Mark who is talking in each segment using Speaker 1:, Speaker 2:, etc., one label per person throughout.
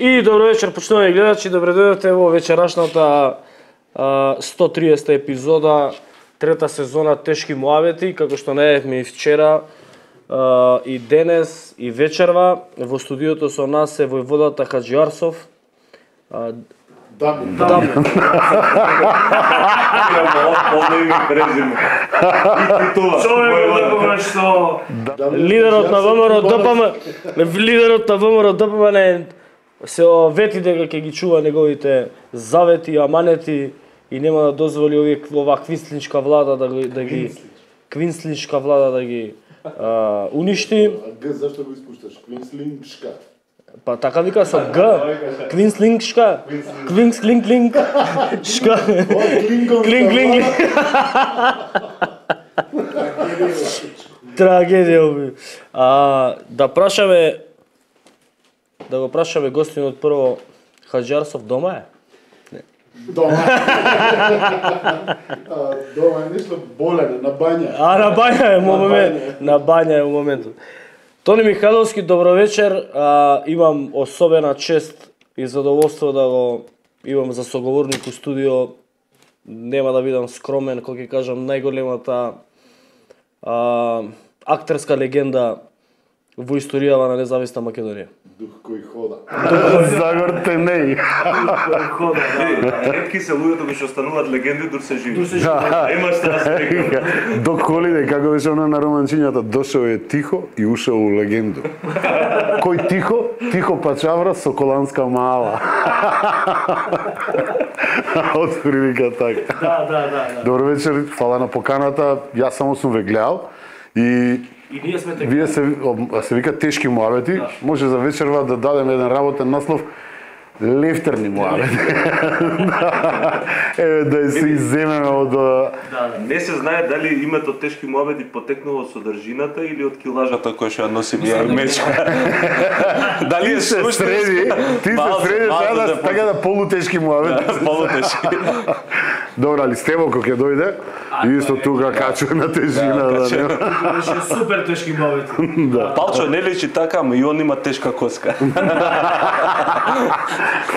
Speaker 1: И добро вечер, почитувани гледачи, добре дојдовте во вечерашната 130 епизода, трета сезона Тешки муабети, како што најавивме и вчера, и денес, и вечерва. Во студиото со нас е војводата Хаџи Арсов.
Speaker 2: Дами.
Speaker 1: Лидерот на ВМРО ДПМН се вети дека ќе ги чува неговите завети и аманети и нема да дозволи ова квинслиншка влада да ги квинслиншка влада да ги уништи.
Speaker 2: Г зашто го испушташ? Квинслиншка.
Speaker 1: Па така вика со Г. Квинслиншка. Квинслинг. Шка. Клинг. Трагедија. Да го прашаме гостинот прво, Хаџи Арсов дома е?
Speaker 2: Дома. Дома е нешто болен, на бања.
Speaker 1: На бања е во моментот. Тони Михайловски, добро вечер. Имам особена чест и задоволство да го имам за соговорник у студио. Нема да бидам скромен, кога ќе кажам најголемата актерска легенда во историјава на независна Македонија.
Speaker 2: Дух кој хода.
Speaker 3: Загор Тенеј.
Speaker 4: Ретки се луѓето кои што стануваат легенди дур се живи. Имаш таа слика.
Speaker 3: Док Холидеј, како беше она на романчињата, дошол е тихо и ушел у легенду. Кој тихо? Тихо пачавра со коланска мала. Отприлика така.
Speaker 1: Да.
Speaker 3: Добро вечер, фала на поканата. Јас само сум ве гледал и
Speaker 1: ние сме така.
Speaker 3: вие се вика Тешки муабети. Може за вечерва да дадеме еден работен наслов Лефтерни муабети. Да се изземеме од...
Speaker 4: Не се знае дали името Тешки муабети потекнува од содржината или од килажата која што ја носи ја мечка. Дали е
Speaker 3: среди, ти се среди сега така да полутешки муабети.
Speaker 4: Полутешки.
Speaker 3: Добра, али Стевоко ќе дојде, исто тука качува на тежина.
Speaker 1: Беше супер тешки муабети.
Speaker 4: Палчо не лечи така, ама и он има тешка коска.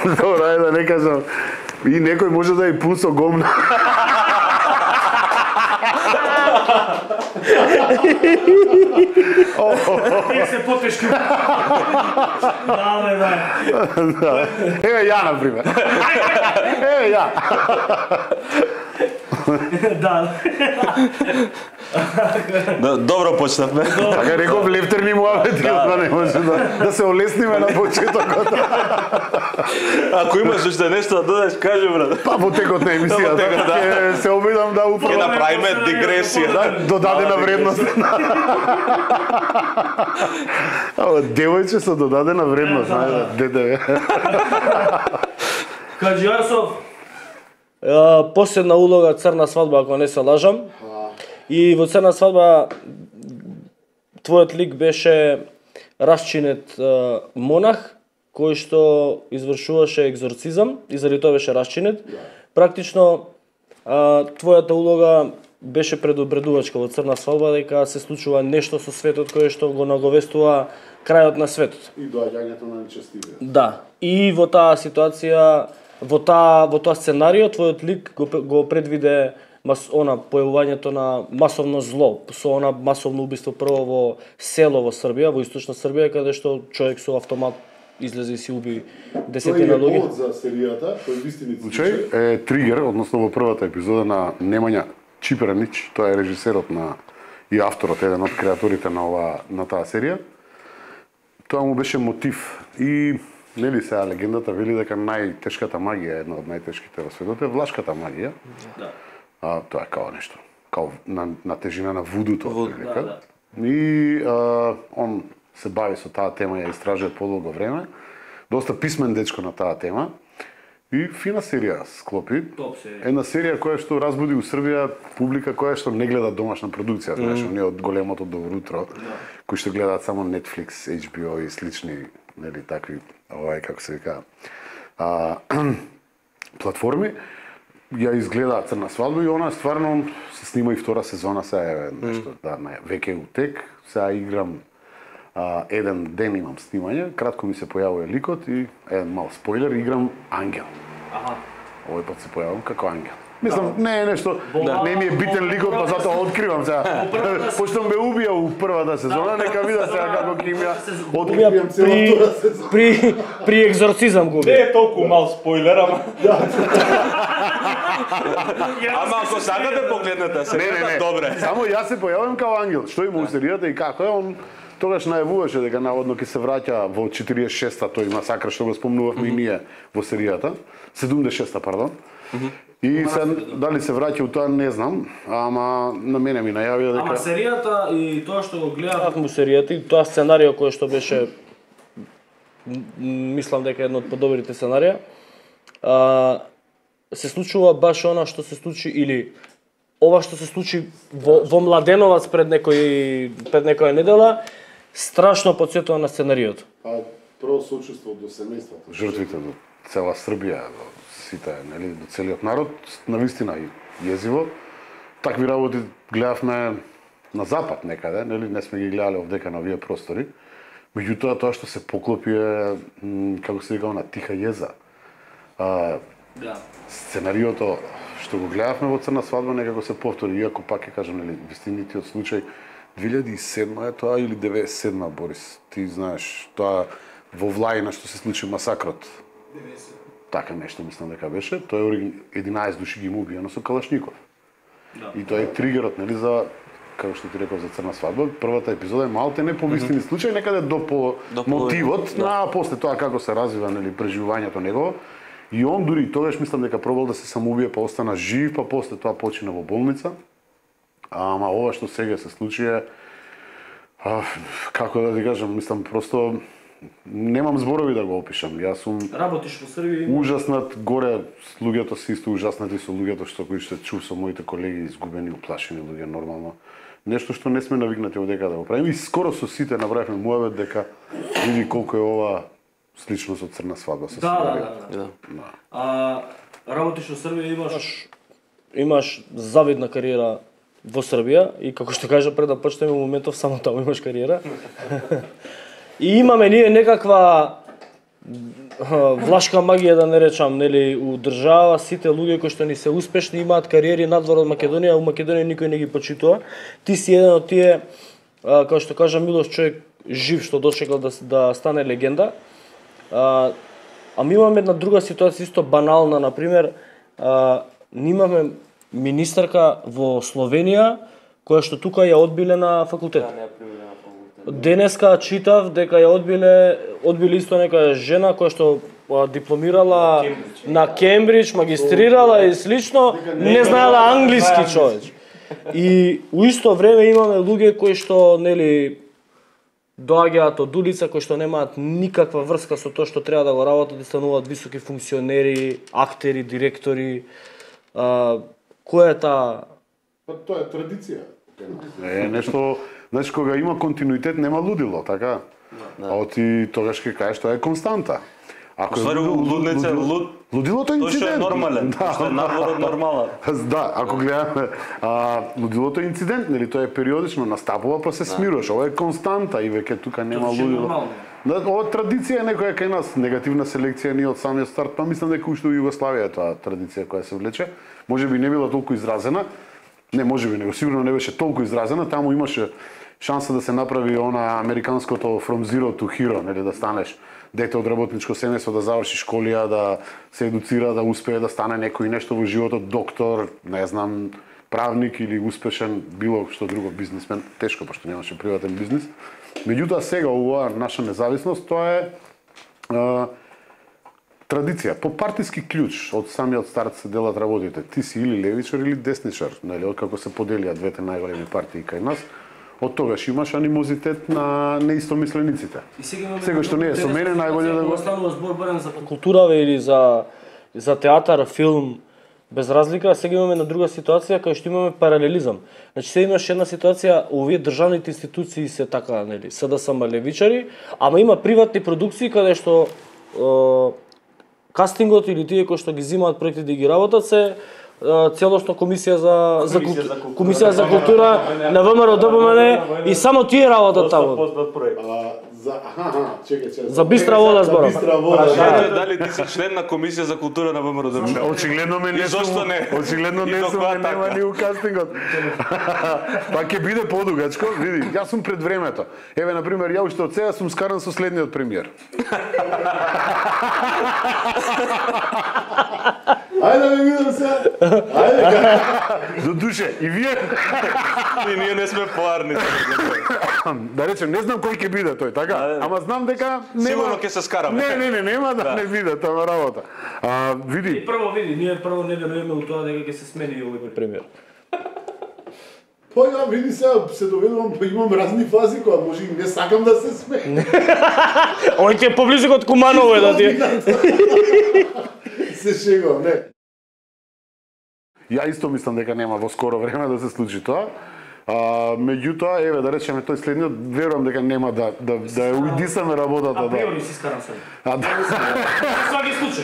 Speaker 3: Добра, да не кажам. И некој може да ја пусо гомна.
Speaker 1: Тие се потешки. Да.
Speaker 3: Еве ја, например. Еве ја.
Speaker 1: Да.
Speaker 4: Добро почнавме.
Speaker 3: Така реков Лефтерни муабети, да не може да се олесниме на почетокот.
Speaker 4: Ако имаш уште нешто да додаш, кажи брат.
Speaker 3: Па во текот на емисијата ќе се обидам да
Speaker 4: Ќе
Speaker 3: управам.
Speaker 4: направиме дигресија.
Speaker 3: Додадена вредност. Ама девојче со додадена вредност, дете.
Speaker 1: Хаџи Арсов, последна улога Црна свадба, ако не се лажам. И во Црна свадба твојот лик беше расчинет монах кој што извршуваше екзорцизам и заради тоа беше расчинет. Практично твојата улога беше предупредувачка во Црна свадба дека се случува нешто со светот кое што го наговестува крајот на светот.
Speaker 2: И доаѓањето на нечестивите.
Speaker 1: Да. И во таа ситуација, во тоа сценарио, твојот лик го предвиде појавувањето на масовно зло, со она масовно убиство прво во село во Србија, во источна Србија, каде што човек со автомат излезе и си уби десетина
Speaker 2: Тој е
Speaker 1: луѓе.
Speaker 2: повод за серијата, тој вистинит
Speaker 3: Случај е тригер, односно во првата епизода на Немања Чипранич, тоа е режисерот и авторот, еден од креаторите на таа серија. Тоа му беше мотив и нели сега легендата вели дека најтешката магија, една од најтешките во светот е влашката магија.
Speaker 1: Да.
Speaker 3: Тоа е као нешто, као на тежина на вудуто.
Speaker 1: Да.
Speaker 3: И он се бави со таа тема, ја истражува подолго време. Доста писмен дечко на таа тема. И фина серија склопи.
Speaker 1: Топ серија.
Speaker 3: Една серија која што разбуди у Србија публика која што не гледа домашна продукција, знаеш, оние од големото добро утро, кои што гледаат само Netflix, HBO и слични, нели такви, како се вика, платформи. Ја изгледа Црна свадба и она стварно се снима и втора сезона, сега е нешто, веќе утек, сега играм еден ден имам снимање, кратко ми се појавува ликот и еден мал спойлер, играм ангел. Овој пат се појавам како ангел. Мислам, не е нешто, не ми е битен ликот, па затоа откривам сега. Пошто ме убија у првата сезона, нека вида сега како ќе ми
Speaker 2: Откривам целата сезона.
Speaker 1: При екзорцизам го
Speaker 4: Не е толку мал спойлер, ама... Ама ако сакате погледнете серијата, добре.
Speaker 3: Само јас се појавам како ангел. Што има у серијата и како е, он тогаш најавуваше дека наводно ќе се враќа во 46-та тој масакр што го спомнувавме и ние во серијата, 76-та, пардон. И се, дали се враќа у тоа не знам, ама на мене ми најавија дека...
Speaker 1: Ама серијата и тоа што го гледавме у серијата и тоа сценарио кој што беше мислам дека едно од подобрите сценарија, се случува баш она што се случи или ова што се случи во Младеновац пред некоја недела, страшно потсетува на сценариото.
Speaker 2: Па прво сочувство до семејството.
Speaker 3: Жртвите до цела Србија, до сите, нели, до целиот народ, навистина и језиво. Такви работи гледавме на запад некаде, нели, не сме ги гледале овдека на овие простори. Меѓутоа тоа што се поклопи е, како се вика, на тиха језа. Сценариото што го гледавме во Црна свадба некако се повтори, иако пак ќе кажам, нели, вистинитиот случај 2007 е тоа или 97 Борис, ти знаеш, тоа во Влајна што се случи масакрот. 90. Така нешто мислам дека беше, тоа е 11 души ги му убиено со калашников. Да. И тоа е тригерот, нели, за како што ти реков за Црна свадба, првата епизода е малте не по вистини случај, некаде до мотивот, на после тоа како се развива, нели, преживувањето негово. И он дури тогаш мислам дека пробал да се самоубие, па остана жив, па после тоа почина во болница. Ама ова што сега се случи е, како да ти кажам, мислам просто немам зборови да го опишам. Јас сум
Speaker 1: работиш во Србија,
Speaker 3: ужаснат, горе луѓето се исто ужаснати со луѓето што кои што чув со моите колеги, изгубени, уплашени луѓе нормално. Нешто што не сме навикнати овдека да го правиме и скоро со сите направивме муавет дека види колку е ова слично со Црна свадба со
Speaker 1: Да. Работиш во Србија, имаш завидна кариера во Србија и како што кажа пред да почнеме моментов само таму имаш кариера. И имаме ние некаква влашка магија да не речам, нели, у држава сите луѓе кои што ни се успешни имаат кариери надвор од Македонија, а у Македонија никој не ги почитува. Ти си еден од тие, како што кажа Милош, човек жив што дочекал да стане легенда. Ама имаме една друга ситуација исто банална, на пример, имаме министарка во Словенија која што тука ја одбиле на факултет. Денеска читав дека ја одбиле исто нека жена која што дипломирала на Кембридж, магистрирала и слично, не знаела англиски човеч. И у исто време имаме луѓе кои што, нели, доаѓаат од улица, кои што немаат никаква врска со тоа што треба да го работат и стануваат високи функционери, актери, директори. Која е таа?
Speaker 2: Па тоа е традиција.
Speaker 3: Е нешто, значи кога има континуитет нема лудило, така? А оти тогаш ќе кажеш тоа е константа. Ако
Speaker 4: Ствари лудница,
Speaker 3: лудилото е инцидент.
Speaker 4: Тоа што е нормален, што е надвор нормален.
Speaker 3: Да, ако гледаме, лудилото е инцидент, нели тоа е периодично, настапува па се смируваш. Ова е константа и веќе тука нема лудило. Да, ова традиција е некоја кај нас, негативна селекција ние од самиот старт, па мислам дека уште во Југославија е тоа традиција која се влече. Можеби не била толку изразена, не можеби, него сигурно не беше толку изразена, таму имаше шанса да се направи она американското from zero to hero, нели, да станеш дете од работничко семејство, да заврши школија, да се едуцира, да успее да стане некој нешто во животот, доктор, не знам, правник или успешен било што друго бизнисмен, тешко пошто немаше приватен бизнис. Меѓутоа сега оваа наша независност тоа е традиција, по партиски клjuč, од самиот старт се делат работите. Ти си или левичар или десничар, нели, откако се поделија двете најголеми партии кај нас. Од тогаш имаш анимозитет на неистомислениците. Сега што не е со мене, најболje да го
Speaker 1: станува збор барем за култура или за театар, филм, без разлика, сега имаме на друга ситуација кај што имаме паралелизам. Значи сега имаш една ситуација, овие државните институции се така, нели, СДСМ левичари, ама има приватни продукции каде што кастингот или тие кои што ги земаат проекти да ги работат се целосно комисија за култура на ВМРО ДПМН и само тие работат таму.
Speaker 2: Чекај.
Speaker 1: За бистра вода зборам.
Speaker 4: Прашање дали ти си член на комисија за култура на ВМРО ДПМН?
Speaker 3: Очигледно ме не
Speaker 4: зошто не?
Speaker 3: Очигледно не сум, нема ни у кастингот. Па ќе биде подугачко, види, јас сум пред времето. Еве на пример, ја уште од сега сум скаран со следниот премиер.
Speaker 2: Ајде да ме видам сега. Ајде.
Speaker 3: До душе, и вие
Speaker 4: И ние не сме поарни.
Speaker 3: да речем, не знам кој ќе биде тој, така? Ама знам дека нема.
Speaker 4: Сигурно ќе се скараме.
Speaker 3: Не, нема да не биде таа работа. Види.
Speaker 1: Ние прво не веруваме у тоа дека ќе се смени овој премиер.
Speaker 2: Па ја види сега се доведувам, па имам разни фази која може и не сакам да се смеем.
Speaker 1: Ој ќе поблизок од Куманово е да ти.
Speaker 2: Се шегувам, не.
Speaker 3: Ја исто мислам дека нема во скоро време да се случи тоа. Меѓутоа, еве да речеме тој следниот, верувам дека нема да ја уидисаме работата.
Speaker 1: Априори си скарам се. Сваки случај.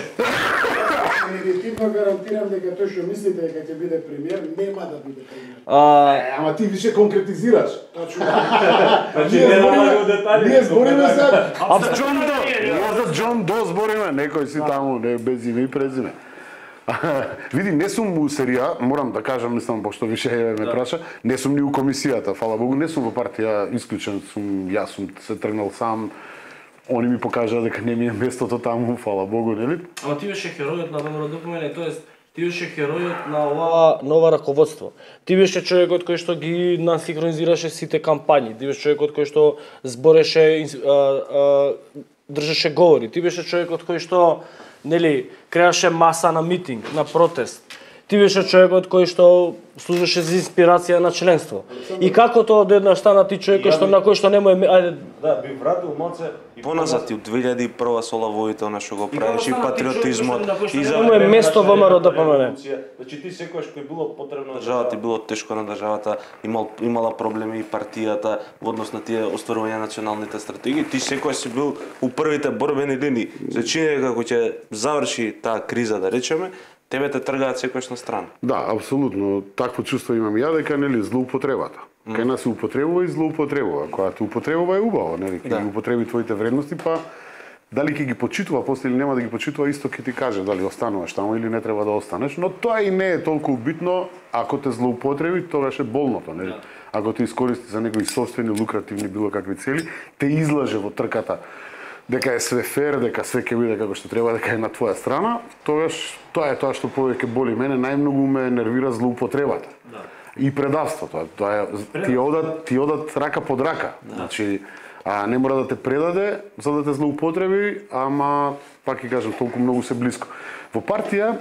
Speaker 2: Негативно гарантирам дека тој што мислите дека ќе биде премиер, нема да биде премиер. Ама ти више конкретизираш.
Speaker 1: Значи не налагам детали.
Speaker 2: Ние збориме сега.
Speaker 3: За Џон До збориме, некој си таму, не без име и презиме. Види, не сум у серија, морам да кажам, мислам, пошто више ме праша, не сум ни у комисијата, фала Богу, не сум во партија, исклучен сум, јас сум се тргнал сам, они ми покажаа дека не ми е местото таму, фала Богу, нели?
Speaker 1: Ама ти беше херојот на ВМРО ДПМН, тоест ти беше херојот на ова нова раководство. Ти беше човекот кој што ги насинхронизираше сите кампањи, ти беше човекот кој што збореше, држеше говори, ти беше човекот кој што нели креаше маса на митинг, на протест. Ти беше човекот кој што служеше за инспирација на членство. И како тоа одеднаш стана ти човекот што на кој што нема ајде
Speaker 5: да би вратил моце
Speaker 4: и поназад и од 2001 со лавовите она што го правиш и патриотизмот
Speaker 1: и за нема место во ВМРО ДПМН.
Speaker 5: Значи ти секогаш кој било потребно
Speaker 4: државата било тешко на државата, имала проблеми и партијата во однос на тие остварување на националните стратегии, ти секогаш си бил у првите борбени линии. За чинење како ќе заврши таа криза, да речеме, тебе те тргаат секојаш на страна.
Speaker 3: Да, апсолутно. Такво чувство имам ја дека нели злоупотребата. Кај нас се употребува и злоупотребува. Кога те употребува е убаво, нели? Ќе ги употреби твоите вредности, па дали ќе ги почитува после или нема да ги почитува, исто ќе ти каже дали остануваш таму или не треба да останеш, но тоа и не е толку битно. Ако те злоупотреби, тогаш е болното, нели? Ако те искористи за некои собствени лукративни било какви цели, те излаже во трката дека е све фер, дека све ќе биде како што треба, дека е на твоја страна, тогаш тоа е тоа што повеќе боли мене, најмногу ме нервира злоупотребата. Да. И предавството, тоа е ти одат рака под рака. Да. Значи, не мора да те предаде за да те злоупотреби, ама пак ќе кажам толку многу се блиско. Во партија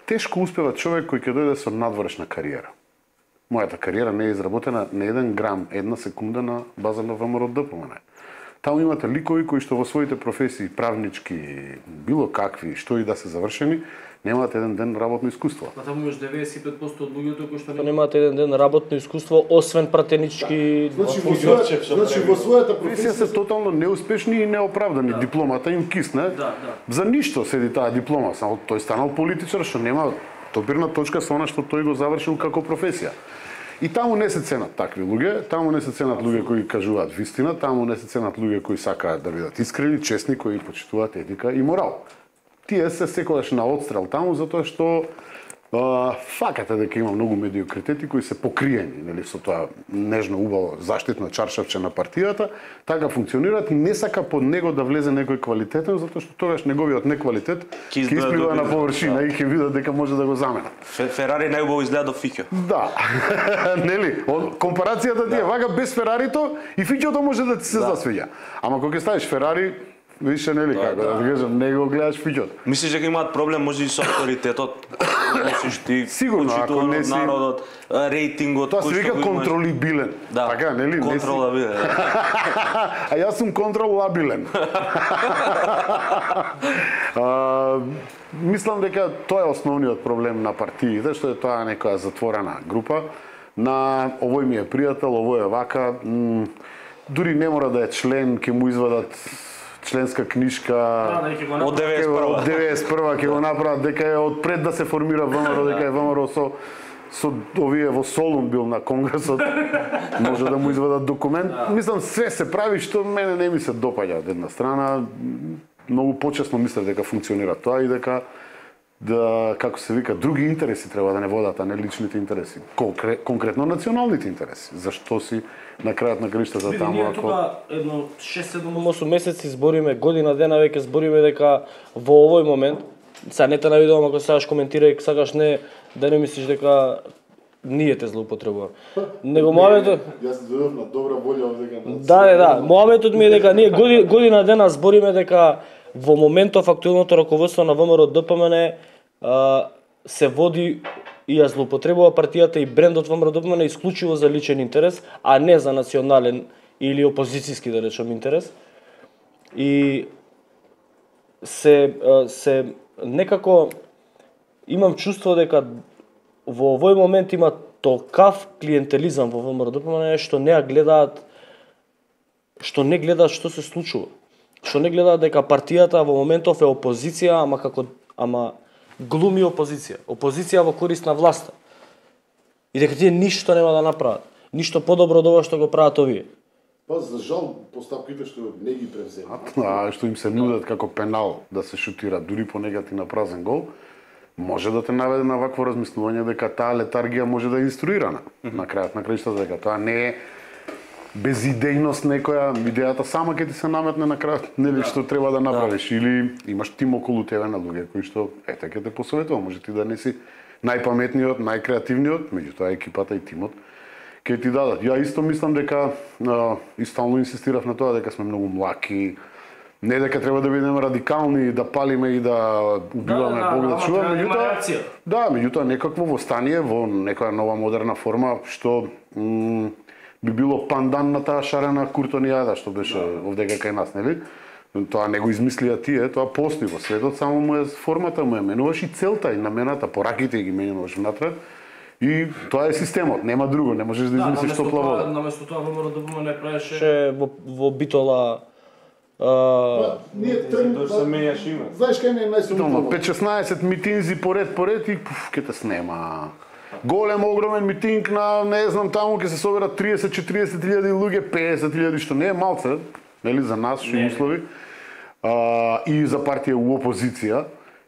Speaker 3: тешко успева човек кој ќе дојде со надворешна кариера. Мојата кариера не е изработена на еден грам, една секунда на база на ВМРО ДПМН. Таму имате ликови кои што во своите професии, правнички, било какви, што и да се завршени, немаат еден ден работно искуство.
Speaker 1: Па таму имаш 95% од луѓето кои што немаат еден ден работно искуство, освен пратенички.
Speaker 2: Значи во својата професија
Speaker 3: се тотално неуспешни и неоправдани. Да. Дипломата им кисне. За ништо седи таа диплома, само тој станал политичар што нема допирна точка со она што тој го завршил како професија. И таму не се ценат такви луѓе, таму не се ценат луѓе кои кажуваат вистина, таму не се ценат луѓе кои сакаат да бидат искрени, честни, кои почитуваат етика и морал. Тие се секогаш на отстрел таму затоа што факата дека има многу медиокритети кои се покриени, нели, со тоа нежно убаво заштитно чаршавче на партијата, така функционираат и не сака под него да влезе некој квалитетен, затоа што тогаш неговиот неквалитет ќе исплива на површина и ќе видат дека може да го заменат.
Speaker 4: Ферари најубаво изгледа до Фиќо.
Speaker 3: Да. Нели, компарацијата ти е вака без Ферарито и Фиќото може да ти се засвиѓа. Ама кога ќе ставиш Ферари, више нели како да кажам, не го гледаш Фиќото.
Speaker 4: Мислиш дека имаат проблем може и со авторитетот? Носиш ти,
Speaker 3: сигурно, ако не си
Speaker 4: народот, рейтингот,
Speaker 3: тоа се вика контролибилен.
Speaker 4: Да, така, нели? Контролабилен.
Speaker 3: А јас сум контролабилен. Мислам дека тоа е основниот проблем на партиите, што е тоа некоја затворена група. На овој ми е пријател, овој е вака, дури не мора да е член, ќе му извадат членска книшка
Speaker 4: Од
Speaker 3: од
Speaker 4: 91.
Speaker 3: 91 ќе го направат дека е од пред да се формира ВМРО, дека е ВМРО со овие во Солун бил на конгресот, може да му извадат документ. Мислам, све се прави што мене не ми се допаѓа од една страна. Многу почесно мислев дека функционира тоа и дека како се вика, други интереси треба да не водат, а не личните интереси. Конкретно националните интереси. Зашто си на крајот на краиштата таму
Speaker 1: Ние тука едно 6-7-8 месеци збориме, година дена веќе збориме дека во овој момент, сега не те навидувам ако сакаш коментирај, сакаш не да не мислиш дека ние те злоупотребуваме. Него мојавето
Speaker 3: Јас дојдов на добра волја овдека.
Speaker 1: Да, мојавето ми е дека ние година дена збориме дека во моментов актуелното раководство на ВМРО ДПМН се води и ја злоупотребува партијата и брендот ВМРО ДПМН исклучиво за личен интерес, а не за национален или опозицијски, да речем, интерес. И се некако имам чувство дека во овој момент има толкав клиентелизам во ВМРО ДПМН што не гледаат што се случува. Што не гледаат дека партијата во моментов е опозиција, ама глуми опозиција. Опозиција во корист на власта. И дека тие ништо нема да направат. Ништо подобро од ова што го прават овие.
Speaker 2: Па за жал постапките што не ги превземат.
Speaker 3: Што им се нудат како пенал да се шутира дури по негативна празен гол, може да те наведе на вакво размислување дека таа летаргија може да е инструирана. На крајот на краиштата дека тоа не е безидејност некоја, идејата сама ќе ти се наметне на крајот, нели што треба да направиш, или имаш тим околу тебе на луѓе кои што ете ќе те посоветува, може ти да не си најпаметниот, најкреативниот, меѓутоа екипата и тимот ќе ти дадат. Ја исто мислам дека и стално инсистирав на тоа дека сме многу млаки, не дека треба да бидеме радикални, да палиме и да убиваме Бог да чува, меѓутоа некакво востание во некоја нова модерна форма што би било пандан на таа шарена куртонијада што беше овдека кај нас, нели? Тоа не го измислија тие, тоа постои во светот, само му е формата, му е менуваш и целта и намената, пораките ги менуваш внатре. И тоа е системот, нема друго, не можеш да измислиш топла вода.
Speaker 1: Наместо тоа ВМРО ДПМН не правеше во Битола
Speaker 2: Ние тргнуваме.
Speaker 5: Тоа се менјаш име.
Speaker 2: Знаеш кај не е најсумнително?
Speaker 3: 5-16 митинзи поред и ќе те снема. Голем, огромен митинг на, не знам, таму ќе се соберат 30-40 илјади луѓе, 50 илјади, што не е малце, нели, за нас, што услови, и за партија у опозиција,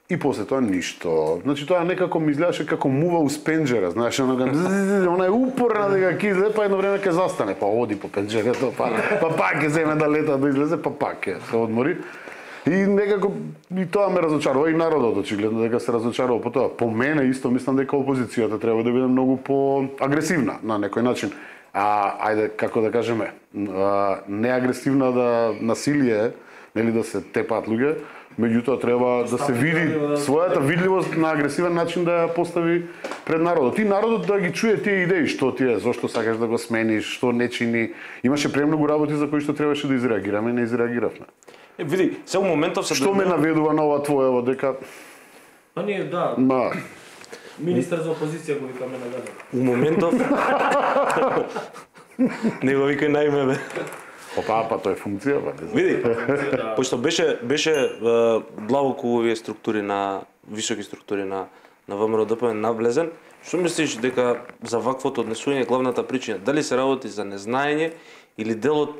Speaker 3: и после тоа ништо. Значи тоа некако ми изгледаше како мува у пенџера, знаеш, она е упорна дека ќе излезе, па едно време ќе застане, па оди по пенџерето, па пак ќе земе да лета да излезе, па пак ќе се одмори. И некако и тоа ме разочарува и народот очигледно дека се разочарува по тоа. По мене исто мислам дека опозицијата треба да биде многу поагресивна на некој начин. Ајде како да кажеме, не агресивна да насилие, нели да се тепаат луѓе, меѓутоа треба да се види својата видливост на агресивен начин да ја постави пред народот. И народот да ги чуе тие идеи, што ти е, зошто сакаш да го смениш, што не чини. Имаше премногу работи за кои што требаше да изреагираме и не изреагиравме.
Speaker 4: Види, се моментов се
Speaker 3: Што ме наведува на ова твоево дека
Speaker 1: Па ние министер за опозиција го викаме на гада.
Speaker 4: у моментов не го викај на име, бе.
Speaker 3: па тоа е функција, па.
Speaker 4: Види, пошто беше длабоко овие структури на високи структури на ВМРО ДПМН навлезен, што мислиш дека за ваквото однесување главната причина, дали се работи за незнаење или дел од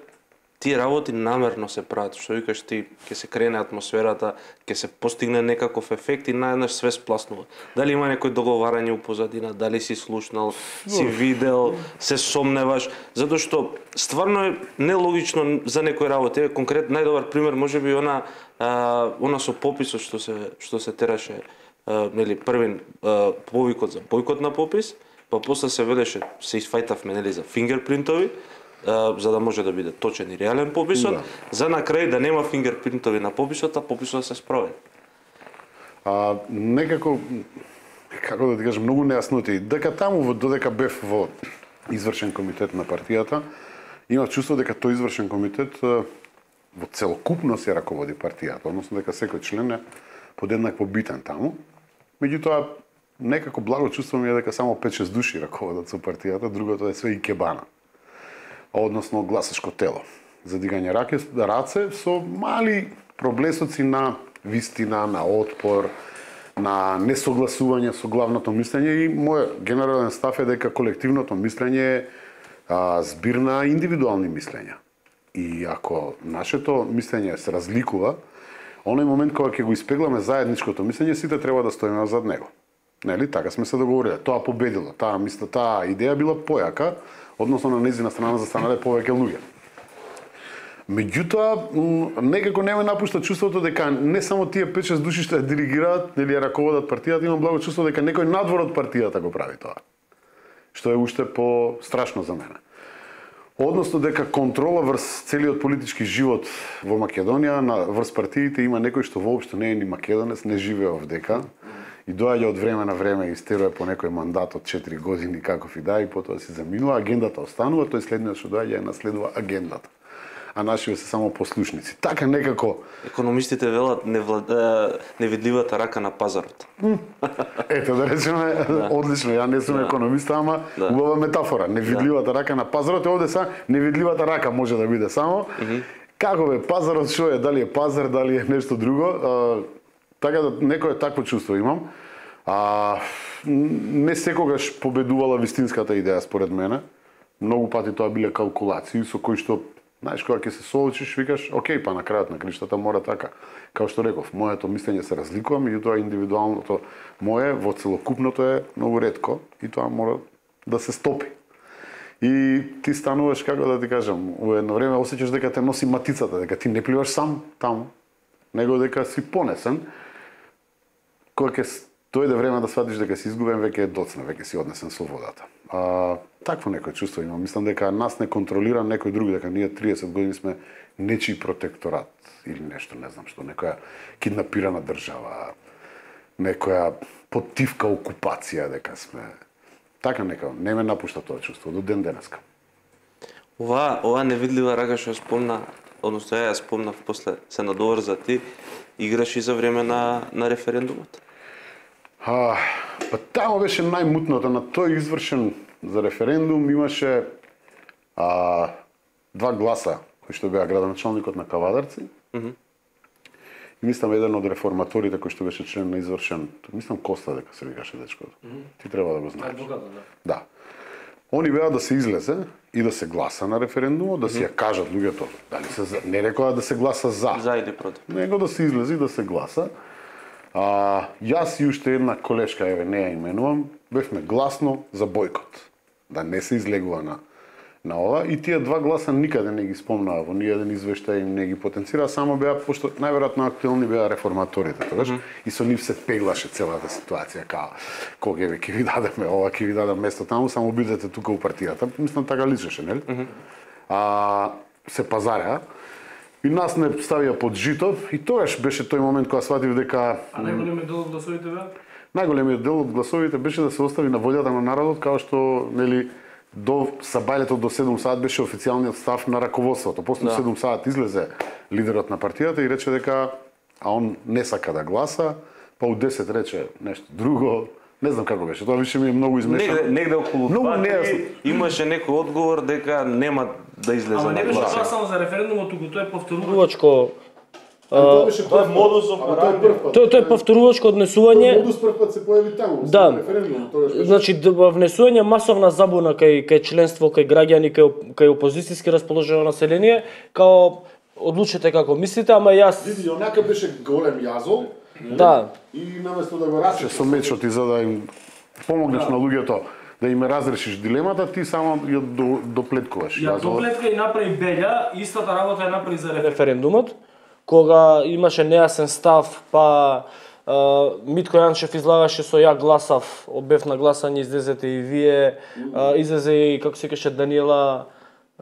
Speaker 4: тие работи намерно се прават, што викаш ти, ќе се крене атмосферата, ќе се постигне некаков ефект и наеднаш све спласнува. Дали има некој договарање у позадина, дали си слушнал, си видел, се сомневаш, затоа што стварно е нелогично за некои работи. Конкретно најдобар пример можеби она со пописот што се тераше, нели, првин повикот за бојкот на попис, па после се велеше, се изфајтавме, нели, за фингерпринтови, за да може да биде точен и реален пописот, за на крај да нема фингерпринтови на пописот, а пописот се спроведе.
Speaker 3: Некако, како да ти кажам, многу нејасноти. Дека таму, додека бев во извршен комитет на партијата, имав чувство дека тој извршен комитет во целокупност ја раководи партијата, односно дека секој член е подеднакво битен таму. Меѓутоа, некако благо чувство ми е дека само 5-6 души раководат со партијата, другото е све икебана. Односно гласачко тело. за дигање раце со мали проблесоци на вистина, на отпор, на несогласување со главното мислење и мој генерален став е дека колективното мислење е збир на индивидуални мислења. И ако нашето мислење се разликува, оној момент кога ќе го испегламе заедничкото мислење, сите треба да стоиме зад него. Нели, така сме се договориле. Тоа победило, таа идеја била појака, односно на нејзина страна застанале повеќе луѓе. Меѓутоа, некако не ме напушта чувството дека не само тие 5-6 души што ја диригираат или ја раководат партијата, имам благо чувство дека некој надвор од партијата го прави тоа. Што е уште по-страшно за мене. Односно дека контрола врз целиот политички живот во Македонија, врз партиите има некој што воопшто не е ни македонец, не живее овдека и доаѓа од време на време и истерува по некој мандат од 4 години каков и да, и потоа си заминува, агендата останува, тој следниот што доаѓа ја наследува агендата. А нашите се само послушници. Така некако
Speaker 4: економистите велат невидливата рака на пазарот.
Speaker 3: Ето да речеме, одлично, ја не сум економист, ама убава метафора. Невидливата рака на пазарот е овде невидливата рака може да биде само. Како бе пазарот, што е, дали е пазар, дали е нешто друго? Така да некое такво чувство имам. Не секогаш победувала вистинската идеја според мене. Многу пати тоа биле калкулации со кои што знаеш, кога ќе се соочиш, викаш, окей, па на крајот на криштата мора така. Као што реков, моето мислење се разликува, меѓутоа индивидуалното мое во целокупното е многу ретко и тоа мора да се стопи. И ти стануваш, како да ти кажам, во едно време осеќаш дека те носи матицата, дека ти не пливаш сам таму, него дека си понесен. Кога ќе дојде време да сватиш дека си изгубен, веќе е доцна, веќе си однесен со водата. Такво некој чувство имам. Мислам дека нас не контролира некој друг, дека ние 30 години сме нечи протекторат или нешто, не знам што, некоја киднапирана држава, некоја поттивка окупација, дека сме. Така некако, не ме напушта тоа чувство до ден денеска.
Speaker 4: Ова невидлива рака што спомна, односно ја спомнав после се надоврза ти, играш и за време на референдумот.
Speaker 3: Па тамо беше најмутното, на тој извршен за референдум имаше 2 гласа кои што беа градоначалникот на Кавадарци. И мислам еден од реформаторите кој што беше член на извршен, мислам Коста дека се викаше дечкото. Ти треба да го знаеш. Да. Они беа да се излезе и да се гласа на референдумот, да си ја кажат луѓето, дали се не рекоа да се гласа за
Speaker 4: или против.
Speaker 3: Него да се излезе и да се гласа. Јас и уште една колешка, еве не ја именувам, бевме гласно за бојкот. Да не се излегува на ова и тие 2 гласа никаде не ги спомнаа во ниеден извештај, не ги потенцира, само беа пошто најверојатно актуелни беа реформаторите тогаш и со нив се пеглаше целата ситуација као кога ќе ви дадеме ова, ќе ви дадам место таму, само бидете тука у партијата. Мислам така личеше, нели? Се пазареа. И нас не ставија под жито и тогаш беше тој момент кога сватив дека
Speaker 1: најголемиот дел од гласовите беа?
Speaker 3: Најголемиот дел од гласовите беше да се остави на волјата на народот, као што нели до сабајлето до 7 саат беше официјалниот став на раководството. После 7 саат излезе лидерот на партијата и рече дека он не сака да гласа, па у 10 рече нешто друго. Не знам како беше, тоа више ми е многу измешано.
Speaker 4: Негде околу тоа имаше некој одговор дека нема да излезе.
Speaker 1: Ама не беше тоа само за референдумот, туку тоа е повторувачко.
Speaker 2: Тоа е модус операнди.
Speaker 1: Тоа е повторувачко однесување.
Speaker 2: Тоа модус прв пат се појави таму,
Speaker 1: да.
Speaker 2: Референдумот, тоа беше.
Speaker 1: Значи внесување масовна забуна кај членство, кај граѓани, кај опозицијски расположено население, као одлучете како мислите, ама јас
Speaker 2: Види, онака беше голем јазол.
Speaker 1: Да.
Speaker 2: И наместо да го расечеш
Speaker 3: со мечот и за да им помогнеш на луѓето да им разрешиш дилемата, ти само ја доплеткуваш.
Speaker 1: Ја доплетка и направи Белја, истата работа ја направи за референдумот, кога имаше нејасен став, па Митко Јанчев излагаше со ја гласав, бев на гласање, излезете и вие, излезе и како се кеше Даниела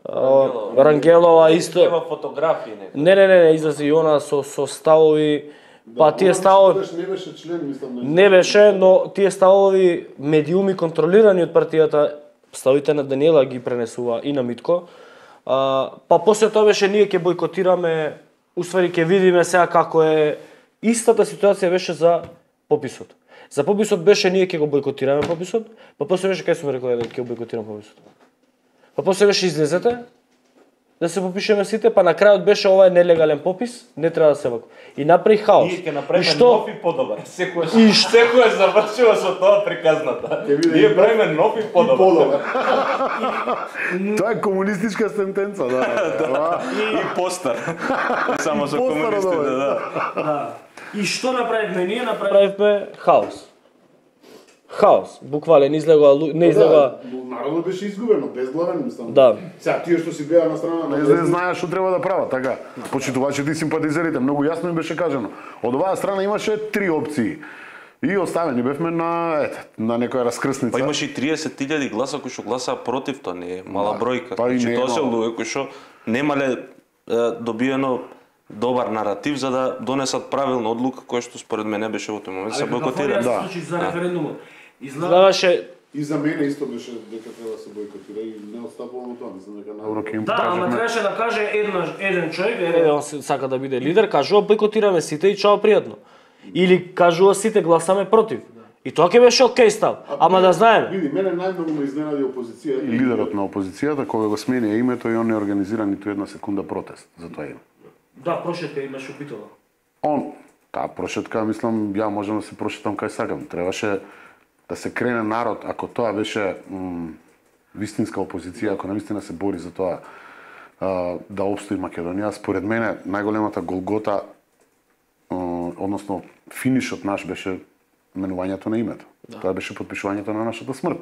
Speaker 1: Рангелова исто.
Speaker 4: Има фотографии некои.
Speaker 1: Не, излезе и она со ставови. Па тие ставови
Speaker 2: не беше член, мислам.
Speaker 1: Не беше, но тие ставови медиуми контролирани од партијата, ставите на Даниела ги пренесува и на Митко. Па после тоа беше ние ќе бойкотираме, усвари ќе видиме сега како е. Истата ситуација беше за пописот. За пописот беше ние ќе го бойкотираме пописот, па после беше кај сум рекол дека ќе го бойкотираме пописот. Па после беше излезете да се попишеме сите, па на крајот беше ова е нелегален попис, не треба да се вака. И направи хаос.
Speaker 5: Ние ќе направиме нов и подобар. Секој завршува со тоа приказната. Ние правиме нов и подобар.
Speaker 3: Тоа е комунистичка сентенца, да.
Speaker 4: И постар. Само со комунистите, да.
Speaker 1: И што направивме ние? Направивме хаос. Хаос, буквален, не излега.
Speaker 2: Народот беше изгубено, безглавен мислам.
Speaker 1: Да.
Speaker 2: Сега тие што си беа на страна на
Speaker 3: Не знаеш што треба да прават, така. Почитувачите и симпатизерите, многу јасно им беше кажано. Од оваа страна имаше 3 опции. И оставени бевме на некоја раскрсница.
Speaker 4: Па имаше и 30.000 гласа кои што гласаа против, тоа не е мала бројка.
Speaker 3: Па и
Speaker 4: Значи
Speaker 3: не е
Speaker 4: тоа се
Speaker 3: мало.
Speaker 4: луѓе кои што немале добиено добар наратив за да донесат правилна одлука која што според мене беше во тој момент се бойкотира.
Speaker 1: Да. За референдумот. Изгледаше
Speaker 2: И за мене исто беше дека треба да се бойкотира и не отстапувам тоа, мислам дека
Speaker 3: Добро, ќе им
Speaker 1: да, ама
Speaker 3: покажеме.
Speaker 1: требаше да каже еден човек, он сака да биде лидер, кажува бойкотираме сите и чао пријатно. Или кажува сите гласаме против. И тоа ќе беше окей став. Ама да знаеме.
Speaker 2: Види, мене најмногу ме изненади опозицијата.
Speaker 3: И лидерот на опозицијата кога го смени името и он не организира ниту една секунда протест за тоа име.
Speaker 1: Да, прошетка имаше упитала.
Speaker 3: Он, таа прошетка, мислам, ја можам да се прошетам кај сакам. Требаше да се крене народ, ако тоа беше вистинска опозиција, ако навистина се бори за тоа да опстои Македонија, според мене најголемата голгота, односно финишот наш беше менувањето на името. Да. Тоа беше потпишувањето на нашата смрт.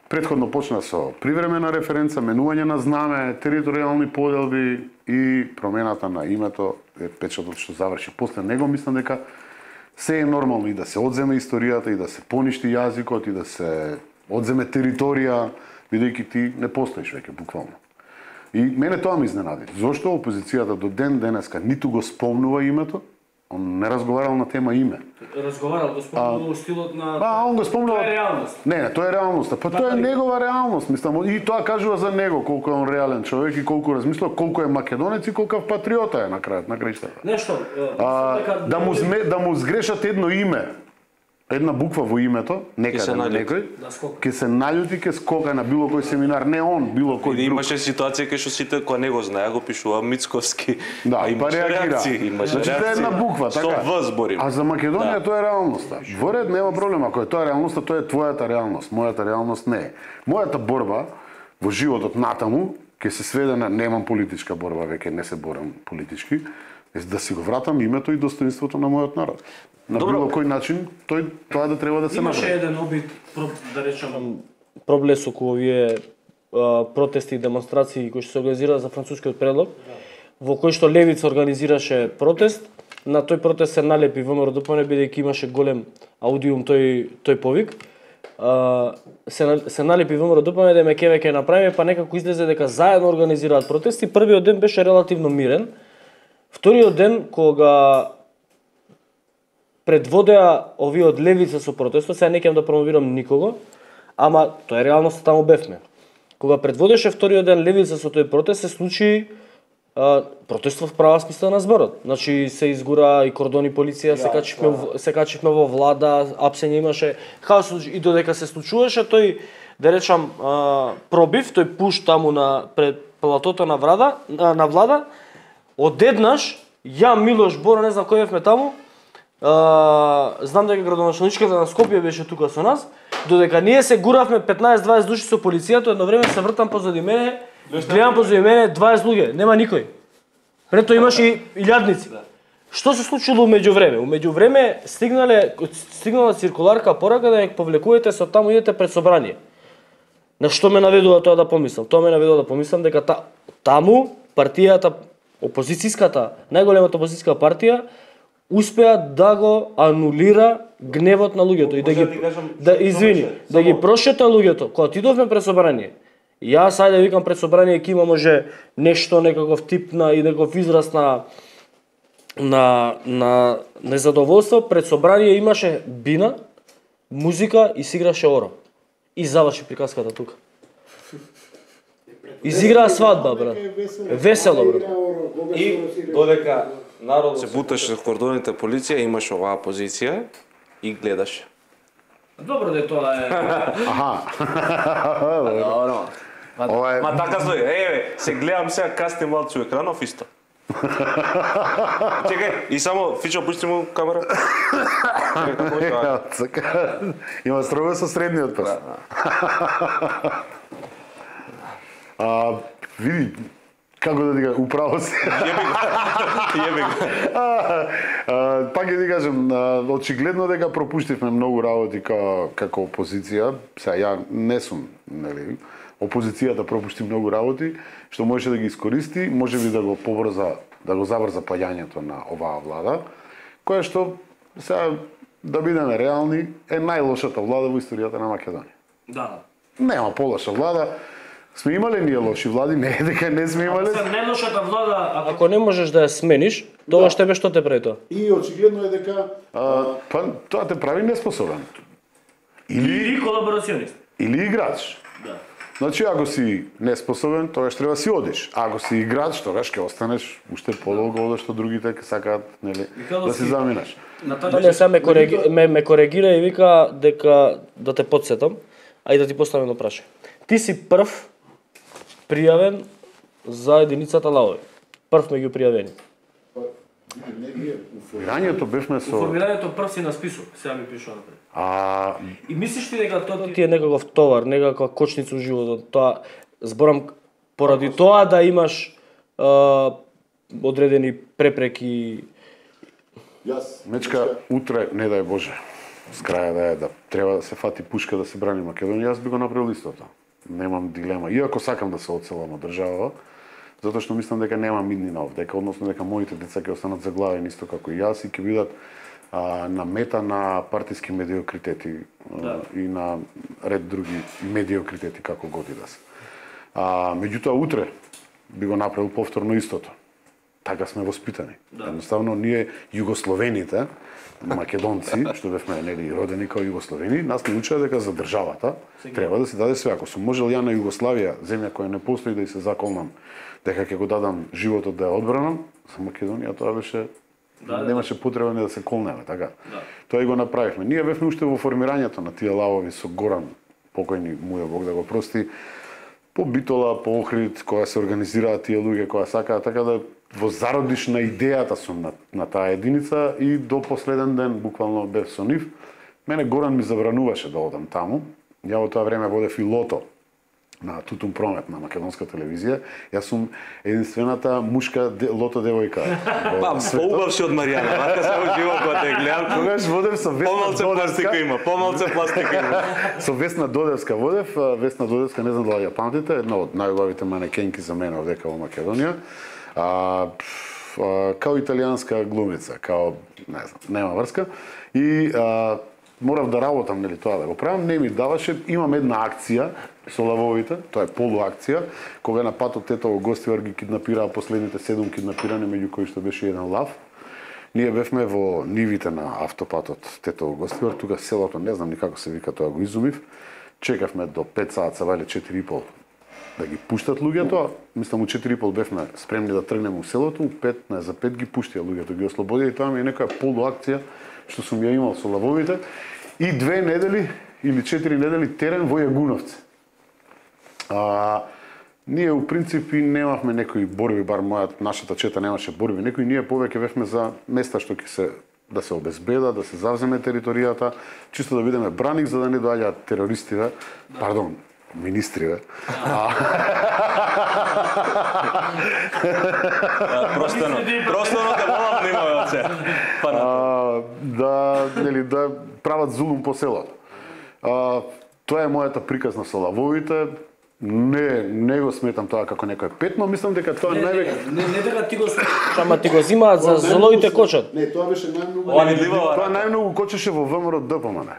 Speaker 3: Претходно почна со привремена референца, менување на знаме, територијални поделби и промената на името е печатот што заврши. После него мислам дека се е нормално и да се одземе историјата, и да се поништи јазикот, и да се одземе територија, бидејќи ти не постоиш веќе, буквално. И мене тоа ме изненади. Зошто опозицијата до ден денеска ниту го спомнува името, он не разговарал на тема име.
Speaker 1: Разговарал, го спомнува стилот на...
Speaker 3: Он го спомнува...
Speaker 1: Тоа е реалност.
Speaker 3: Не, тоа е реалноста. Па тоа е негова реалност, мислам. И тоа кажува за него, колку е он реален човек и колку размислува, колку е македонец и колку патриота е на крајот, на крајштата.
Speaker 1: Нешто.
Speaker 3: Да му сгрешат едно име, една буква во името, некаде на некој, ќе се наљути, ќе скока на било кој семинар, не он, било кој друг.
Speaker 4: Имаше ситуација кај што сите кои не го знаеа го пишува Мицковски.
Speaker 3: Да,
Speaker 4: па
Speaker 3: реагира. Значи тоа е една буква, така.
Speaker 4: Со В зборим.
Speaker 3: А за Македонија тоа е реалноста. Во ред нема проблем, ако е тоа реалноста, тоа е твојата реалност, мојата реалност не е. Мојата борба во животот натаму ќе се сведе на немам политичка борба, веќе не се борам политички, да си го вратам името и достоинството на мојот народ. На било кој начин тоа да треба да се направи.
Speaker 1: Имаше еден обид, да речам, проблес околу овие протести и демонстрации кои што се организираа за францускиот предлог, во кој што левица организираше протест. На тој протест се налепи ВМРО ДПМН бидејќи имаше голем аудиум тој повик. Се налепи ВМРО ДПМН да ме ќе направиме, па некако излезе дека заедно организираат протести. Првиот ден беше релативно мирен. Вториот ден кога предводеа овие од левица со протестот, сега не ќе да промовирам никого, ама тоа е реалноста, таму бевме. Кога предводеше вториот ден левица со тој протест, се случи протест во права смисла на зборот. Значи се изгура и кордони полиција, се качивме во влада, апсење имаше, хаос и додека се случуваше тој, да речам, пробив, тој пуш таму на пред платото на влада, одеднаш ја Милош Бора, не знам кој бевме таму, знам дека градоначалничката на Скопје беше тука со нас, додека ние се гуравме 15-20 души со полицијата, едно време се вртам позади мене, гледам позади мене 20 луѓе, нема никој. Пред тоа имаше илјадници. Што се случило меѓувреме? Меѓувреме стигнала циркуларка порака да ја повлекувате со таму идете пред собрание. На што ме наведува тоа да помислам? Тоа ме наведува да помислам дека таму партијата, опозицијската, најголемата опозицијска партија успеа да го анулира гневот на луѓето и да ги прошета луѓето. Кога отидовме пред собрание, јас ајде викам пред собрание ќе има може нешто, некаков тип на и некаков израз на незадоволство, пред собрание имаше бина, музика и се играше оро. И заврши приказката тука. Изиграа свадба, брат. Весело, брат.
Speaker 5: И додека народот
Speaker 4: се буташе в кордоните полиција, имаше оваа позиција и гледаше.
Speaker 1: Добро да тоа е.
Speaker 3: Аха. Ова е
Speaker 4: Ма така стои, еве, се гледам сега касте малци екранов исто. Чекај, и само Фичо пушти му камера. Чекај, како е тоа?
Speaker 3: Така. Има строго со средниот прст. Види, како да ти кажам, управо си.
Speaker 4: Јеби го.
Speaker 3: Пак ќе ти кажем, очигледно дека пропуштивме многу работи како опозиција. Сега ја не сум, нели, опозицијата пропушти многу работи, што можеше да ги искористи, можеби да го побрза, да го забрза паѓањето на оваа влада, која што, сега, да бидеме реални, е најлошата влада во историјата на Македонија.
Speaker 1: Да.
Speaker 3: Нема полоша влада. Сме имале ние лоши влади, не е дека не сме имале.
Speaker 1: За најлошата влада, ако не можеш да ја смениш, тогаш тебе што те прави тоа?
Speaker 2: И очигледно е дека
Speaker 3: Па тоа те прави неспособен.
Speaker 1: Или колаборационист.
Speaker 3: Или играч.
Speaker 1: Да.
Speaker 3: Значи, ако си неспособен, тогаш треба си одиш. Ако си играч, тогаш ќе останеш уште подолго одеш што другите сакаат, нели, да си заминаш.
Speaker 1: Не се ме коригира и вика дека да те потсетам, а и да ти поставам едно прашање. Ти си прв пријавен за единицата лавови. Прв меѓу пријавени.
Speaker 3: Формирањето бевме со
Speaker 1: Формирањето прв си на список, сега ми пишува напред.
Speaker 3: И
Speaker 1: мислиш ти дека тоа ти е некаков товар, некаква кочница во животот, тоа зборам поради тоа да имаш одредени препреки.
Speaker 2: јас
Speaker 3: Мечка, утре, не дај Боже, с краја да е да треба да се фати пушка да се брани Македонија, јас би го направил истото. Немам дилема. Иако сакам да се одселам од држава, затоа што мислам дека нема иднина овдека, односно дека моите деца ќе останат заглавени исто како и јас и ќе бидат на мета на партиски медиокритети и на ред други медиокритети како годи да се. Меѓутоа утре би го направил повторно истото. Така сме воспитани. Едноставно ние југословените, македонци, што бевме нели родени као југословени, нас ни учеа дека за државата треба да се даде све. Ако сум можел ја на Југославија, земја која не постои, да и се заколнам дека ќе го дадам животот да ја одбранам, за Македонија тоа беше немаше потреба не да се колнеме, така. Тоа и го направивме. Ние бевме уште во формирањето на тие лавови со Горан, покојни му е Бог да го прости, по Битола, по Охрид, кога се организираат тие луѓе која сакаат, така да во зародиш на идејата сум на таа единица и до последен ден буквално бев со нив. Мене Горан ми забрануваше да одам таму. Ја во тоа време водев и лото на Тутун Промет на македонска телевизија. Јас сум единствената мушка лото девојка.
Speaker 4: Поубавши од Маријана, вака се во живот кога те гледам.
Speaker 3: Тогаш водев со Весна
Speaker 4: Помалце пластика има, помалце пластика има.
Speaker 3: Со Весна Додевска водев. Весна Додевска, не знам дали ја памтите, една од најубавите манекенки за мене овдека во Македонија. Као италијанска глумица, као, не знам, нема врска. И морав да работам, нели, тоа да го правам, не ми даваше. Имам една акција со лавовите, тоа е полуакција, кога на патот Тетово Гостивар ги киднапираа последните 7 киднапирани, меѓу кои што беше еден лав. Ние бевме во нивите на автопатот Тетово Гостивар, тука селото, не знам никако се вика, тоа го изумив. Чекавме до 5 саат, са вале 4:30 да ги пуштат луѓето. Мислам, у 4:30 бевме спремни да тргнеме у селото, у 5 за 5 ги пуштија луѓето, ги ослободија и тоа ми е некоја полуакција што сум ја имал со лавовите. И 2 недели или 4 недели терен во Јагуновци. Ние у принципи немавме некои борби, бар нашата чета немаше борби, некои ние повеќе бевме за места што ќе се да се обезбеда, да се завземе територијата, чисто да бидеме браник за да не доаѓаат терористиве, пардон, министриве.
Speaker 4: Простано да волам немаме од се.
Speaker 3: Да прават зулум по селото. Тоа е мојата приказна со лавовите. Не го сметам тоа како некој петно, мислам дека тоа највеќе
Speaker 1: Не дека ти го ама ти го зимаат за злоите кочат.
Speaker 2: Не, тоа беше најмногу.
Speaker 3: Тоа најмногу кочеше во ВМРО ДПМН.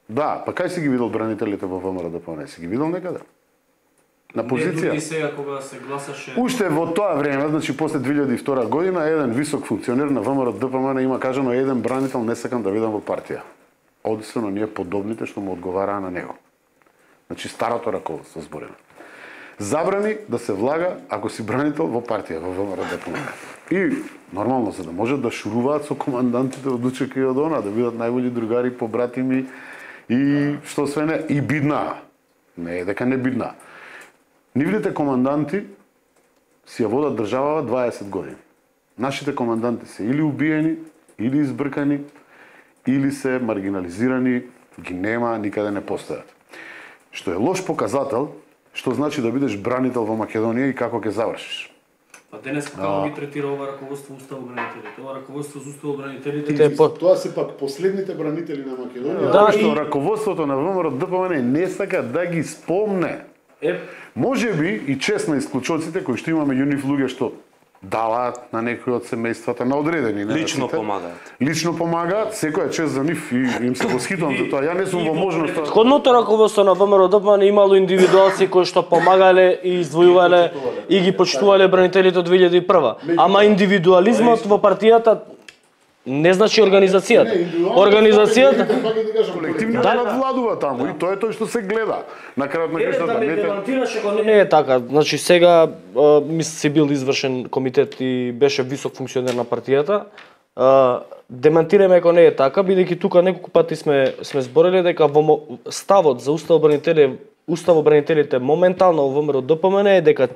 Speaker 3: Да, па кај си ги видел бранителите во ВМРО ДПМН? Си ги видел некаде? На позиција?
Speaker 1: Не, сега кога се гласаше.
Speaker 3: Уште во тоа време, значи после 2002 година, еден висок функционер на ВМРО ДПМН има кажано еден бранител не сакам да видам во партија. Одисено ние подобните што му одговараа на него. Значи старото раководство зборено. Забрани да се влага ако си бранител во партија, во ВМРО ДПМН. И нормално за да можат да шуруваат со командантите од УЧК и од она, да бидат најболи другари, побратими и што све не, и бидна. Не е дека не бидна. Нивните команданти си ја водат државава 20 години. Нашите команданти се или убиени, или избркани, или се маргинализирани, ги нема, никаде не постојат. Што е лош показател, што значи да бидеш бранител во Македонија и како ќе завршиш.
Speaker 1: А денес како ги третира ова раководство уставобранителите? Ова раководство за уставобранителите
Speaker 2: Тоа се пак последните бранители на Македонија.
Speaker 3: Да, што раководството на ВМРО ДПМН не сака да ги спомне. Може би и чест на исклучоците кои што има меѓу нив луѓе што даваат на некои од семејствата, на одредени.
Speaker 4: Лично помагаат.
Speaker 3: Лично помагаат, секоја чест за нив и им се восхитувам за тоа. Ја не сум во можност.
Speaker 1: Предходното раководство на ВМРО ДПМН имало индивидуалци кои што помагале и издвојувале и ги почитувале бранителите од 2001. Ама индивидуализмот во партијата не значи организацијата. Организацијата
Speaker 3: колективно надвладува таму и тоа е тоа што се гледа. На крајот на крајштата
Speaker 1: не е така. Значи сега си бил извршен комитет и беше висок функционер на партијата. Демантираме ако не е така, бидејќи тука неколку пати сме збореле дека во ставот за уставобранителите моментално во ВМРО ДПМН е дека,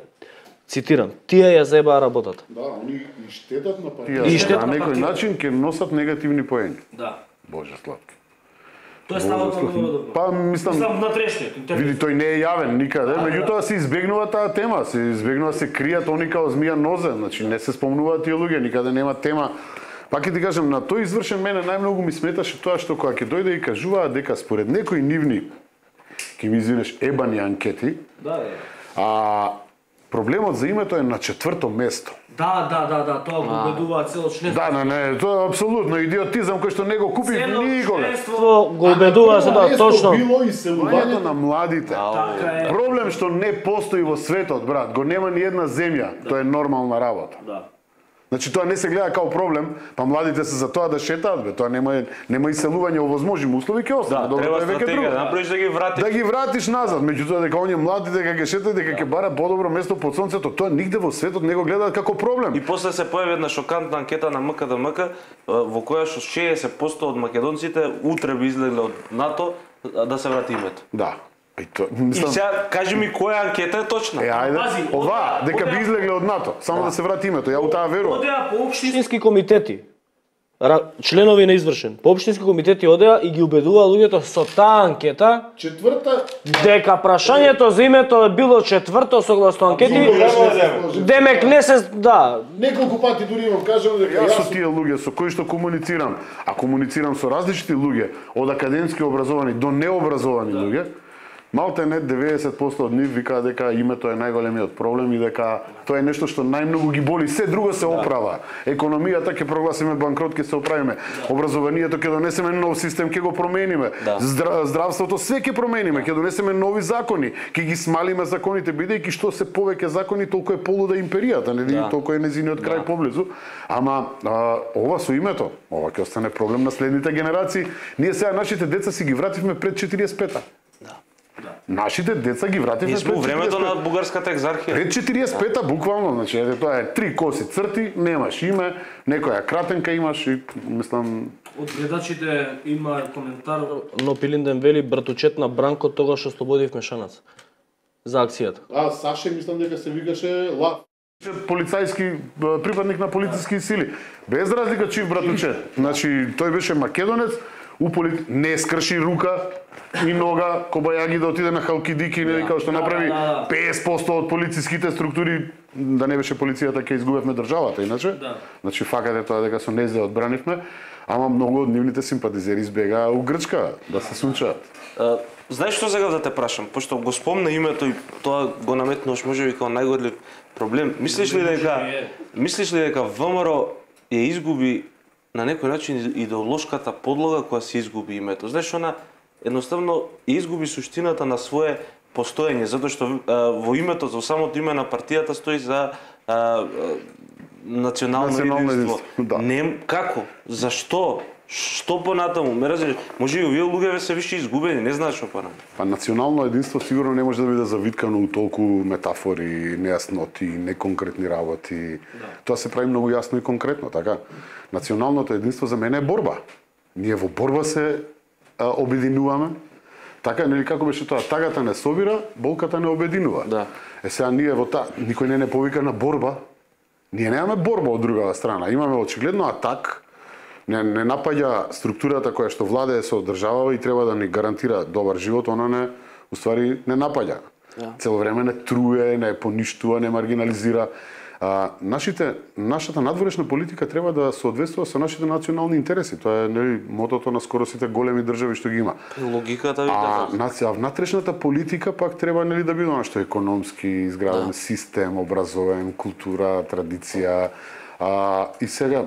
Speaker 1: цитирам, тие ја заебаа работата.
Speaker 2: Да, они и штетат на
Speaker 3: партијата. И штетат на некој начин ќе носат негативни поени.
Speaker 1: Да.
Speaker 3: Боже сладки.
Speaker 1: Тоа е ставот на ВМРО ДПМН.
Speaker 3: Па мислам
Speaker 1: на трешниот интервју.
Speaker 3: Види, тој не е јавен никаде, меѓутоа се избегнува таа тема, се избегнува се кријат они као змија нозе, значи не се спомнуваат тие луѓе, никаде нема тема. Пак ќе ти кажам, на тој извршен мене најмногу ми сметаше тоа што кога ќе дојде и кажуваат дека според некои нивни, ќе ми извинеш, ебани анкети, проблемот за името е на 4-то место.
Speaker 1: Да, тоа го убедуваат цело членство.
Speaker 3: Да, не, тоа е апсолутно идиотизам кој што не го купи никога.
Speaker 1: Членство го убедува се да точно.
Speaker 2: Било иселувањето
Speaker 3: на младите. Проблем што не постои во светот, брат, го нема ни една земја, тоа е нормална работа.
Speaker 1: Да.
Speaker 3: Значи тоа не се гледа како проблем, па младите се за тоа да шетаат, бе, тоа нема иселување во возможни услови, ќе остане.
Speaker 4: Треба стратегија, да направиш да ги вратиш.
Speaker 3: Да ги вратиш назад, меѓутоа дека оние млади дека ќе шетаат, дека ќе барат подобро место под сонцето, тоа нигде во светот не го гледаат како проблем.
Speaker 4: И после се појави една шокантна анкета на МКДМК во која што 60% од македонците утре би излегле од НАТО да се врати името.
Speaker 3: Да.
Speaker 4: И сега кажи ми која анкета е точна.
Speaker 3: Ајде, ова дека би излегле од НАТО, само да се врати името, ја у таа верувам.
Speaker 1: Одеа по општински комитети, членови на извршен, по општински комитети одеа и ги убедува луѓето со таа анкета, дека прашањето за името е било четврто согласно анкети, демек не се, да.
Speaker 2: Неколку пати дури имам кажано дека
Speaker 3: јас со тие луѓе со кои што комуницирам, а комуницирам со различни луѓе, од академски образовани до необразовани луѓе, малте не 90% од нив викаат дека името е најголемиот проблем и дека тоа е нешто што најмногу ги боли. Се друго се оправа. Економијата ќе прогласиме банкрот, ќе се оправиме. Образованието ќе донесеме нов систем, ќе го промениме. Здравството све ќе промениме, ќе донесеме нови закони, ќе ги смалиме законите, бидејќи што се повеќе закони, толку е полуда империјата, нели? Толку е незиниот крај поблизу. Ама ова со името, ова ќе остане проблем на следните генерации. Ние сега нашите деца си ги вративме пред 45-та. Нашите деца ги вративме
Speaker 4: пред 45-та. Ние сме времето на бугарската екзархија.
Speaker 3: Пред 45-та буквално, значи тоа е 3 коси црти, немаш име, некоја кратенка имаш и мислам.
Speaker 1: Од гледачите има коментар, но Пилинден вели братучет на Бранко тогаш ослободив Мешанац за акцијата.
Speaker 2: Саше мислам дека се викаше Лав.
Speaker 3: Полицајски припадник на полициски сили. Без разлика чив братучет. Значи тој беше македонец, не скрши рука и нога Кобајаги да отиде на Халкидики, нели како што направи 50% од полициските структури, да не беше полицијата ќе изгубевме државата иначе. Значи факат е тоа дека со незе одбранивме, ама многу од нивните симпатизери избегаа у Грчка да се сунчаат.
Speaker 4: Знаеш што сега да те прашам, пошто го спомна името и тоа го наметнуваш можеби како најголем проблем. Мислиш ли дека ВМРО ја изгуби на некој начин идеолошката подлога која се изгуби името? Знаеш, она едноставно изгуби суштината на свое постоење, затоа што во името, во самото име на партијата стои за национално единство. Не, како? Зашто? Што понатаму? Ме разбираш, може и овие луѓе се више изгубени, не знаеш што понатаму.
Speaker 3: Па национално единство сигурно не може да биде завиткано у толку метафори, нејасноти, неконкретни работи. Тоа се прави многу јасно и конкретно, така? Националното единство за мене е борба. Ние во борба се обединуваме, Така, нели како беше тоа, тагата не собира, болката не обединува.
Speaker 4: Да.
Speaker 3: Сега ние во никој не повика на борба. Ние немаме борба од другата страна. Имаме очигледно атак, не напаѓа структурата која што владее со државава и треба да ни гарантира добар живот, она не, уствари не напаѓа. Цело време не труе, не поништува, не маргинализира. Нашата надворешна политика треба да соодветствува со нашите национални интереси. Тоа е нели мотото на скоро сите големи држави што ги има.
Speaker 4: Логиката ви така.
Speaker 3: Внатрешната политика пак треба нели да биде нешто економски изграден систем, образовен, култура, традиција. И сега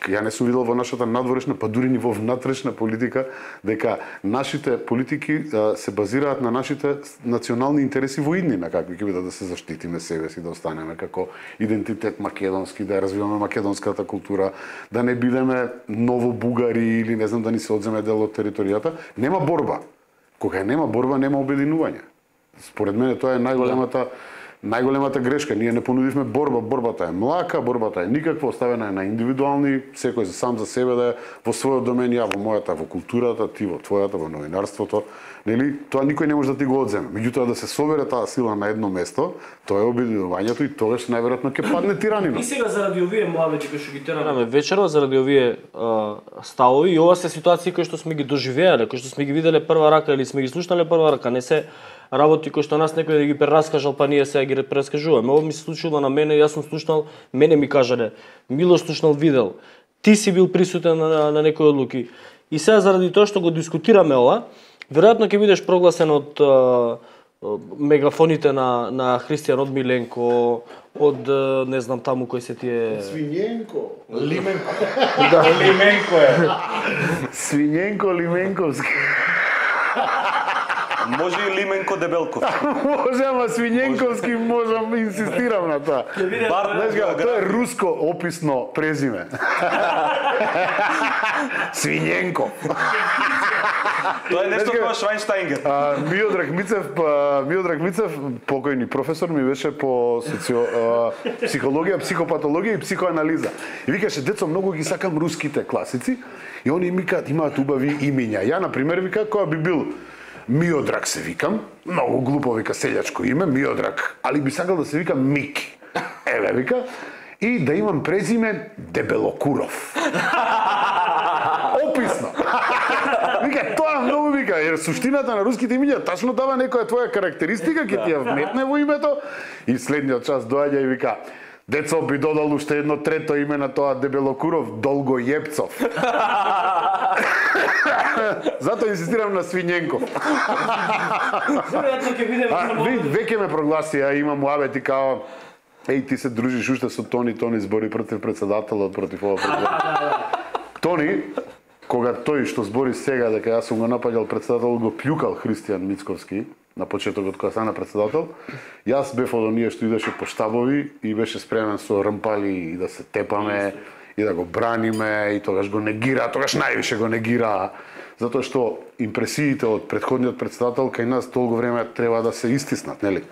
Speaker 3: ја не сум видел во нашата надворешна, па дури ни во внатрешна политика, дека нашите политики се базираат на нашите национални интереси во иднина, какви ќе бидат да се заштитиме себе си, да останеме како идентитет македонски, да ја развиваме македонската култура, да не бидеме ново бугари или не знам да ни се одземе дел од територијата. Нема борба. Кога нема борба, нема обединување. Според мене тоа е најголемата грешка. Ние не понудивме борба, борбата е млака, борбата е никаква, оставена е на индивидуални, секој сам за себе да е во својот домен, ја во мојата, во културата, ти во твојата, во новинарството. Нели, тоа никој не може да ти го одземе. Меѓутоа да се собере таа сила на едно место, тоа е обединувањето и тогаш најверојатно ќе падне тиранино.
Speaker 1: И сега заради овие муабети кои што ги тераме вечерва, заради овие ставови и ова се ситуации кои што сме ги доживеале, кои што сме ги виделе прва рака или сме ги слушнале прва рака, не се работи кои што нас некој да ги прераскажал, па ние сега ги прераскажуваме. Ова ми се случило на мене, јас сум слушнал, мене ми кажале, Милош слушнал, видел, ти си бил присутен на некои одлуки. И сега заради тоа што го дискутираме ова, веројатно ќе бидеш прогласен од мегафоните на Христијан, од Миленко, од не знам таму кој се тие
Speaker 2: Свинјенко.
Speaker 5: Лименко.
Speaker 1: Да,
Speaker 5: Лименко е.
Speaker 3: Свинјенко Лименковски.
Speaker 4: Може и Лименко Дебелков.
Speaker 3: Може, ама Свинјенковски можам, инсистирам на тоа. Знаеш га, тоа е руско описно презиме. Свинјенко.
Speaker 4: Тоа е нешто како Швајнштајнгер.
Speaker 3: Миодраг Мицев, покојни професор, ми беше по психологија, психопатологија и психоанализа. И викаше, децо, многу ги сакам руските класици и они имаат убави имиња. Ја, например, вика, која би бил Миодраг се викам, многу глупо вика селјачко име, Миодраг, али би сакал да се викам Мики. Еве вика, и да имам презиме Дебелокуров. Описно. Вика, тоа многу вика, jer суштината на руските имиња тачно дава некоја твоја карактеристика, ќе ти ја вметне во името и следниот час доаѓа и вика, децо, би додал уште едно трето име на тоа Дебелокуров, Долгојепцов. Затоа инсистирам на Свинјенков. Веќе ме прогласи, имам муабети као ти се дружиш уште со Тони збори против председателот, против ова Тони, кога тој што збори сега дека јас сум го напаѓал председател, го плюкал Христијан Мицковски на почетокот кога стана председател, јас бев од оние што идеше по штабови и беше спремен со рмпали и да се тепаме и да го браниме и тогаш го негира, тогаш највише го негира, затоа што импресиите од претходниот председател кај нас толку време треба да се истиснат, нели?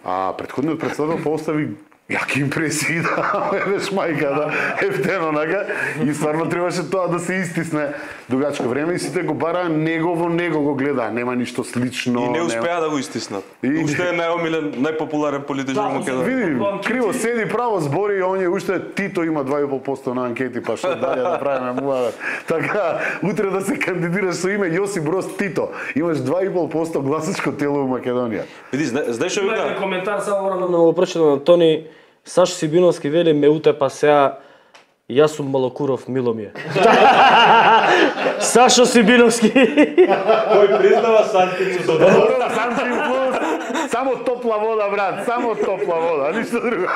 Speaker 3: А претходниот председател поостави јаки импресии, да, беше мајка, да, ефтено, нага, и стварно требаше тоа да се истисне дугачко време и сите го бараа него го гледаа, нема ништо слично.
Speaker 4: И не успеа да го истиснат. Уште е најомилен, најпопуларен политичар во Македонија.
Speaker 3: Види, криво седи, право збори, и оние уште Тито има 2,5% на анкети, па што дале да правиме муавет. Така, утре да се кандидираш со име Јосип Брос Тито, имаш 2,5% гласачко тело во Македонија.
Speaker 4: Види, знаеш што вика?
Speaker 1: Коментар само морам да го прочитам на Тони. Саш Сибиновски вели, ме утепа сега, јас сум Малокуров, мило ми е. Сашо Сибиновски.
Speaker 5: Кој признава Сантицу до
Speaker 3: Добро, Сантин плюс, само топла вода, брат, само топла вода, ништо друго.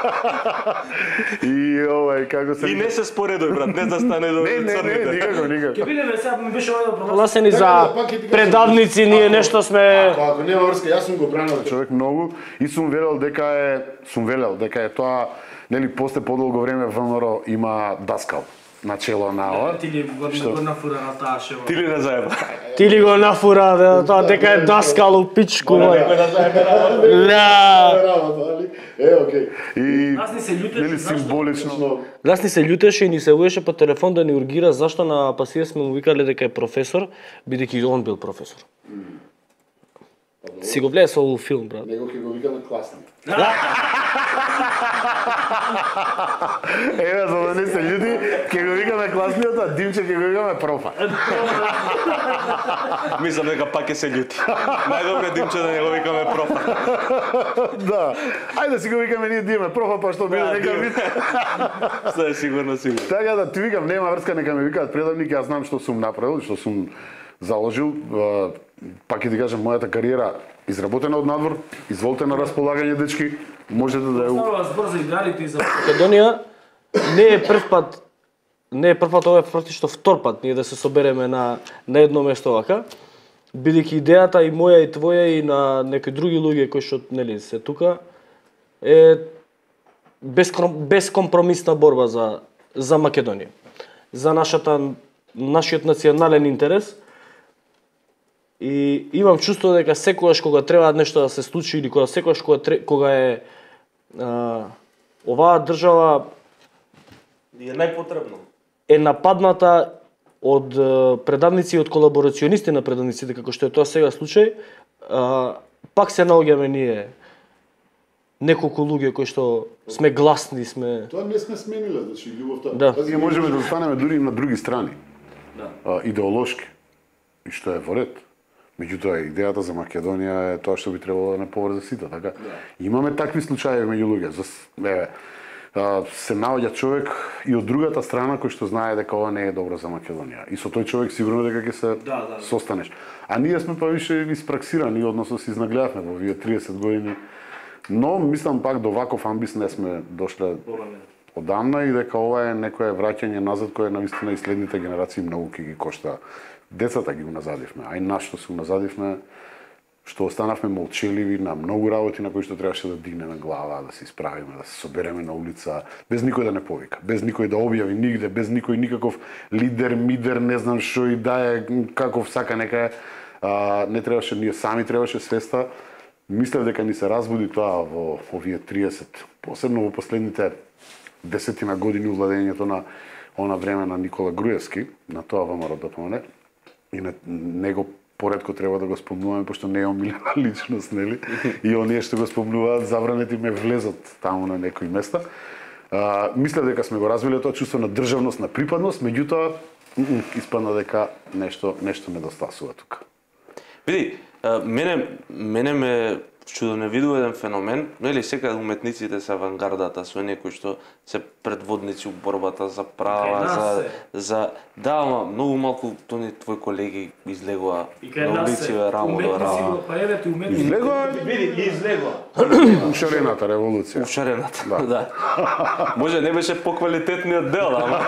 Speaker 3: И овај, како се...
Speaker 4: И не се споредој, брат, не да стане до црните.
Speaker 3: Не, никако.
Speaker 1: Ке видиме сега, ми беше овај прогласени за предавници, ние нешто сме...
Speaker 2: Ако нема врска, јас сум го бранал
Speaker 3: човек многу и сум велел дека е тоа, нели, после подолго време ВМРО има даскал начело на ова.
Speaker 1: Ти ли го нафура на таа шева?
Speaker 4: Ти ли не заеба?
Speaker 1: Ти ли го нафура, тоа дека е даскал у пичку, мој.
Speaker 2: Некој да заеме работа.
Speaker 1: Да.
Speaker 2: Работа, али окей.
Speaker 3: И
Speaker 1: Нас ни се љутеше,
Speaker 3: нели символично.
Speaker 1: Нас ни се љутеше и ни се уеше по телефон да ни ургира зашто на пасија сме му викале дека е професор, бидејќи он бил професор. Си го гледа со овој филм, брат.
Speaker 2: Него ќе го вика на класник.
Speaker 3: Еве, за да не се људи, ќе го викаме класниот, а Димче ќе го викаме профа.
Speaker 4: Мислам дека пак ќе се љути. Најдобре Димче да не го викаме профа.
Speaker 3: Да. Ајде да си го викаме ние Диме профа, па што биде нека вид.
Speaker 4: Се сигурно.
Speaker 3: Така да ти викам, нема врска, нека ме викаат предавник, јас знам што сум направил, што сум заложил. Пак ќе ти кажам, мојата кариера изработена од надвор, изволте на располагање, дечки, можете да ја...
Speaker 1: Става збор за игралите и за Македонија, не е прв пат, ова е практично втор пат ние да се собереме на едно место вака, бидејќи идејата и моја и твоја и на некои други луѓе кои што нели се тука е безкомпромисна борба за Македонија, за нашиот национален интерес. И имам чувство дека секогаш кога треба нешто да се случи или секогаш кога е оваа држава
Speaker 4: е најпотребно.
Speaker 1: Е нападната од предавници и од колаборационисти на предавниците, како што е тоа сега случај, пак се наоѓаме ние неколку луѓе кои што сме гласни, сме...
Speaker 2: Тоа не сме смениле, значи љубовта.
Speaker 1: Да.
Speaker 3: Ние можеме да останеме дури и на други страни.
Speaker 1: Да.
Speaker 3: Идеолошки. И што е во ред. Меѓутоа, идејата за Македонија е тоа што би требало да не поврзе сите, така? Да. Имаме такви случаи меѓу луѓе. Се наоѓа човек и од другата страна кој што знае дека ова не е добро за Македонија. И со тој човек сигурно дека ќе се состанеш. А ние сме па више испраксирани, односно се изнагледавме во овие 30 години. Но мислам пак до ваков амбис не сме дошле одамна и дека ова е некое враќање назад кое навистина и следните генерации многу ќе ги кошта. Децата ги уназадивме, а и нас што се уназадивме, што останавме молчеливи на многу работи на кои што требаше да дигнеме глава, да се исправиме, да се собереме на улица, без никој да не повика, без никој да објави нигде, без никој никаков лидер, мидер, не знам што и да е, каков сака нека е. Не требаше, ние сами требаше свеста. Мислев дека ни се разбуди тоа во овие 30, посебно во последните 10 години владењето на она време на Никола Груевски, на тоа ВМРО ДПМН. И на него поредко треба да го спомнуваме, пошто не е омилена личност, нели? И оние што го спомнуваат, забранети ме влезат таму на некои места. Мислев дека сме го развиле тоа чувство на државност, на припадност, меѓутоа испадна дека нешто недостасува тука.
Speaker 4: Види, мене ме чудо не видува еден феномен, нели секаде уметниците се авангардата, со некои што се предводници у борбата за права, да, ама многу малку тони твои колеги излегува на улиците рамо до рамо.
Speaker 3: Излегува?
Speaker 1: Види, излегува.
Speaker 3: Ушарената револуција.
Speaker 4: Ушарената, да. Може не беше поквалитетниот дел, ама...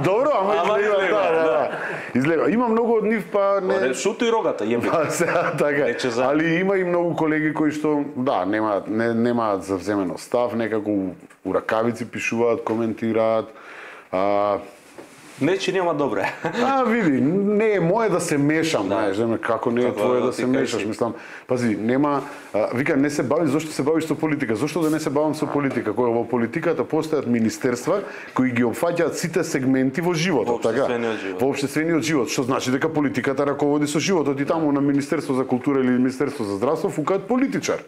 Speaker 3: Добро, ама излегува, да. Излегува. Има многу од нив, па не...
Speaker 4: Шуто и рогата, јеби.
Speaker 3: Така, али има и многу колеги кои што, да, немаат завземено став, некако у ракавици пишуваат, коментираат.
Speaker 4: Не че нема добре.
Speaker 3: Види, не е мое да се мешам, знаеш, како не е твое да се мешаш, мислам. Пази, нема, вика не се бави, зошто се бавиш со политика? Зошто да не се бавам со политика? Кога во политиката постојат министерства кои ги опфаќаат сите сегменти во животот, така? Во општествениот живот, што значи дека политиката раководи со животот и таму на Министерство за култура или Министерство за здравство фукаат политичар.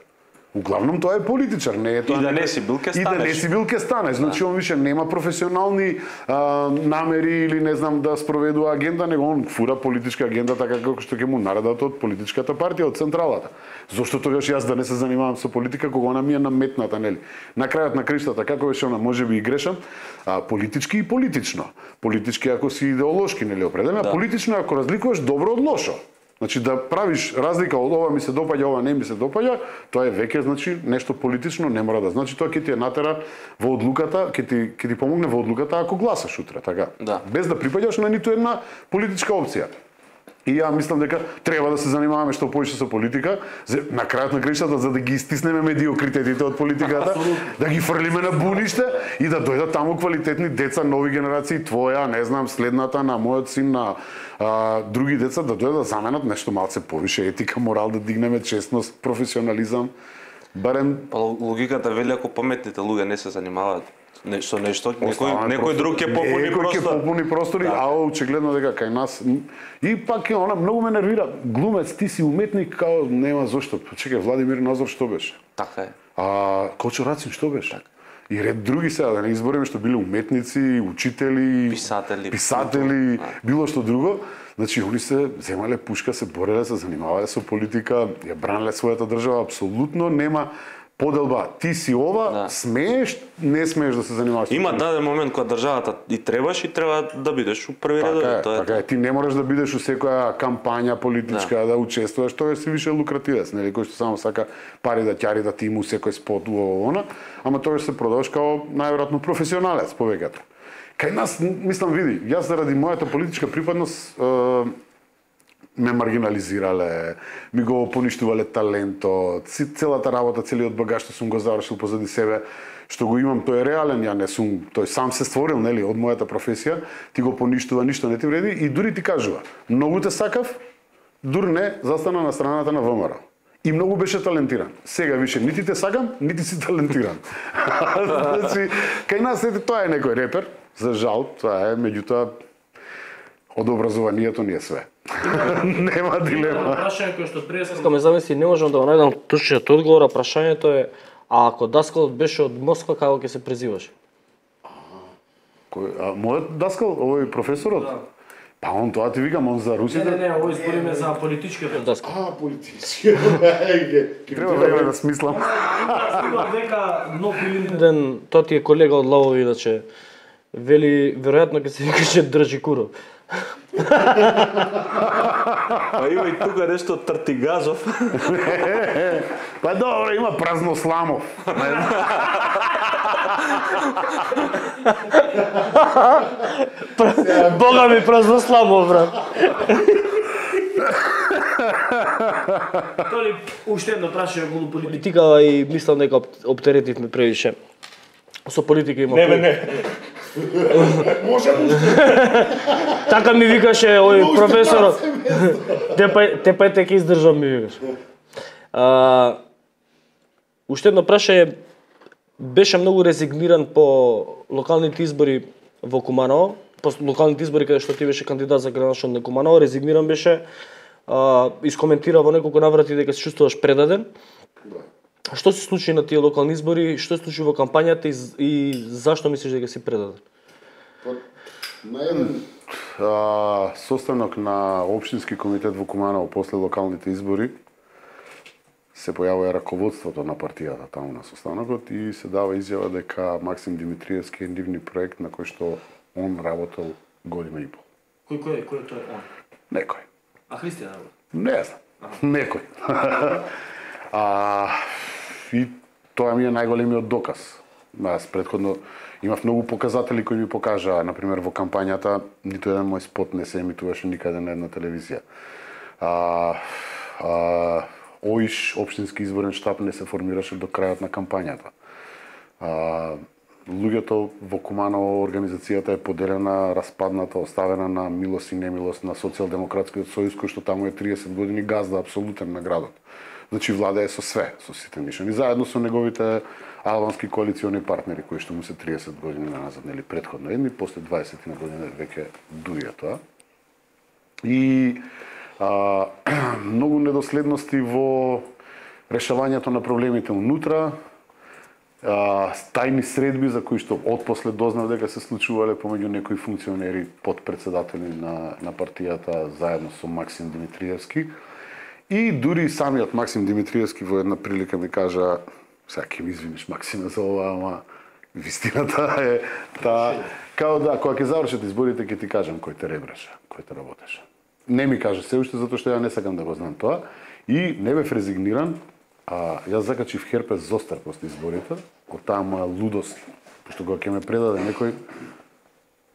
Speaker 3: Углавном тоа е политичар, не е тоа.
Speaker 4: И да не си бил ке станеш.
Speaker 3: И да не си бил ке станеш. Значи он више нема професионални намери или не знам да спроведува агенда, него он фура политичка агенда така како што ќе му наредат од политичката партија, од централата. Зошто тогаш јас да не се занимавам со политика кога она ми е наметната, нели? На крајот на криштата како беше она, можеби и грешам, политички и политично. Политички ако си идеолошки, нели, определено, политично ако разликуваш добро од лошо. Значи да правиш разлика од ова ми се допаѓа, ова не ми се допаѓа, тоа е веќе значи нешто политично, не мора да значи тоа ќе ти натера во одлуката, ќе ти помогне во одлуката ако гласаш утре, така.
Speaker 4: Да.
Speaker 3: Без да припаѓаш на ниту една политичка опција. И ја мислам дека треба да се занимаваме што повеќе со политика, на крајот на краиштата за да ги истиснеме медиокритетите од политиката, да ги фрлиме на буниште и да дојдат таму квалитетни деца, нови генерации, твоја, не знам, следната на мојот син, на други деца да дојдат да заменат нешто малце повише етика, морал, да дигнеме честност, професионализам. Барем
Speaker 4: Па логиката вели ако паметните луѓе не се занимаваат со нешто, некој друг ќе попуни
Speaker 3: Некој ќе попуни простори, а очигледно дека кај нас и пак е она многу ме нервира. Глумец, ти си уметник, као нема зошто. Чекај, Владимир Назор што беше?
Speaker 4: Така е.
Speaker 3: А Кочо Рацин што беше? И ред други сега, да не избориме што биле уметници, учители, писатели, било што друго. Значи, они се земале пушка, се бореле, се занимавале со политика, ја бранеле својата држава, апсолутно нема поделба. Ти си ова, смееш, не смееш да се занимаваш.
Speaker 4: Има даден момент кога државата и треба да бидеш у први ред.
Speaker 3: Така е, ти не можеш да бидеш у секоја кампања политичка, да учествуваш, тоа си више лукративец, нели, кој што само сака пари да ќари, да ти му секој спот она, ама тоа се продаваш као најверојатно професионалец повеќето. Кај нас, мислам, види, јас заради мојата политичка припадност ме маргинализирале, ми го поништувале талентот, целата работа, целиот багаж што сум го завршил позади себе, што го имам, тој е реален, ја не сум, тој сам се створил, нели, од мојата професија, ти го поништува, ништо не ти вреди и дури ти кажува, многу те сакав, дури не, застана на страната на ВМРО. И многу беше талентиран. Сега више нити те сакам, нити си талентиран. Значи, кај нас тоа е некој репер, за жал, тоа е, меѓутоа, од образованието ни е све. Нема дилема.
Speaker 1: Прашање кој што пред ме замисли, не можам да го најдам точниот одговор, а прашањето е, а ако даскалот беше од Москва, како ќе се презиваш?
Speaker 3: Мојот даскал, овој професорот? Да. Па он тоа ти викам, он за русите?
Speaker 1: Не, овој збориме за политичкиот даскал.
Speaker 3: Политичкиот. Треба време да смислам.
Speaker 1: Дека нов ден, тоа ти е колега од Лавови, иначе, вели, веројатно ќе се викаше држи куров.
Speaker 4: А има и тука нешто Тртигазов.
Speaker 3: Па добро, има Празносламов.
Speaker 1: Бога ми Празносламов, брат. Толи, уште едно прашање околу политика и мислам дека оптеретивме превише. Со политика има...
Speaker 5: Не.
Speaker 2: Можам
Speaker 1: Така ми викаше овој професорот. Те ќе издржам, ми викаш. Уште едно прашање, беше многу резигниран по локалните избори во Куманово, по локалните избори каде што ти беше кандидат за градоначелник на Куманово, резигниран беше, искоментира во неколку наврати дека се чувствуваш предаден. Што се случи на тие локални избори, што се случи во кампањата и зашто мислиш дека си предаден?
Speaker 3: На еден состанок на општински комитет во Куманово после локалните избори се појавува раководството на партијата таму на состанокот и се дава изјава дека Максим Димитриевски е нивни проект на кој што он работел година и пол.
Speaker 1: Кој е тој он?
Speaker 3: Некој.
Speaker 1: А Христијан работи?
Speaker 3: Не знам. Некој. И тоа ми е најголемиот доказ. Аз предходно имав многу показатели кои ми покажаа, например во кампањата, ниту еден мој спот не се емитуваше никаде на една телевизија. ОИШ, општински изборен штаб, не се формираше до крајот на кампањата. Луѓето во Куманово, организацијата е поделена, распадната, оставена на милост и немилост на Социјалдемократскиот сојуз, кој што таму е 30 години газда апсолутен на градот. Значи владее со све, со сите мишани, заедно со неговите албански коалициони партнери кои што му се 30 години назад, нели претходно едни, после 20 на години веќе дуја тоа. И многу недоследности во решавањето на проблемите унутра, тајни средби за кои што отпосле дознав дека се случувале помеѓу некои функционери, подпредседатели на партијата заедно со Максим Димитриевски. И дури самиот Максим Димитриевски во една прилика ми кажа, сега ќе ми извиниш Максиме за ова, ама вистината е таа, као да, кога ќе завршат изборите ќе ти кажам кој те ребреше, кој те работеше. Не ми кажа се уште затоа што ја не сакам да го знам тоа и не бев резигниран, јас закачив херпес зостар после изборите, од таа моја лудост, пошто кога ќе ме предаде некој,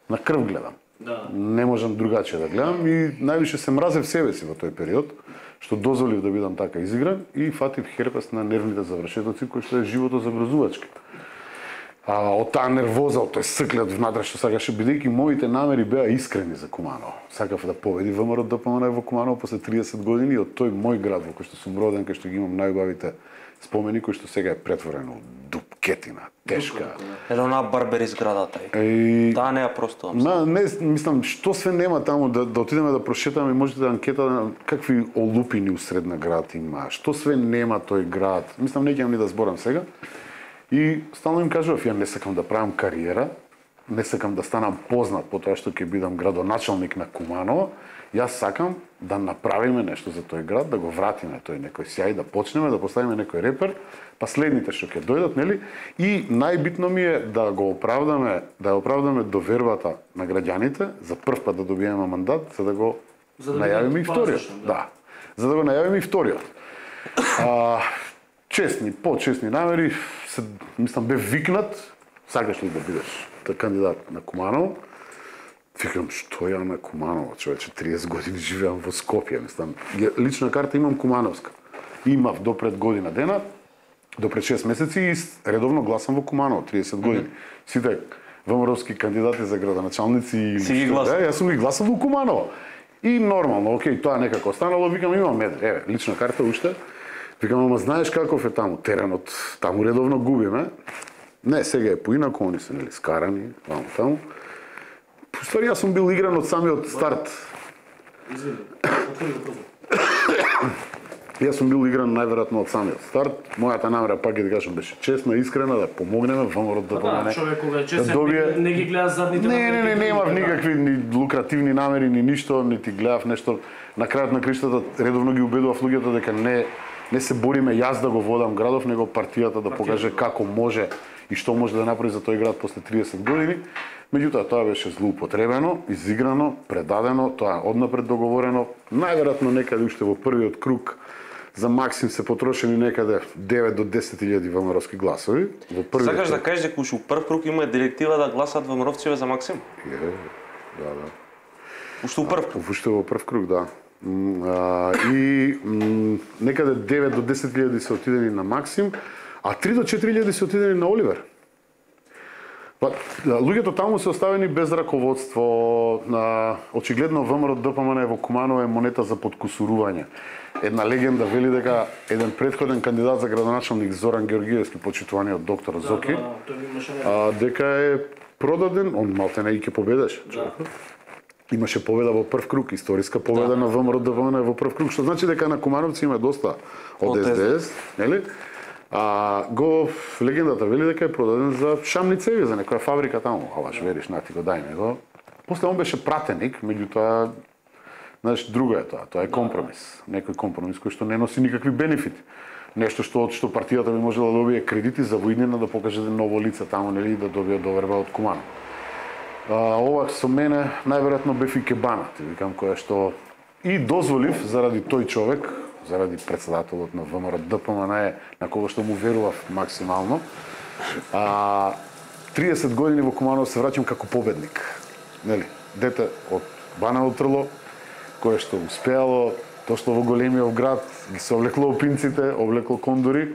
Speaker 3: на крв гледам.
Speaker 1: Да.
Speaker 3: Не можам другачие да гледам и највише се мразев себе си во тој период, што дозволив да бидам така изигран и фатив херпес на нервните завршетоци, кој што е живото загрозувачки. Од таа нервоза, од тој склет внатре што сакаше, бидејќи моите намери беа искрени за Куманово. Сакав да победи ВМРО ДПМН во Куманово после 30 години од тој мој град во кој што сум роден, кај што ги имам најубавите спомени кој што сега е претворено у дупкетина, тешка.
Speaker 4: Еле онаа барбери зградата. Таа не ја просто.
Speaker 3: Не, мислам, што све нема таму да отидеме да прошетаме и можете да анкета какви олупини усред на град има, што све нема тој град. Мислам, не ќе ни да зборам сега. И стално им кажував, ја не сакам да правам кариера, не сакам да станам познат по тоа што ќе бидам градоначалник на Куманово. Јас сакам да направиме нешто за тој град, да го вратиме тој некој сјај, да почнеме, да поставиме некој репер, па следните што ќе дојдат, нели? И најбитно ми е да го оправдаме, довербата на граѓаните, за прв пат да добиеме мандат, за да го најавиме и вториот. Да. За да го најавиме и вториот. Честни, почестни намери, мислам бе викнат, сакаш ли да бидеш кандидат на Куманово? Викам, што ја на Куманово, човече, 30 години живеам во Скопје, мислам. Лична карта имам кумановска. Имав до пред година дена, до пред 6 месеци и редовно гласам во Куманово, 30 години. Сите ВМРО-вски кандидати за градоначалници или
Speaker 4: си ги гласам.
Speaker 3: Јас сум ги гласал во Куманово. И нормално, окей, тоа некако останало, викам, имам медер, еве, лична карта уште. Викам, ама знаеш каков е таму теренот, таму редовно губиме. Не, сега е поинаку, они се нели скарани, таму. Ствари, јас сум бил игран од самиот старт. Јас сум бил игран најверојатно од самиот старт. Мојата намера, пак ќе ти кажам, беше честна, искрена, да помогнеме ВМРО да помогне.
Speaker 1: Човек кога е честен, не ги гледа задните.
Speaker 3: Не, немав никакви ни лукративни намери, ни ништо, нити гледав нешто. На крајот на криштата редовно ги убедував луѓето дека не се бориме јас да го водам градов, него партијата да покаже како може и што може да направи за тој град после 30 години. Меѓутоа, тоа беше злоупотребено, изиграно, предадено, тоа однапред договорено. Најверојатно некаде уште во првиот круг за Максим се потрошени некаде 9 до 10.000 ВМРО-ски гласови. Во првиот.
Speaker 4: Сакаш да кажеш дека уште у прв круг има директива да гласат ВМРО-вците за Максим?
Speaker 3: Да.
Speaker 4: Уште у прв круг?
Speaker 3: Уште во прв круг, да. И некаде 9 до 10.000 се отидени на Максим, а 3 до 4.000 се отидени на Оливер. Луѓето таму се оставени без раководство. Очигледно ВМРО ДПМН во Куманово е монета за подкусурување. Една легенда вели дека еден претходен кандидат за градоначалник Зоран Георгиевски, почитуваниот доктор Зоки, дека е продаден, он малтене и ќе победеше. Имаше победа во прв круг, историска победа на ВМРО ДПМН во прв круг, што значи дека на Кумановци има доста од СДС, нели? Легендата вели дека е продаден за шамни цеви, за некоја фабрика таму. Алаш, вериш, на ти го дај него. После он беше пратеник, меѓутоа, знаеш, друго е тоа. Тоа е компромис. Некој компромис кој што не носи никакви бенефити. Нешто што партијата би можела да добие кредити за воиднина да покаже ново лице таму, нели, да добие доверба од Куманово. Ова со мене најверојатно бев и кебана, ти викам, која што и дозволив заради тој човек, заради председателот на ВМРО ДПМН, на кого што му верував максимално. 30 години во Куманово се враќам како победник. Нели, дете од Банево Трло, кое што успеало, тоа што во големиот град ги се облекло опинците, облекло кондури,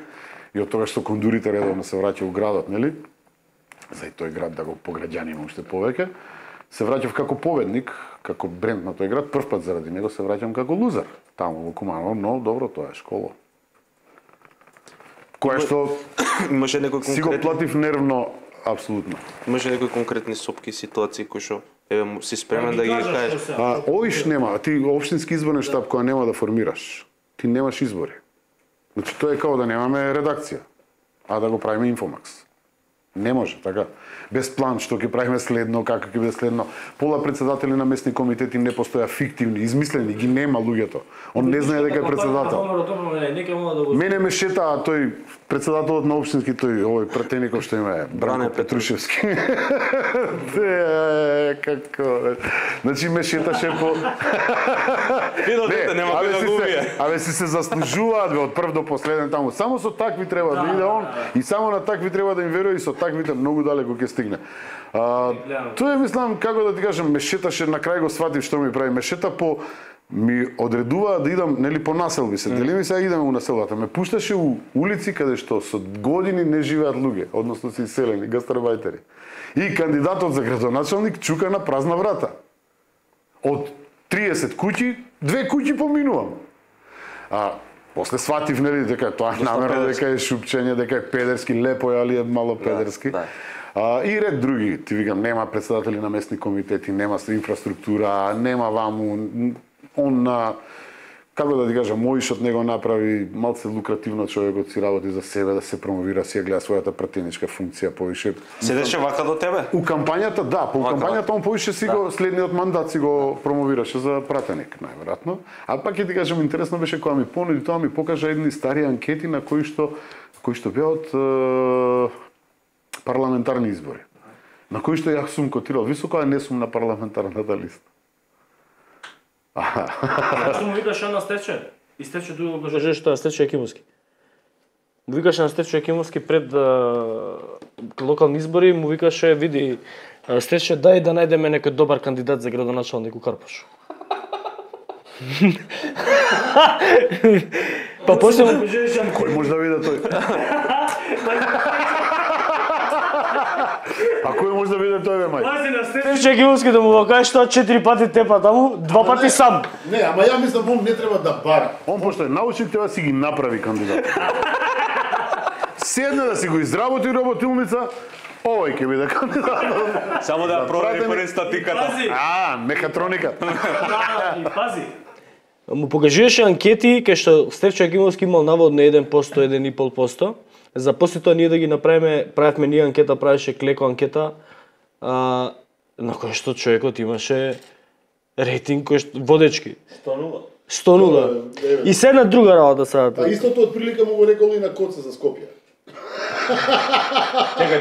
Speaker 3: и од тоа што кондурите редовно се враќаат во градот, нели? За и тој град да го пограѓаниме уште повеќе. Се враќав како победник, како бренд на тој град, прв пат заради него се враќам како лузер таму во Куманово, но добро, тоа е школа. Кое што
Speaker 4: имаше некој конкретни...
Speaker 3: си го платив нервно, апсолутно.
Speaker 4: Имаше некои конкретни сопки ситуации кои што си спремен да ги кажеш?
Speaker 3: Овиш нема, ти општински изборен штаб која нема да формираш. Ти немаш избори. Значи тоа е како да немаме редакција, а да го правиме Инфомакс. Не може, така. Без план што ќе правиме следно, како ќе биде следно. Пола председатели на местни комитети не постоја фиктивни, измислени, ги нема луѓето. Он не знае дека е председател. Мене ме шета тој председателот на општински, тој овој пратеников што има е Бране Петрушевски. Како. Значи ме шеташе по
Speaker 4: Видо дете нема кој да го убие.
Speaker 3: Абе си се заслужуваат од прв до последен таму. Само со такви треба да иде он и само на такви треба да им верува и со таквите многу далеко ќе стигне. Тоа е, мислам, како да ти кажам, ме шеташе, на крај го сватив што ми прави. Ме шета по ми одредуваа да идам, нели, по населби се. Дели ми сега идеме у населбата. Ме пушташе у улици каде што со години не живеат луѓе, односно се иселени, гастарбајтери. И кандидатот за градоначалник чука на празна врата. Од 30 куќи, 2 куќи поминувам. После сватив, нели, дека тоа намерно, дека е шупчење, дека е педерски, лепо е, али е мало педерски. И ред други, ти викам, нема председатели на местни комитети, нема инфраструктура, нема ваму, он како да ти кажам, Моишот него направи малце лукративно, човекот си работи за себе, да се промовира, си ја гледа својата пратеничка функција повише.
Speaker 4: Седеше вака до тебе?
Speaker 3: У кампањата, да, по кампањата он повише си го следниот мандат си го промовираше за пратеник, најверојатно. А пак ќе ти кажам, интересно беше кога ми понуди тоа, ми покажа едни стари анкети на кои што беа од парламентарни избори. На кои што ја сум котирал високо, а не сум на парламентарната листа.
Speaker 1: Зашто му викаше на Стече? И Стече друго го кажеш тоа Стече Екимовски. Му викаше на Стече Екимовски пред локални избори, му викаше, види, Стече, дај да најдеме некој добар кандидат за градоначалник у Карпош. Па после му кажеш,
Speaker 3: кој може да види тој? А кој може да биде тој, бе, мај?
Speaker 1: Пази на Стече Екимовски да му го кажеш тоа 4 пати тепа таму, 2 пати сам.
Speaker 2: Не, ама ја мислам, он не треба да бара.
Speaker 3: Он пошто е научник, треба си ги направи кандидат. Седне да си го изработи работилница, овој ќе биде кандидат.
Speaker 4: Само да провери пред статиката.
Speaker 3: Мехатроника.
Speaker 1: И пази. Му покажуваше анкети кај што Стече Екимовски имал наводно 1%, 1,5%. За после тоа ние да ги правевме ние анкета, правеше Клеко анкета, на кој што човекот имаше рейтинг кој што водечки. 100-0. И се една друга работа сега.
Speaker 2: А истото од прилика му го рекол и на Коце за Скопје.
Speaker 5: Чекај.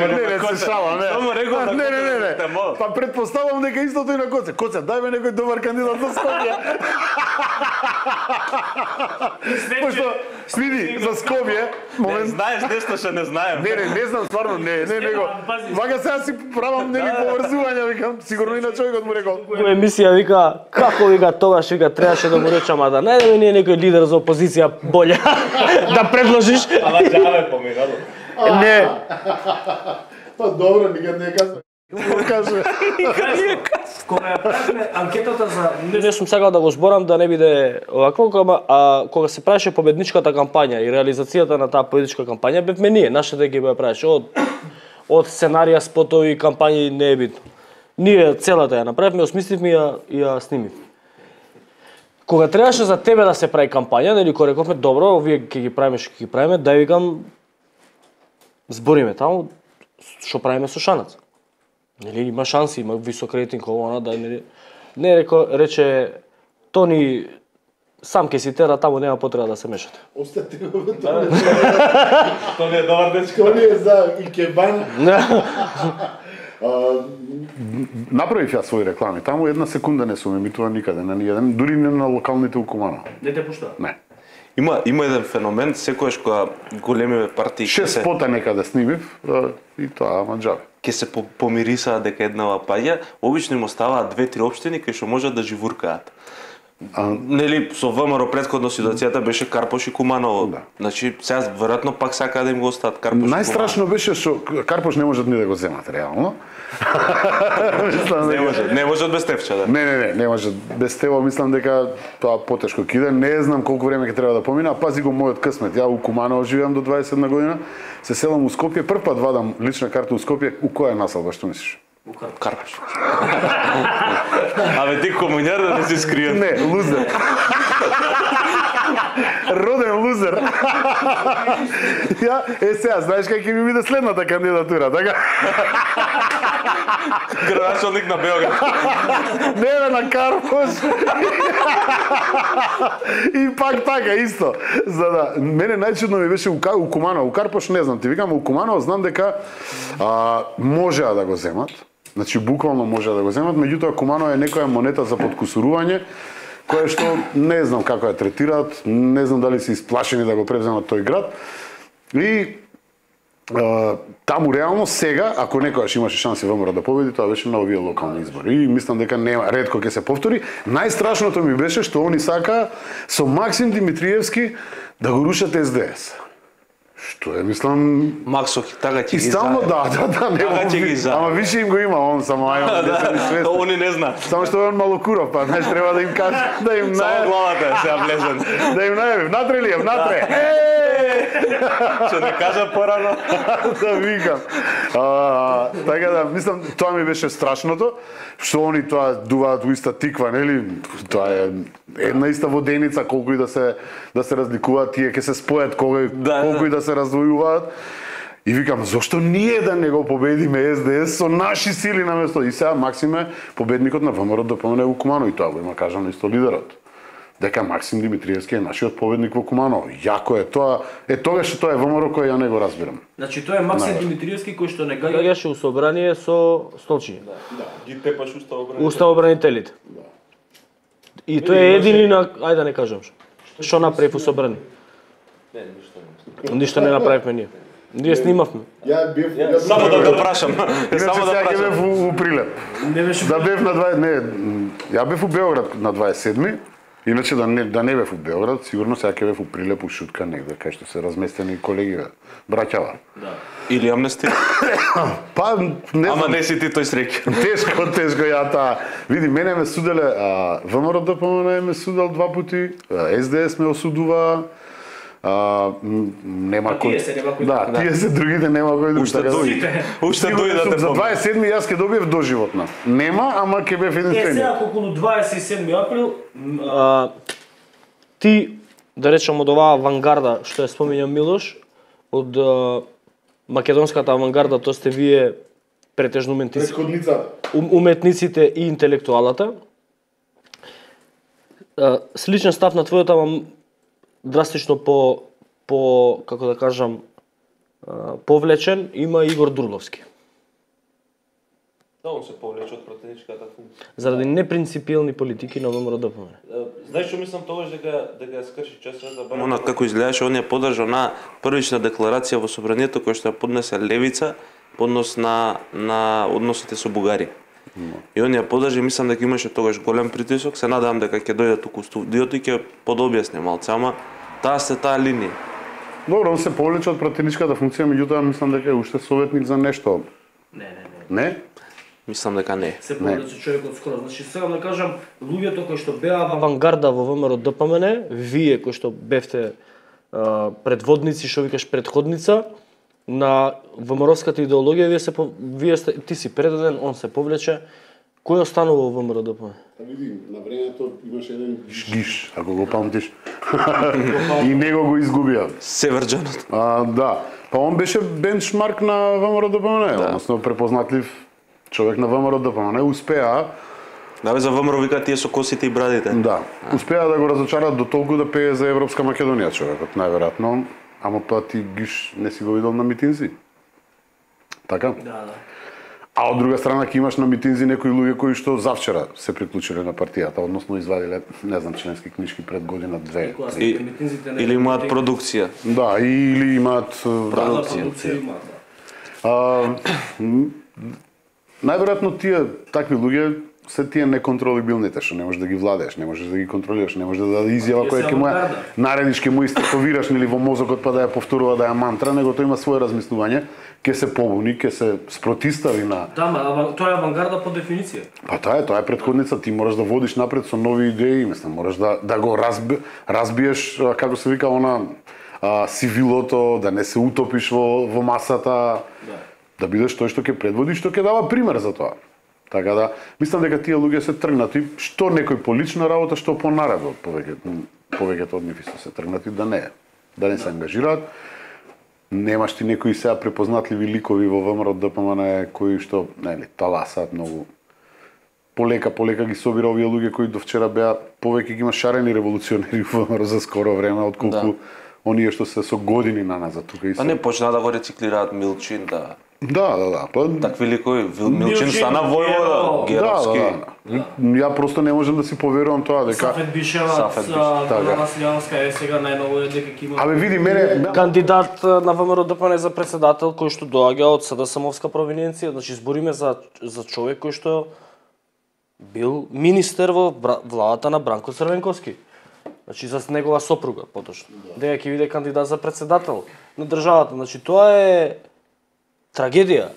Speaker 3: Не, се шала, не.
Speaker 4: Само рекол на
Speaker 3: Не. Па предпоставам дека истото и на Коце. Коце, дај ме некој добар кандидат за Скопје. Пошто, види, за Скопје, момент...
Speaker 4: Знаеш нешто што не знаем.
Speaker 3: Не знам, стварно, не него. Вака сега си правам нели поврзувања, викам, сигурно и на човекот му рекол.
Speaker 1: Во емисија вика, како вика тогаш вика требаше да му речам, да најдеме ние некој лидер за опозиција боле да предложиш.
Speaker 5: Ама џаве поминало.
Speaker 1: Не.
Speaker 2: Па добро, никад не кажа.
Speaker 3: Каже.
Speaker 1: Кога ја правевме анкетата за не сум сакал да го зборам да не биде овакво, кога се правеше победничката кампања и реализацијата на таа победничка кампања бевме ние, нашата екипа ја правеше од сценарија, спотови, кампањи, не е битно. Ние целата ја направивме, осмисливме и ја снимив. Кога требаше за тебе да се прави кампања, нели кога рековме добро, овие ќе ги правиме, дај викам збориме таму што правиме со Шанац. Нели има шанси, има висок рейтинг она, да не рече Тони сам ќе си тера таму, нема потреба да се мешате.
Speaker 2: Остате го
Speaker 5: Тони е добар дечко.
Speaker 2: Тони е за икебан.
Speaker 3: Направив ја своји реклами. Таму една секунда не сум емитуван никаде, на ниједен, дури не на локалните у Куманово.
Speaker 1: Не те пуштаа?
Speaker 3: Не.
Speaker 4: Има еден феномен, секојаш кога големи партии
Speaker 3: 6 спота некаде снимив и тоа, ама џаве.
Speaker 4: Ке се помирисаа дека еднава паѓа, обично им оставаат 2-3 општини кај што можат да живуркаат. Нели со ВМРО претходно ситуацијата беше Карпош и Куманово.
Speaker 3: Да.
Speaker 4: Значи сега веројатно пак сакаат да им го остават Карпош.
Speaker 3: Најстрашно беше што Карпош не можат ни да го земат реално.
Speaker 4: Не можат без Тевча, да.
Speaker 3: Не можат без Тево, мислам дека тоа потешко ќе иде. Не знам колку време ќе треба да помина, пази го мојот късмет. Ја у Куманово живеам до 21 година, се селам у Скопје, прв пат вадам лична карта у Скопје, у која населба, што мислиш?
Speaker 4: Карпош. Абе ти комуњар да не си скриен.
Speaker 3: Не, лузер. Роден лузер. Ја, сега, знаеш кај ќе ми биде следната кандидатура, така?
Speaker 4: Градоначалник на Белград.
Speaker 3: Не, на Карпош. И пак така, исто. За да, мене најчудно ми беше у Куманово, у Карпош не знам, ти викам, у Куманово знам дека можеа да го земат. Значи, буквално можеа да го земат, меѓутоа Куманово е некоја монета за подкусурување, која што не знам како ја третираат, не знам дали се исплашени да го превземат тој град. И таму реално сега, ако некојаш имаше шанси ВМРО да победи, тоа беше на овие локални избори. И мислам дека нема, ретко ќе се повтори. Најстрашното ми беше што они сака со Максим Димитриевски да го рушат СДС. Што е, мислам,
Speaker 4: Максо, така ќе
Speaker 3: и
Speaker 4: ги
Speaker 3: стално
Speaker 4: знае.
Speaker 3: не
Speaker 4: ќе ги знае.
Speaker 3: ама више им го има, он само ајде.
Speaker 4: Они не знаат.
Speaker 3: Само што е он малокуров, па знаеш треба да им каже, да им
Speaker 4: Само главата е сега влезен.
Speaker 3: да им најави, внатре ли е, внатре.
Speaker 4: Што не кажа порано.
Speaker 3: Да викам. Така да, мислам, тоа ми беше страшното, што они тоа дуваат во иста тиква, нели? Тоа е една иста воденица, колку и да се разликуваат, тие ќе се спојат колку и да се раздвојуваат. И викам, зошто ние да не го победиме СДС со наши сили наместо? И сега Максим е победникот на ВМРО ДПМНЕ во Куманово и тоа го има кажано исто лидерот. Дека Максим Димитриевски е нашиот победник во Куманово. Јако е тоа. Тогаш што тоа е ВМРО кој ја не го разбирам.
Speaker 1: Значи тоа е Максим Димитриевски кој што не гаѓаше у собрание со столчиња.
Speaker 5: Да, ги тепаш
Speaker 1: уставобранителите. И тој е едини на, ајде да не кажам што направи во собрание. Ништо не направивме ние. Ние снимавме.
Speaker 2: Ја бев
Speaker 4: Само да го прашам.
Speaker 3: Само да бев во Прилеп.
Speaker 1: Не беше
Speaker 3: Да бев на ја бев у Београд на 27-ми. Иначе да не бев у Београд, сигурно сега ќе бев у Прилеп, у Шутка негде, кај што се разместени колеги, браќава.
Speaker 4: Да. Или амнестија.
Speaker 3: Па, не знам.
Speaker 4: Ама не си ти тој среќен.
Speaker 3: Тешко ја таа. Види, мене ме суделе, ВМРО ДПМНЕ ме судел 2 пати, СДС ме осудува, нема кој. Да, тие се другите нема кој друг.
Speaker 4: Уште дојдете.
Speaker 3: За 27-ми јас ќе добиев доживотна. Нема, ама ќе бев единствен.
Speaker 1: сега околу 27 април ти да речам од оваа авангарда што ја спомиња Милош, од македонската авангарда, тоа сте вие претежно уметниците и интелектуалата. Сличен став на твојот, ама драстично по како да кажам повлечен има Игор Дурловски.
Speaker 5: Да, он се повлече од пратеничката функција.
Speaker 1: Заради непринципиелни политики на ВМРО ДПМНЕ.
Speaker 5: Знаеш што мислам тогаш дека ја скрши часот да
Speaker 4: Она како изгледаше, он ја подржа на првична декларација во собранието која што ја поднесе Левица по однос на односите со Бугарија. И он ја подржа, мислам дека имаше тогаш голем притисок, се надевам дека ќе дојде туку студиото и ќе подобјасне малце, ама таа линија.
Speaker 3: Добро, он се повлече од пратеничката функција, меѓутоа мислам дека е уште советник за нешто. Не?
Speaker 4: Мислам дека не.
Speaker 1: Се повлече човекот скоро. Значи сега да кажам, луѓето кои што беа авангарда во ВМРО ДПМНЕ, вие кои што бевте предводници, што викаш предходница на ВМРО-ската идеологија, ти си предаден, он се повлече. Кој останува во ВМРО ДПМНЕ?
Speaker 2: Види, на времето имаше еден
Speaker 3: Гиш, ако го памтиш. И него го изгубија.
Speaker 4: Северџанот.
Speaker 3: Да. Па он беше бенчмарк на ВМРО ДПМНЕ, односно препознатлив човек на ВМРО ДПМНЕ, успеа.
Speaker 4: Да бе, за ВМРО вика тие со косите и брадите.
Speaker 3: Да. Успеа да го разочарат до толку да пее за Европска Македонија човекот, најверојатно. Ама па ти Гиш не си го видел на митинзи. Така?
Speaker 1: Да.
Speaker 3: А од друга страна ќе имаш на митинзи некои луѓе кои што завчера се приклучиле на партијата, односно извадиле, не знам, членски книжки пред година-две.
Speaker 4: Или имаат продукција.
Speaker 3: Да, или имаат
Speaker 1: продукција.
Speaker 3: Најверојатно тие такви луѓе се тие неконтролибилните, што не можеш да ги владееш, не можеш да ги контролираш, не можеш да даде изјава која ќе му наредиш, ќе му истековираш нели во мозокот па да ја повторува да ја мантра, него тој има свое размислување, ќе се побуни, ќе се спротистави на.
Speaker 1: Да, тоа е авангарда по дефиниција.
Speaker 3: Па тоа е претходница, ти мораш да водиш напред со нови идеи, мислам, мораш да го разбиеш, како се вика она, сивилото, да не се утопиш во масата, да бидеш тој што ќе предводи, што ќе дава пример за тоа. Така да, мислам дека тие луѓе се тргнати, што некој по лична работа, што по наредба, повеќето од нив исто се тргнати да не се ангажираат. Немаш ти некои сега препознатливи ликови во ВМРО ДПМНЕ кои што, нели, таласаат многу. Полека ги собира овие луѓе кои до вчера беа повеќе ги има шарени револуционери во ВМРО за скоро време, отколку оние што се со години наназад тука и се.
Speaker 4: Па не почна да го рециклираат Милчин, да.
Speaker 3: Да.
Speaker 4: Такви ликови, Милчин стана војвода, Геровски.
Speaker 3: Ја просто не можам да си поверувам тоа дека
Speaker 1: Сафет Бишевац, Драгана Силјанска е сега најново дека ќе има.
Speaker 3: Абе види мене
Speaker 1: кандидат на ВМРО ДПМНЕ за претседател кој што доаѓа од СДСМовска провинција, значи збориме за човек кој што бил министер во владата на Бранко Црвенковски. Значи за негова сопруга поточно. Дека ќе биде кандидат за председател на државата. Значи тоа е трагедија.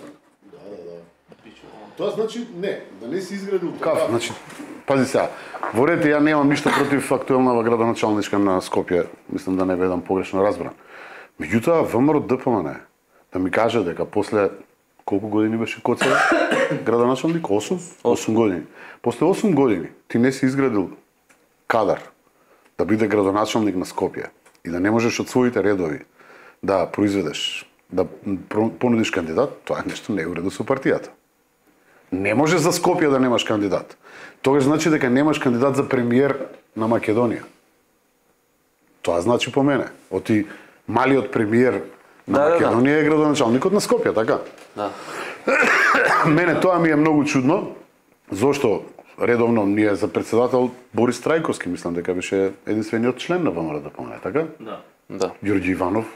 Speaker 2: Тоа значи да не си изградил
Speaker 3: Каф, значи, пази сега, во ред ја немам ништо против актуелнава градоначалничка на Скопје, мислам да не бидам погрешно разбран. Меѓутоа, ВМРО ДПМН да ми каже дека после колку години беше Коцева градоначалник? 8? 8 години. После 8 години ти не си изградил кадар да биде градоначалник на Скопје и да не можеш од своите редови да произведеш, да понудиш кандидат, тоа е нешто не е уредо со партијата. Не може за Скопје да немаш кандидат. Тогаш значи дека немаш кандидат за премиер на Македонија. Тоа значи по мене. Оти малиот премиер на Македонија е градоначалникот на Скопје, така?
Speaker 4: Да.
Speaker 3: Мене тоа ми е многу чудно, зошто редовно ни е за председател Борис Трајковски, мислам дека беше единствениот член на ВМРО ДПМН, така?
Speaker 4: Да.
Speaker 3: Ѓорѓи Иванов?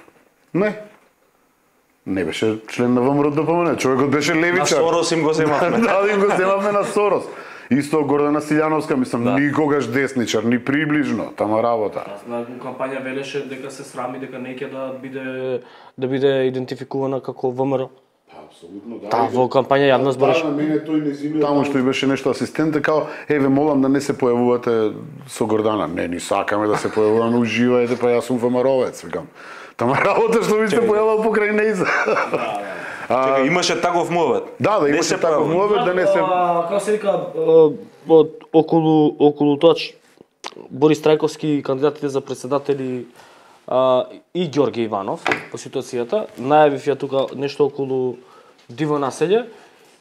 Speaker 3: Не беше член на ВМРО ДПМН, човекот беше левичар.
Speaker 4: На Сорос им го земавме.
Speaker 3: Да, им го земавме на Сорос. Исто Гордана Силјановска, мислам, никогаш десничар, ни приближно, тама работа.
Speaker 1: На кампања велеше дека се срами дека не ќе да биде идентификувана како ВМРО.
Speaker 2: Апсолутно, да.
Speaker 1: Таа во кампања јавно збореше.
Speaker 2: На мене тој не зиме.
Speaker 3: Таму што и беше нешто асистент, као, еве молам да не се појавувате со Гордана. Не, ни сакаме да се појавуваме, уживајте, па јас сум ВМРО-вец, викам. Тама работа што ви се појавал покрај нејза.
Speaker 4: Чека, имаше таков муавет.
Speaker 3: Да, имаше таков муавет да не се
Speaker 1: Како се вика околу тоа Борис Трајковски, кандидатите за председатели и Ѓорѓе Иванов по ситуацијата, најавив ја тука нешто околу Диво населје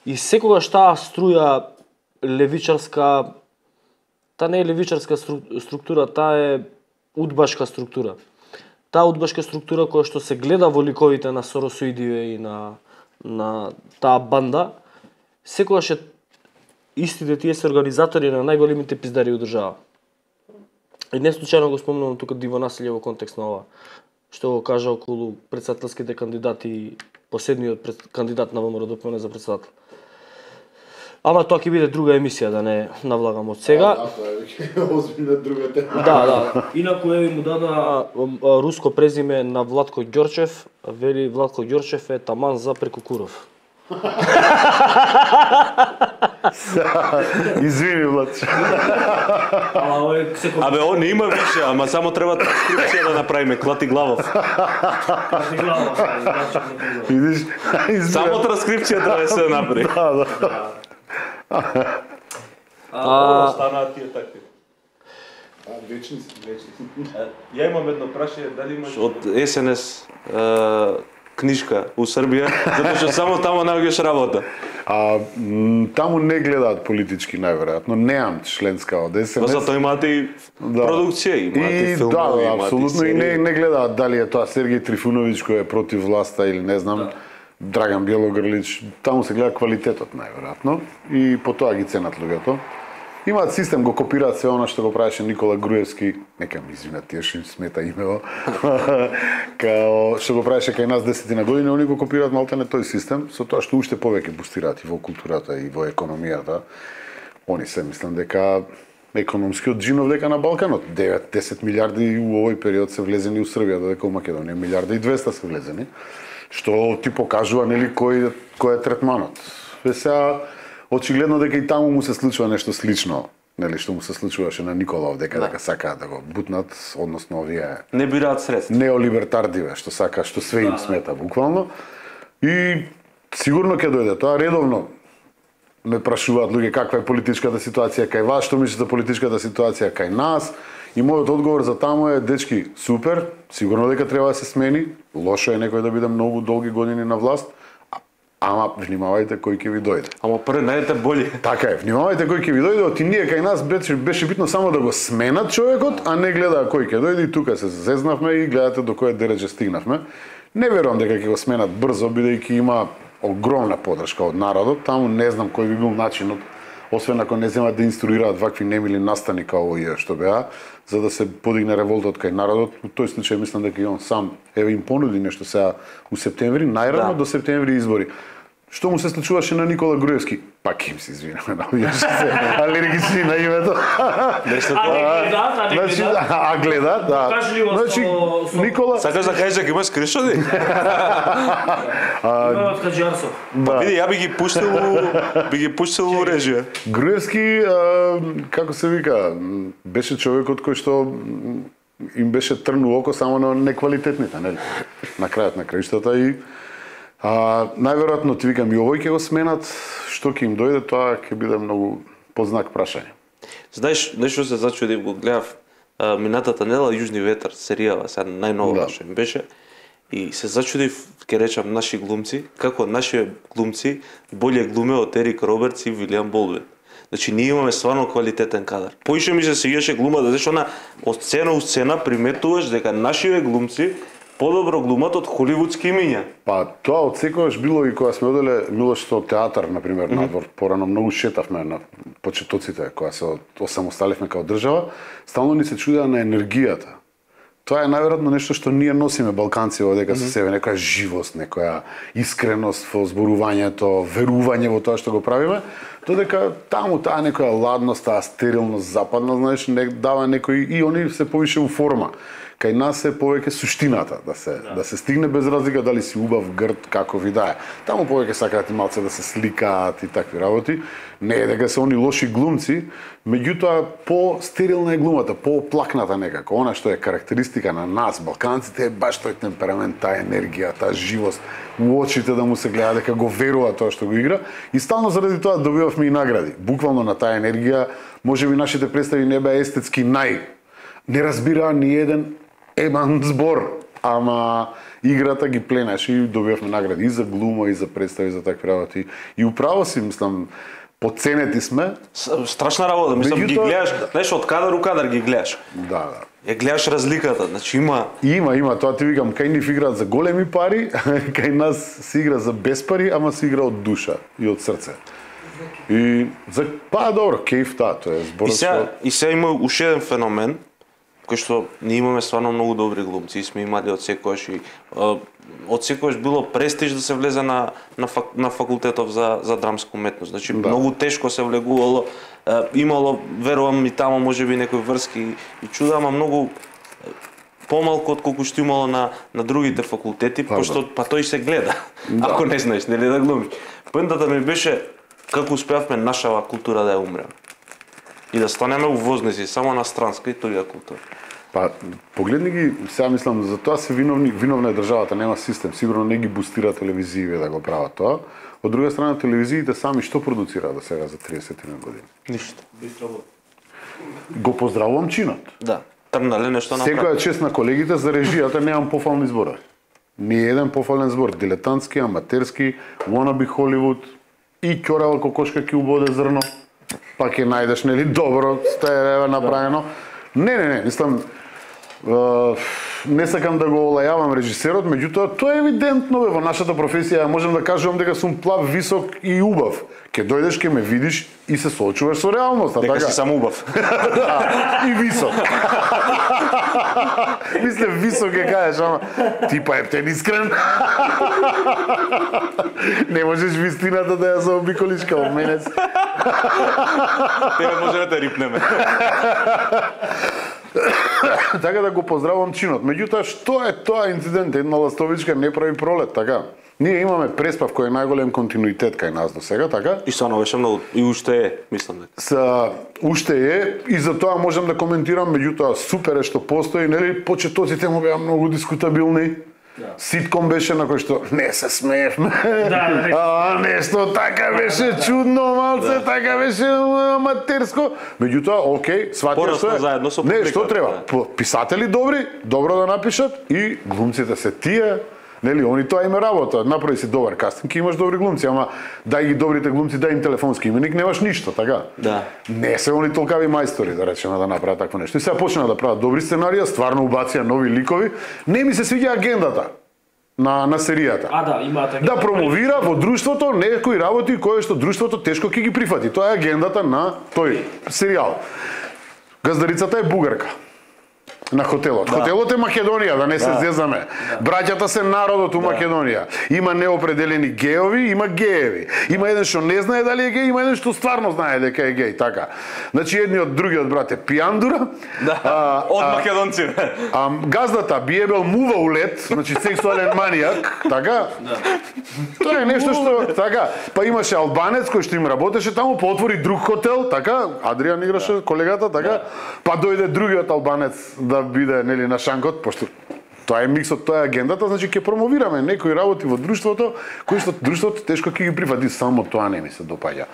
Speaker 1: и секогаш таа струја левичарска, таа не е левичарска структура, таа е удбашка структура. Таа удбашка структура која што се гледа во ликовите на Соросоидиве и на таа банда, секогаш е истите тие се организатори на најголемите пиздари во држава. И не случајно го спомнувам тука Диво населје во контекст на ова, што го кажа околу председателските кандидати, последниот кандидат на ВМРО ДПМН за председател. Ама тоа ќе биде друга емисија, да не навлагам од сега.
Speaker 2: Да, тоа е озбилна друга тема.
Speaker 1: Да. Инаку еве му дада руско презиме на Владко Ѓорчев, вели Владко Ѓорчев е таман за Прекукуров.
Speaker 3: Извини, Влад.
Speaker 4: Абе, он не има више, ама само треба транскрипција да направиме, Клати Главов.
Speaker 3: Видиш?
Speaker 4: Само транскрипција треба да се направи. Останаа тие такви.
Speaker 2: Вечни.
Speaker 4: Ја имам едно прашање, дали имаш од СНС книжка у Србија, затоа што само таму наоѓаш работа.
Speaker 3: Таму не гледаат политички најверојатно, неам членска од СНС.
Speaker 4: Но затоа имате и продукција, имате филмови,
Speaker 3: да, апсолутно и не гледаат дали е тоа Сергеј Трифуновиќ кој е против власта или не знам, Драган Бјелогрлич, таму се гледа квалитетот најверојатно и по тоа ги ценат луѓето. Имаат систем, го копираат се она што го правеше Никола Груевски, нека ми извинат тие што им смета имево, као што го правеше кај нас 10 години, они го копираат малтене тој систем, со тоа што уште повеќе бустираат и во културата и во економијата. Они се мислам дека економскиот джинов дека на Балканот 9-10 милиарди у овој период се влезени у Србија, додека у Македонија 1,2 милиарди се влезени, што ти покажува нели кој е третманот. Сега очигледно дека и таму му се случува нешто слично, нели што му се случуваше на Николов, дека сакаат да го бутнат, односно овие
Speaker 4: не бираат средства.
Speaker 3: Неолибертардиве, што све им смета буквално. И сигурно ќе дојде тоа редовно. Ме прашуваат луѓе каква е политичката ситуација кај вас, што мислите за политичката ситуација кај нас? И мојот одговор за таму е, дечки, супер, сигурно дека треба да се смени, лошо е некој да биде многу долги години на власт, ама внимавајте кој ќе ви дојде.
Speaker 4: Ама прво најдете боли.
Speaker 3: Така е, внимавајте кој ќе ви дојде, оти ние кај нас беше битно само да го сменат човекот, а не гледа кој ќе дојде и тука се зезнавме и гледате до кој дереже стигнавме. Не верувам дека ќе го сменат брзо, бидејќи има огромна подршка од народот, таму не знам кој би бил начинот, освен ако не земат да инструираат вакви немили настани као овие што беа, за да се подигне револтот кај народот. Во тој случај мислам дека и он сам еве им понуди нешто сега у септември, најрано до септември избори. Што му се случуваше на Никола Груевски? Пак им се извинаме, навијаш се алергични на името. А гледат, да. Значи, Никола...
Speaker 4: Сакаш да кажеш дека имаш скриншоти?
Speaker 1: Имаме Хаджарсов.
Speaker 4: Види, ја би ги пуштил у режија.
Speaker 3: Груевски, како се вика, беше човекот кој што им беше трн у око само на неквалитетните, нели? На крајот на краиштата и најверојатно ти викам и овој ќе го сменат, што ќе им дојде, тоа ќе биде многу познак прашање.
Speaker 4: Знаеш, нешто се зачудив, го гледав минатата недела Јужни ветар, серијава, сега најнова што им беше, и се зачудив, ќе речам, наши глумци, како наши глумци боле глуме од Ерик Робертс и Вилијам Болдвин. Значи, ние имаме стварно квалитетен кадар. Поише ми се сеќаше глумата, зашто на од сцена у сцена приметуваш дека нашиве глумци подобро глумат од холивудски имиња.
Speaker 3: Па тоа од секогаш било и кога сме оделе Милошто театар, например, надвор, порано многу шетавме на почетоците, кога се осамосталивме како држава, стално ни се чудеа на енергијата. Тоа е најверојатно нешто што ние носиме балканци одека со себе, некоја живост, некоја искреност во зборувањето, верување во тоа што го правиме, додека таму таа некоја ладност, таа стерилност западна, знаеш, не дава некој и они се повише у форма. Кај нас е повеќе суштината, да се стигне без разлика дали си убав, грд, како ви да е. Таму повеќе сакаат и малце да се сликаат и такви работи. Не е дека се они лоши глумци, меѓутоа по-стерилна е глумата, по-оплакната некако. Она што е карактеристика на нас, балканците, е баш тој темперамент, таа енергија, таа живост, у очите да му се гледа дека го верува тоа што го игра и стално заради тоа добивавме и награди. Буквално на таа енергија, можеби нашите представи не беа естетски не разбираа ни еден еман збор, ама играта ги пленаше и добивавме награди и за глума, и за представи, за такви работи. И управо си, мислам, подценети сме.
Speaker 4: Страшна работа, мислам, ги гледаш, знаеш, од кадар у кадар ги гледаш.
Speaker 3: Да.
Speaker 4: Ја гледаш разликата, значи има...
Speaker 3: Има, тоа ти викам, кај нив играат за големи пари, кај нас се игра за без пари, ама се игра од душа и од срце. И за добро, кејф тоа е зборот.
Speaker 4: И сега има уште еден феномен, кој што ние имаме стварно многу добри глумци, сме имали од секојаш и од секојаш било престиж да се влезе на факултетов за драмска уметност. Значи многу тешко се влегувало, имало, верувам и таму можеби некои врски и чуда, ама многу помалку од колку што имало на другите факултети, пошто тој се гледа. Ако не знаеш, нели да глумиш. Поентата ми беше како успеавме нашава култура да ја умреме. И да станеме увознеси само на странска и туѓа култура.
Speaker 3: Па, погледни ги, сега мислам, за тоа се виновна е државата, нема систем, сигурно не ги бустира телевизиите да го прават тоа. Од друга страна, телевизиите сами што продуцираат до сега за 30 години?
Speaker 4: Ништо.
Speaker 3: Го поздравувам чинот.
Speaker 4: Да, трнале нешто направи.
Speaker 3: Секоја чест на колегите за режијата, немам пофални зборови. Ни еден пофален збор, дилетантски, аматерски, wannabe Холивуд и ќорава кокошка ќе убоде зрно. Па ќе најдеш, нели, добро сте направено. Не, мислам, не сакам да го олајавам режисерот, меѓутоа тоа е евидентно во нашата професија, можам да кажувам дека сум плав, висок и убав. Ке дојдеш, ке ме видиш и се соочуваш со реалноста,
Speaker 4: дека
Speaker 3: така?
Speaker 4: си само убав.
Speaker 3: И висок. Мисле, висок ќе кажеш, ама ти па ептен искрен. Не можеш вистината да ја заобиколиш као менец.
Speaker 4: Тега може да рипнеме.
Speaker 3: Така да го поздравувам чинот. Меѓутоа, што е тоа инцидент? Една ластовичка не прави пролет, така? Ние имаме преспав кој е најголем континуитет кај нас до сега, така?
Speaker 4: И стварно беше многу, и уште е, мислам дека.
Speaker 3: Уште е, и за тоа можам да коментирам, меѓутоа супер е што постои, нели, почетоците му беа многу дискутабилни. Ситком беше на кој што не се смеевме. Нешто така беше чудно, малце, така беше аматерско. Меѓутоа, окей, сватија што е. Не, што треба? Писатели добри, добро да напишат и глумците се тие. Нели, они тоа име работа. Направи си добар кастинг и имаш добри глумци, ама дај ги добрите глумци, дај им телефонски именик, немаш ништо, така?
Speaker 4: Да.
Speaker 3: Не се они толкави мајстори, да речеме, да направат такво нешто. И сега почнаа да прават добри сценарија, стварно убација нови ликови. Не ми се свиѓа агендата на серијата.
Speaker 1: Да, имаат агенда.
Speaker 3: Да промовира во друштвото некои работи кои што друштвото тешко ќе ги прифати. Тоа е агендата на тој серијал. Газдарицата е бугарка. На хотелот. Хотелот е Македонија, да не се зезаме. Браќата се народот у Македонија. Има неопределени геови, има гееви. Има еден што не знае дали е геј, има еден што стварно знае дека е геј, така. Значи едниот другиот брат е пијандура.
Speaker 4: Од македонци.
Speaker 3: Газдата биебел мува у лед, значи сексуален манијак, така? Тоа е нешто што така, па имаше албанец кој што им работеше таму, па отвори друг хотел, така? Адриан играше колегата, така? Па дојде другиот албанец да биде нели на шанкот, пошто тоа е миксот, тоа е агендата, значи ќе промовираме некои работи во друштвото, кои што друштвото тешко ќе ги прифати, само тоа не ми се допаѓа.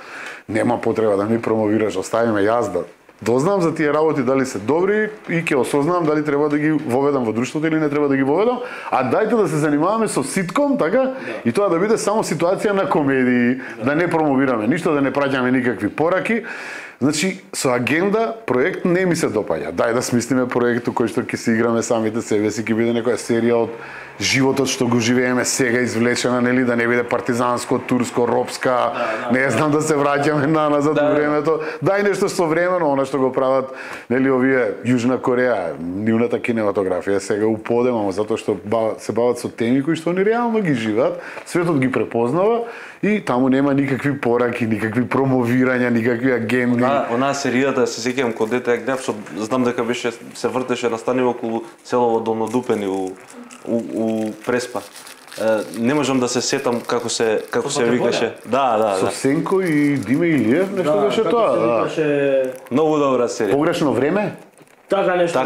Speaker 3: Нема потреба да ми промовираш, оставиме јас да дознам за тие работи дали се добри и ќе осознам дали треба да ги воведам во друштвото или не треба да ги воведам, а дајте да се занимаваме со ситком, така? И тоа да биде само ситуација на комедии, да не промовираме ништо, да не праќаме никакви пораки. Значи, со агенда, проект не ми се допаѓа. Дај да смислиме проект кој што ќе се играме самите себе си, ќе биде некоја серија од животот што го живееме сега извлечена, нели, да не биде партизанско, турско, робска, не знам, да се враќаме назад во времето. Дај нешто современо, она што го прават, нели, овие Јужна Кореја, нивната кинематографија сега уподема, затоа што се бават со теми кои што они реално ги живеат, светот ги препознава и таму нема никакви пораки, никакви промовирања, никакви агенди.
Speaker 4: Онаа серијата, се сеќавам кога дете ја гледав, знам дека беше се вртеше настани околу селово Долнодупени у Преспа. Не можам да се сетам како се викаше. Да.
Speaker 3: Со Сенко и Диме Илиев, нешто беше тоа.
Speaker 4: Многу добра серија.
Speaker 3: Погрешно време?
Speaker 1: Така нешто,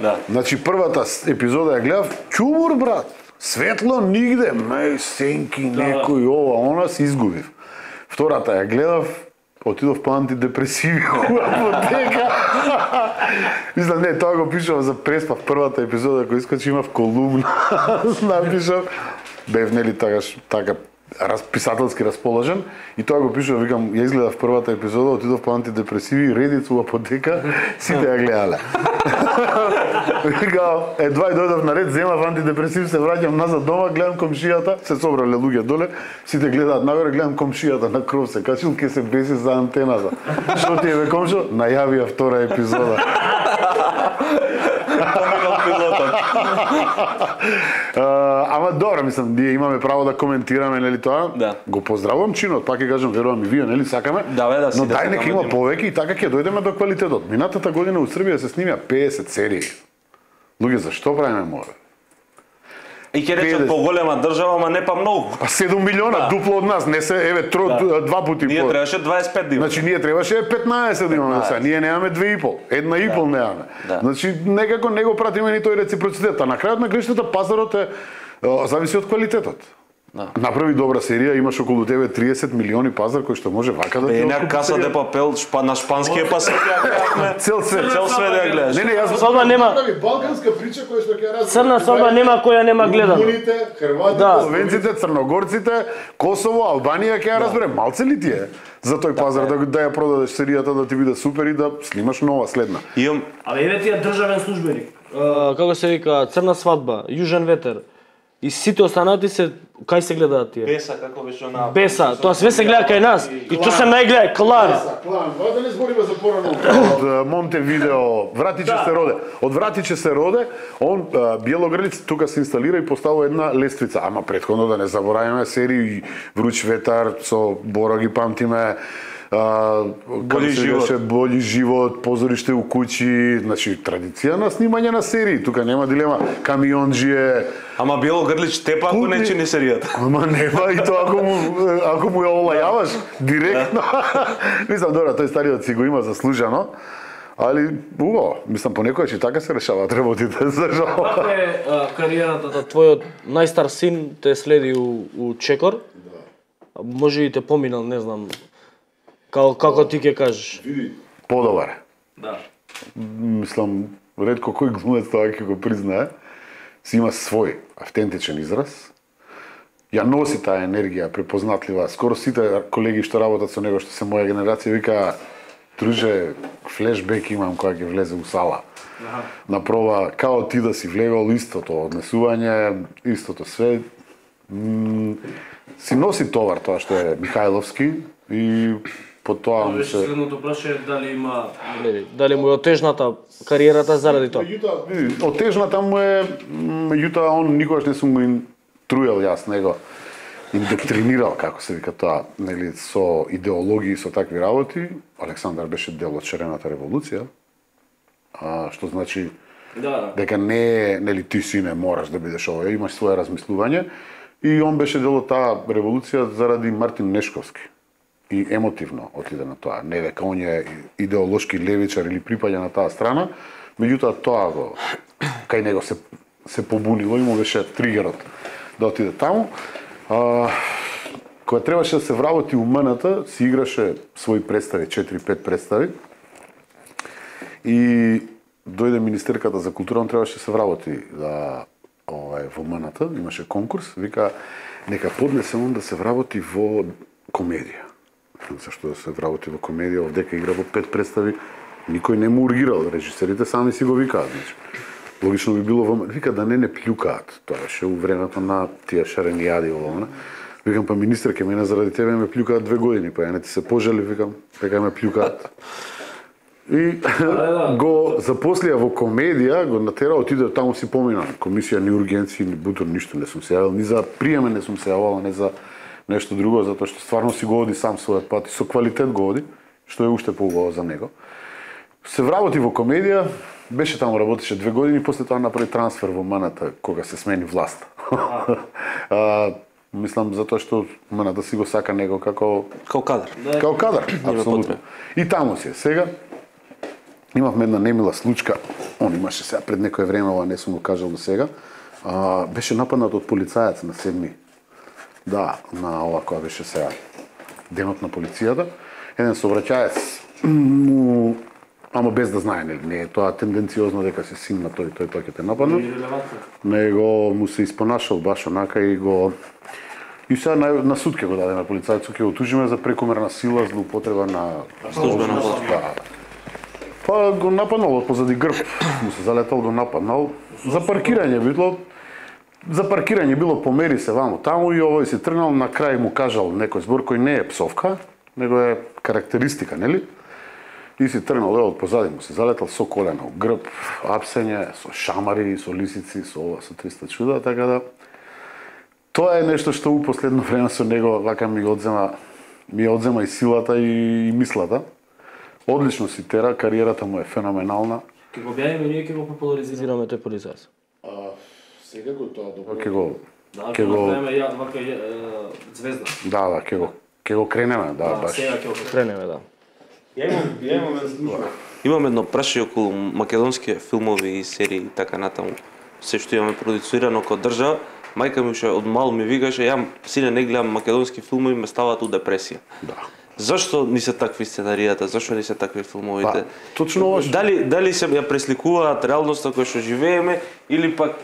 Speaker 3: да. Значи првата епизода ја гледав, чумур брат. Светло нигде, Сенки, некој ова, она се изгубив. Втората ја гледав, отидов по антидепресиви у апотека. Мислам, не, тоа го пишав за Преспа в првата епизода, кој искачи имав колумна. Напишав, бев нели така писателски расположен и тоа го пишав, викам, ја изгледав првата епизода, отидов по антидепресиви, редица у апотека, сите ја гледале. Викам, едва и дојдов на ред, земав антидепресив, се враќам назад дома, гледам комшијата, се собрале луѓе доле, сите гледаат нагоре, гледам комшијата на кров се качил, ке се беси за антената. Што ти е бе комшо? Најавија втора епизода. Ама добро, мислам, ние имаме право да коментираме, нели тоа?
Speaker 4: Да.
Speaker 3: Го поздравувам чинот, пак ќе кажам, верувам и вие, нели сакаме?
Speaker 4: Да,
Speaker 3: но дај нека има повеќе и така ќе дојдеме до квалитетот. Минатата година у Србија се снимија 50 серии. Луѓе, зашто правиме море?
Speaker 4: И ќе речат поголема држава, ама не па многу.
Speaker 3: Па 7 милиона, дупло од нас, не се, еве, два пути.
Speaker 4: Ние требаше 25 да имаме.
Speaker 3: Значи, ние требаше 15 да имаме сега, ние немаме 2,5, 1,5 немаме. Значи, некако не го пратиме ни тој реципроцитет, а на крајот на криштата пазарот зависи од квалитетот. Направи добра серија, имаш околу тебе 30 милиони пазар кој што може вака да ти
Speaker 4: откупи. Каса де папел на шпанскиот пазар. Цел свет ја гледаш.
Speaker 3: Не, јас
Speaker 1: свадба нема.
Speaker 2: Балканска прича која што ќе разговара.
Speaker 1: Црна свадба нема која нема гледано.
Speaker 2: Румуните, Хрватите,
Speaker 3: Словенците, Црногорците, Косово, Албанија ќе ја разбере. Малце ли ти е за тој пазар да ја продадеш серијата, да ти биде супер и да снимаш нова следна?
Speaker 1: Абе еве ти е државен службеник. Како се вика, Црна свадба, Јужен ветер. И сите останати се кај се гледаат тие?
Speaker 4: Беса, како беше она?
Speaker 1: Беса, тоа све се гледа кај нас. И тоа се најгледа Клан.
Speaker 2: Да не збориме за порано.
Speaker 3: Од Монтевидео, Вратиче се роде. Од Вратиче се роде, он Бјелоград тука се инсталира и поставува една лествица. Ама претходно да не забораваме серии Вруч ветар со Бора ги памтиме. Бољи живот, позориште у куќи, значи традиција на снимање на серии, тука нема дилема, камионџие.
Speaker 4: Ама Бјелогрлич тепа ако не чини серијата.
Speaker 3: Ама нема и тоа ако му ја олајаваш директно. Мислам, добро, тој стариот си го има заслужено. Али убаво, мислам понекогаш и така се решаваат работите, за жал.
Speaker 1: Каква е кариерата на твојот најстар син те следи у Чекор? Може и те поминал, не знам. Како ти ќе кажеш?
Speaker 3: Подобар.
Speaker 1: Да.
Speaker 3: Мислам, ретко кој глумец тоа ќе го признае. Си има свој автентичен израз. Ја носи таа енергија препознатлива. Скоро сите колеги што работат со него, што се моја генерација, вика, друже, флешбек имам кога ќе влезе у сала. На проба, као ти да си влегол, истото однесување, истото све. Си носи товар тоа што е Михајловски и по тоа му
Speaker 1: Беше
Speaker 3: се
Speaker 1: следното прашање дали му е отежната кариерата заради тоа.
Speaker 3: отежната му е, меѓутоа он никогаш не сум го труел јас него. Индоктринирал, како се вика тоа, нели, со идеологии, со такви работи. Александар беше дел од Шарената револуција, што значи дека не е, нели, ти си не мораш да бидеш овој, имаш свое размислување. И он беше дел од таа револуција заради Мартин Нешковски. И емотивно отиде на тоа. Не дека он е идеолошки левичар или припаѓа на таа страна, меѓутоа тоа го кај него се побунило и му беше тригерот да отиде таму. Кога требаше да се вработи у МНТ, си играше своји представи, 4-5 представи. И дојде министерката за култура, он требаше да се вработи во МНТ, имаше конкурс, вика нека поднесе он да се вработи во комедија. Зашто да се вработи во комедија, овдека игра во 5 представи, никој не му ургирал, режисерите сами си го викаат, значи. Логично би било вика да не плюкаат. Тоа беше у времето на тие шарени јади овома. Викам па министер ке мене заради тебе ме плюкаат 2 години, па ја не ти се пожали, викам, дека ме плюкаат. И го запослија во комедија, го натера, отиде таму си помина. Комисија ни ургенци, ни бутур, ништо не сум се јавил, ни за приеме не сум се јавил, не за нешто друго, затоа што стварно си го оди сам својот пат и со квалитет го оди, што е уште поубаво за него. Се вработи во комедија, беше таму, работеше 2 години, после тоа направи трансфер во МНТ, кога се смени власта. Мислам, затоа што МНТ си го сака него како
Speaker 4: кадар.
Speaker 3: Како кадар, апсолутно. И таму си е. Сега, имавме една немила случка, он имаше сега пред некое време, ова не сум го кажал до сега, беше нападнат од полицаец на 7. Да, на ова која беше сега денот на полицијата. Еден сообраќаец ама без да знае, не е тоа тенденциозно дека се син на тој пак ќе те нападне. Него му се испонашал баш онака и го и сега на суд ќе го даде на полицајцот, ќе го тужиме за прекомерна сила, злоупотреба на
Speaker 4: службена
Speaker 3: да. Па го нападнал од позади грб, му се залетал, го нападнал за паркирање било. За паркирање било помери се ваму таму и овој си тргнал, на крај му кажал некој збор кој не е псовка, него е карактеристика, нели? И си тргнал од позади му се залетал со колено, грб, апсење, со шамари, со лисици, со ова, со 300 чуда, така да тоа е нешто што у последно време со него вака ми одзема и силата и мислата. Одлично си тера, кариерата му е феноменална.
Speaker 1: Ке го објавиме, ние ке го популаризираме тој полицаец.
Speaker 3: Сега го тоа добро.
Speaker 1: Ке го вака звезда.
Speaker 3: Да, ке го кренеме, да, баш.
Speaker 1: Сега ке го кренеме, да.
Speaker 4: Имам едно прашање околу македонски филмови и серии и така натаму. Се што имаме продуцирано како држава, мајка ми ше од мал ми викаше, ја сине не гледам македонски филмови, ме ставаат у депресија.
Speaker 3: Да.
Speaker 4: Зашто не се такви сценаријата, зашто не се такви филмовите?
Speaker 3: Точно ова.
Speaker 4: Дали се ја пресликуваат реалноста која што живееме или пак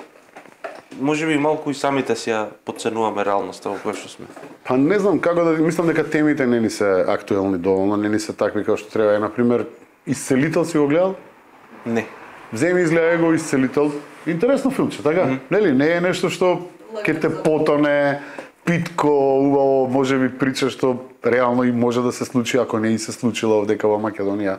Speaker 4: можеби малку и самите си ја потценуваме реалноста во која што сме?
Speaker 3: Па не знам како да мислам дека темите не ни се актуелни доволно, не ни се такви како што треба. На пример, Исцелител си го гледал?
Speaker 4: Не.
Speaker 3: Земи изгледа го Исцелител. Интересно филмче, така? Нели, не е нешто што ќе те потоне, питко, убаво, можеби прича што реално и може да се случи ако не и се случило овдека во Македонија.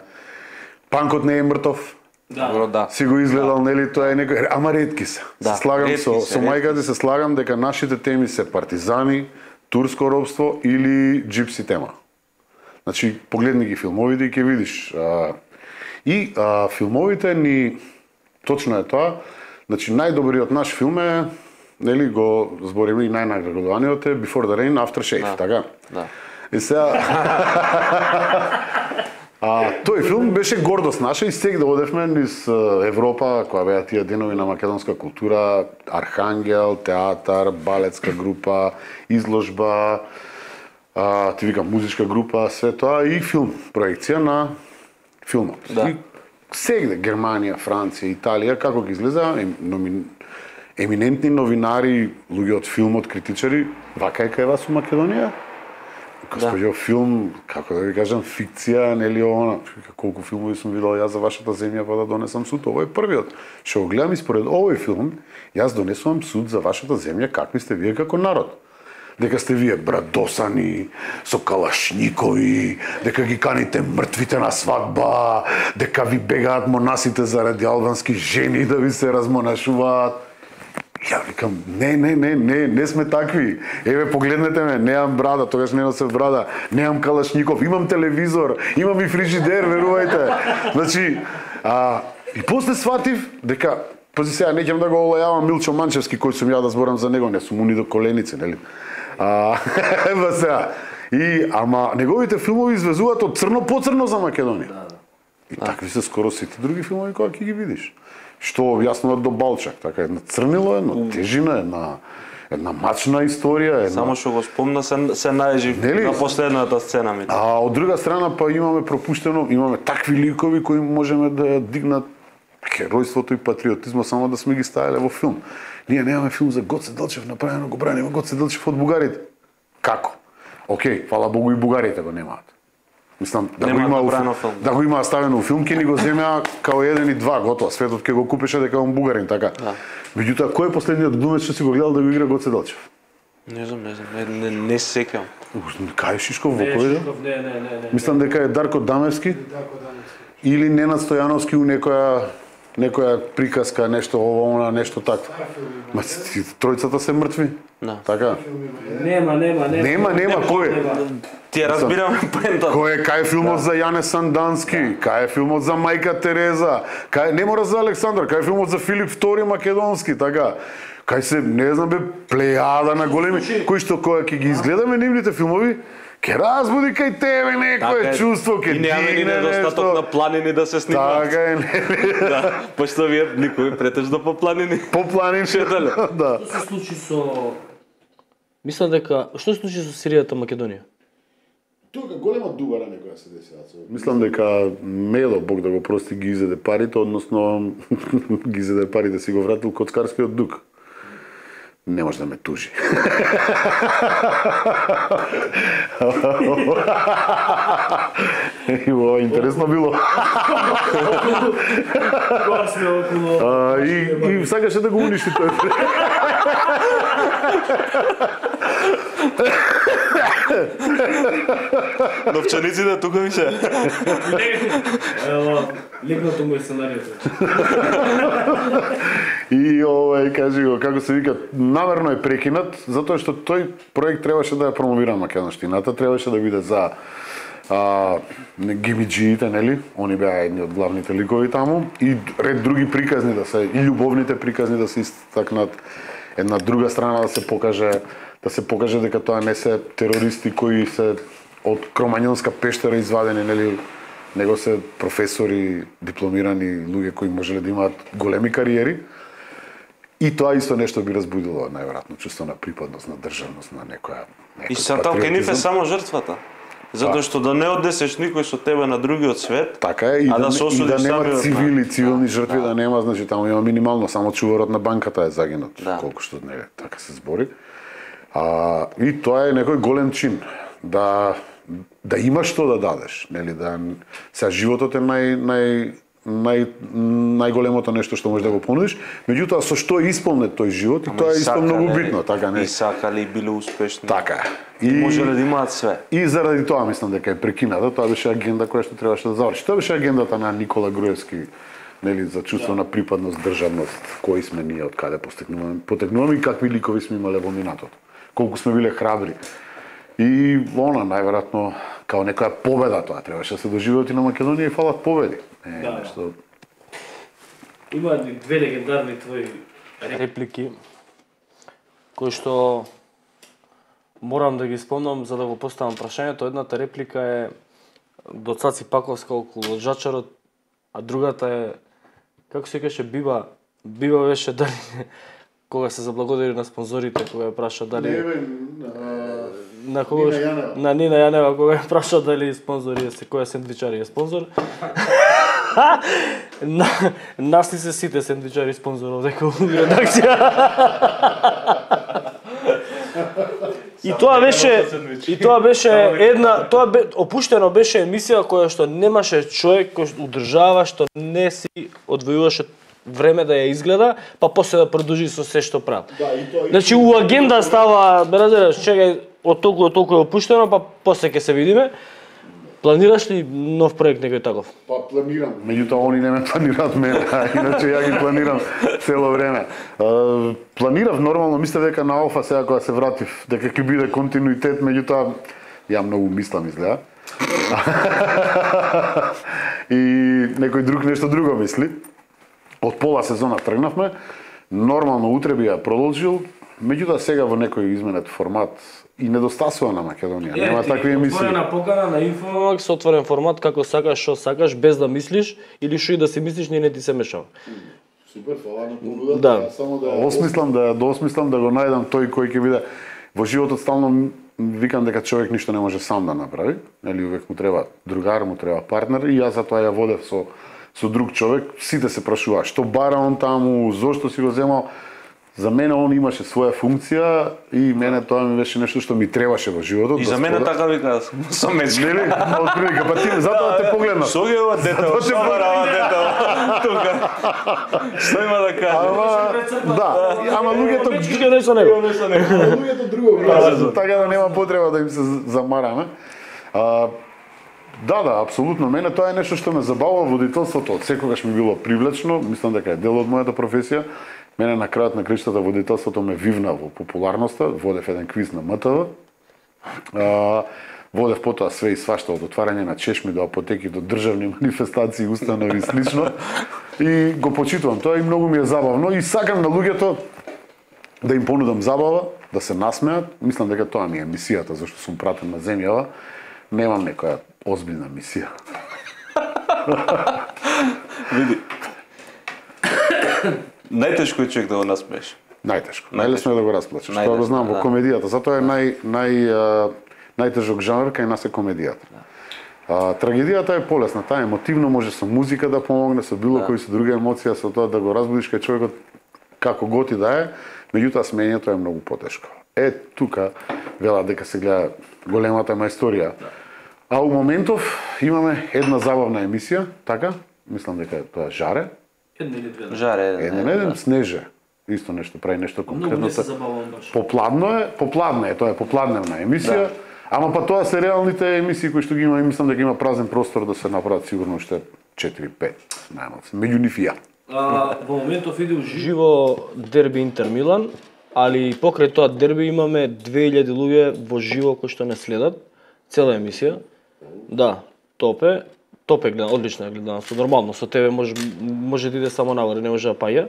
Speaker 3: Панкот не е мртов.
Speaker 4: Да.
Speaker 3: Си го изгледал, нели, тоа е некој, ама ретки се.
Speaker 4: Да,
Speaker 3: се слагам
Speaker 4: ретки
Speaker 3: со
Speaker 4: се,
Speaker 3: мајката се слагам дека нашите теми се партизани, турско робство или джипси тема. Значи, погледни ги филмовите и ќе видиш. Филмовите ни, точно е тоа, значи најдобриот наш филм е, нели, го збориме и најнаградуваниот е Before the Rain, After Shave, така?
Speaker 4: Да.
Speaker 3: И сега... тој филм беше гордост наша и сега да одевме низ Европа, која беа тие денови на македонска култура, Архангел, театар, балетска група, изложба, ти викам музичка група, све тоа и филм, проекција на филмот.
Speaker 4: Да.
Speaker 3: И сегде Германија, Франција, Италија, како ги излеза, еминентни новинари, луѓе од филмот, критичари, вака е кај вас у Македонија? Господјо, филм, како да ви кажам, фикција, нели она, колку филмови сум видел јас за вашата земја па да донесам суд, овој е првиот. Што го гледам и според овој филм, јас донесувам суд за вашата земја, какви сте вие како народ. дека сте вие брадосани, со калашникови, дека ги каните мртвите на свадба, дека ви бегаат монасите заради албански жени да ви се размонашуваат. Ја викам, не сме такви. Еве, погледнете ме, немам брада, тогаш не носев брада, немам калашников, имам телевизор, имам и фрижидер, верувајте. Значи, и после сватив дека, пази сега, не ќе да го олајавам Милчо Манчевски, кој сум ја да зборам за него, не сум уни до коленици, нели? Ева сега. Ама неговите филмови извезуваат од црно по црно за Македонија. И такви се скоро сите други филмови кога ќе ги видиш. Што објаснуваат до Балчак, така една црнило, една тежина, една мачна историја,
Speaker 4: Само што го спомна се најжи на последната сцена ми.
Speaker 3: А од друга страна па имаме пропуштено, имаме такви ликови кои можеме да дигнат херојството и патриотизмот само да сме ги ставиле во филм. Ние немаме филм за Гоце Делчев, направено го браниме Гоце Делчев од бугарите. Како? Океј, фала Богу и бугарите го немаат. Мислам, да го има ставено во филм, ќе ни го земеа као 1 и 2, готово. Светот ќе го купеше дека он бугарин, така. Меѓутоа, кој е последниот глумец што си го гледал да го игра Гоце Делчев?
Speaker 4: Не знам, не се сеќавам.
Speaker 3: Кај Шишков во кој?
Speaker 1: Не.
Speaker 3: Мислам дека е Дарко Дамевски. Или Ненад Стојановски у некоја приказка, нешто ово, нешто така. Ма тројцата се мртви. Така?
Speaker 1: Нема,
Speaker 3: кој е?
Speaker 4: Ти разбирам поентата.
Speaker 3: Кај е филмот за Јане Сандански, кај е филмот за Мајка Тереза, не мора за Александар, кај е филмот за Филип II Македонски, така. Кај се, не знам бе, плејада на големи, кои што кога ќе ги изгледаме нивните филмови, ќе разбуди кај тебе некое чувство, ќе дигне нешто.
Speaker 4: И немаме недостаток на планини да се снимаат.
Speaker 3: Така е,
Speaker 4: Пошто вие никој претежно по планини.
Speaker 3: По планини, да.
Speaker 1: Што се случи со... Мислам дека... Што се случи со Сиријата Македонија?
Speaker 2: Тука голема дугара некоја се десила.
Speaker 3: Мислам дека Медо, Бог да го прости, ги изеде парите, односно ги изеде парите, си го вратил коцкарскиот дуг. Не може да ме тужи. Ова интересно било. И сакаше да го уништи тој.
Speaker 4: Новчаниците тука ми се.
Speaker 1: Лигното му е сценариото.
Speaker 3: И кажи го, како се вика, намерно е прекинат, затоа што тој проект требаше да ја промовира македонштината, требаше да биде за гибиджиите, нели? Они беа едни од главните ликови таму и ред други приказни да се, и љубовните приказни да се истакнат, една друга страна да се покаже дека тоа не се терористи кои се од Кромањонска пештера извадени, нели? Него се професори, дипломирани луѓе кои можеле да имаат големи кариери. И тоа исто нешто би разбудило најверојатно чувство на припадност, на државност, на некоја
Speaker 4: И сатал ке ниф е само жртвата. Затоа што да не однесеш никој со тебе на другиот свет,
Speaker 3: така е, и да нема цивилни жртви, да нема, значи таму има минимално, само чуварот на банката е загинат, колку што не така се збори. И тоа е некој голем чин, да имаш што да дадеш, нели, да сега животот е најголемото нешто што можеш да го понудиш, меѓутоа со што е исполнет тој живот и тоа е исто многу битно, така не.
Speaker 4: И сакале и биле успешни.
Speaker 3: Така.
Speaker 4: И можеле да имаат све.
Speaker 3: И заради тоа мислам дека е прекината, тоа беше агенда која што требаше да заврши. Тоа беше агендата на Никола Груевски, нели, за чувство на припадност, државност, кои сме ние, од каде потекнуваме и какви ликови сме имале во минатото. Колку сме биле храбри. И најверојатно као некоја победа тоа требаше да се доживеат и на Македонија и фалат победи. Нешто...
Speaker 1: Има две легендарни твои реплики кои што морам да ги спомнам за да го поставам прашањето. Едната реплика е до Цаци Паковска околу Лоджачарот, а другата е како се каже Биба беше дали кога се заблагодари на спонзорите, кога ја праша дали на кого на Нина Јанева кога ја праша дали спонзори е која сендвичари е спонзор. Нас ли се сите сендвичари спонзоров дека редакција. И тоа беше една, опуштено беше емисија која што немаше човек кој одржава, што не си одвојуваше време да ја изгледа, па после да продолжи со се што прави.
Speaker 2: Да, и тоа.
Speaker 1: Значи у агенда става, разбираш, чекај, од толку е опуштено, па после ќе се видиме. Планираш ли нов проект некој таков?
Speaker 2: Па планирам.
Speaker 3: Меѓутоа они не ме планираат мене, иначе ја ги планирам цело време. Планирав нормално, мислев дека на Алфа сега кога се вратив, дека ќе биде континуитет, меѓутоа ја многу мислам изгледа. И некој друг нешто друго мисли. Од пола сезона тргнавме, нормално утре би ја продолжил, меѓутоа сега во некој изменет формат и недостасува на Македонија. Нема такви емисии.
Speaker 1: Отворена покана на Инфомакс, отворен формат како сакаш, што сакаш, без да мислиш или што и да си мислиш, не ти се мешава.
Speaker 2: Супер, фала на понудата.
Speaker 1: Да.
Speaker 2: Само да
Speaker 3: Осмислам да го најдам тој кој ќе биде во животот стално викам дека човек ништо не може сам да направи, нели увек му треба другар, му треба партнер и јас затоа ја водев со друг човек. Сите се прашуваа што бара он таму, зошто си го земал. За мене он имаше своја функција и мене тоа ми беше нешто што ми требаше во животот.
Speaker 4: И за мене така вика со мечка.
Speaker 3: Нели? Од прилика, па ти затоа те погледнав.
Speaker 4: Што ги ова дете, што барава дете тука. Што има да каже?
Speaker 3: Да, ама луѓето
Speaker 1: Чичке нешто него.
Speaker 2: луѓето друго гледаат.
Speaker 3: така да нема потреба да им се замараме. Да, апсолутно. Мене тоа е нешто што ме забавува. Водителството од секогаш ми било привлечно. Мислам дека е дел од мојата професија. Мене на крајот на криштата водителството ме вивна во популарноста. Водев еден квиз на МТВ. Водев потоа све и свашта од отварање на чешми до апотеки до државни манифестации, установи и слично. И го почитувам тоа и многу ми е забавно и сакам на луѓето да им понудам забава, да се насмеат. Мислам дека тоа ми е мисијата зашто сум пратен на земјава. Немам некоја озбилна мисија.
Speaker 4: Види. Најтешко е човек да го насмееш.
Speaker 3: Најтешко. Најлесно е да го расплачеш. Тоа го знам во комедијата. Затоа е најтежок жанр кај нас е комедијата. Трагедијата е полесна, таа емотивно може со музика да помогне, со било кој со друга емоција, со тоа да го разбудиш кај човекот како готи да е, меѓутоа смењето е многу потешко. Тука вела дека се гледа големата мајсторија. А у моментов имаме една забавна емисија, така? Мислам дека тоа Жаре.
Speaker 4: Жаре
Speaker 3: Еден Снеже. Исто нешто прави нешто конкретно.
Speaker 1: Многу не се забавувам баш.
Speaker 3: Попладна е, тоа е попладневна емисија. Ама па тоа се реалните емисии кои што ги има и мислам дека има празен простор да се направат сигурно уште 4-5 најмалку. Меѓу нив и ја.
Speaker 1: Во моментов иде живо дерби Интер Милан, али покрај тоа дерби имаме 2000 луѓе во живо кои што не следат цела емисија. Да, топ е гледан, одлично е гледан, нормално со тебе може да иде само нагоре, не може да паѓа.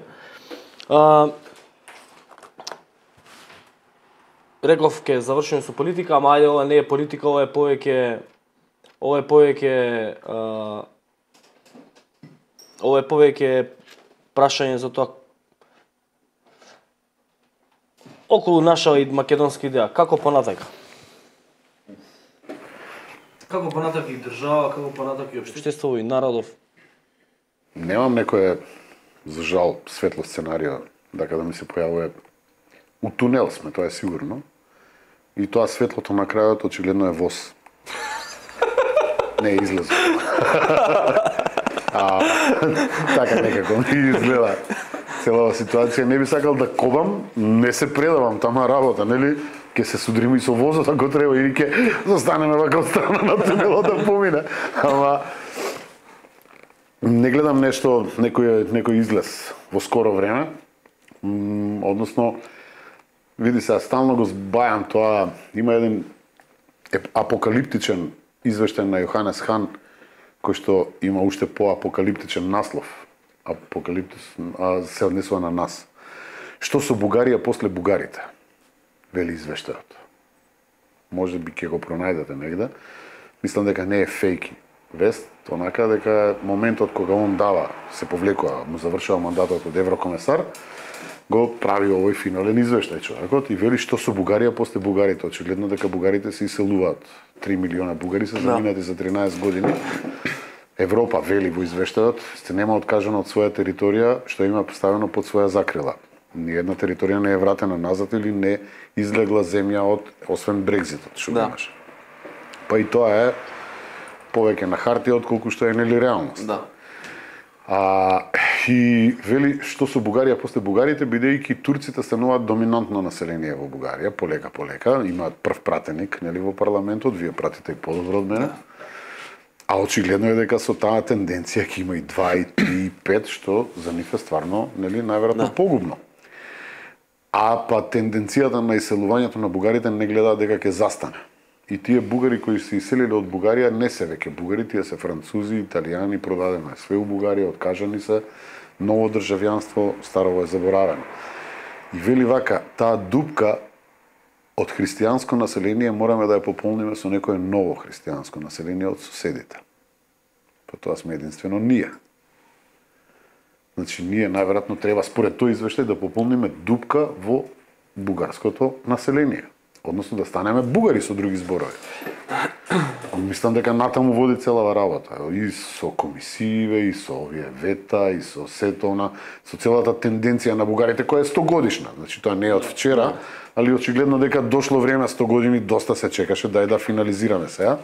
Speaker 1: Реков ке завршиме со политика, ама ајде ова не е политика, ова е повеќе прашање за тоа околу наша и македонска идеја, како понатака? Како понатака и држава, како понатака и општество и народов?
Speaker 3: Немам некое, за жал, светло сценарио дека да ми се појавува. У тунел сме, тоа е сигурно. И тоа светлото на крајот очигледно е воз. Не е излезо. Така некако ми изгледа целава ситуација. Не би сакал да кобам, не се предавам тама работа, нели? Ке се судрим и со возот ако треба или ке застанеме вака од страна на тунелот да помине. Ама не гледам нешто, некој излез во скоро време. Односно, види се, стално го збајам тоа, има еден апокалиптичен извештај на Јоханес Хан, кој што има уште поапокалиптичен наслов. Се однесува на нас. Што со Бугарија после бугарите? Вели извештајот. Може би ќе го пронајдете негде. Мислам дека не е фейк вест, онака дека моментот кога он дава, се повлекува, му завршува мандатот од еврокомесар, го прави овој финален извештај човекот и вели што со Бугарија после бугарите. Очигледно дека бугарите се иселуваат. 3 милиона бугари се заминати за 13 години. Европа, вели во извештајот, се нема откажано од своја територија што има поставено под своја закрила. Ниједна територија не е вратена назад или не излегла земја освен Брекзитот, што имаше. Па и тоа е повеќе на хартија отколку што е нели реалност.
Speaker 4: Да.
Speaker 3: И вели што со Бугарија после бугарите, бидејќи турците стануваат доминантно население во Бугарија, полека, имаат прв пратеник, нели, во парламентот, вие пратите и подобро од мене. А очигледно е дека со таа тенденција ќе има и 2, и 3, и 5, што за нив е стварно, нели, најверојатно погубно. А па тенденцијата на иселувањето на бугарите не гледаат дека ќе застане. И тие бугари кои се иселиле од Бугарија не се веќе бугари, тие се французи, италијани, продадено е све у Бугарија, откажани се, ново државјанство, старово е заборавено. И вели вака, таа дупка од христијанско население мораме да ја пополниме со некое ново христијанско население од соседите. Па тоа сме единствено ние. Значи, ние најверојатно треба според тој извештај да пополниме дупка во бугарското население. Односно да станеме бугари со други зборови. Мислам дека натаму води целава работа. И со комисииве, и со овие вета, и со сето со целата тенденција на бугарите која е 100 годишна. Значи тоа не е од вчера, али очигледно дека дошло време 100 години, доста се чекаше, дај да финализираме сега.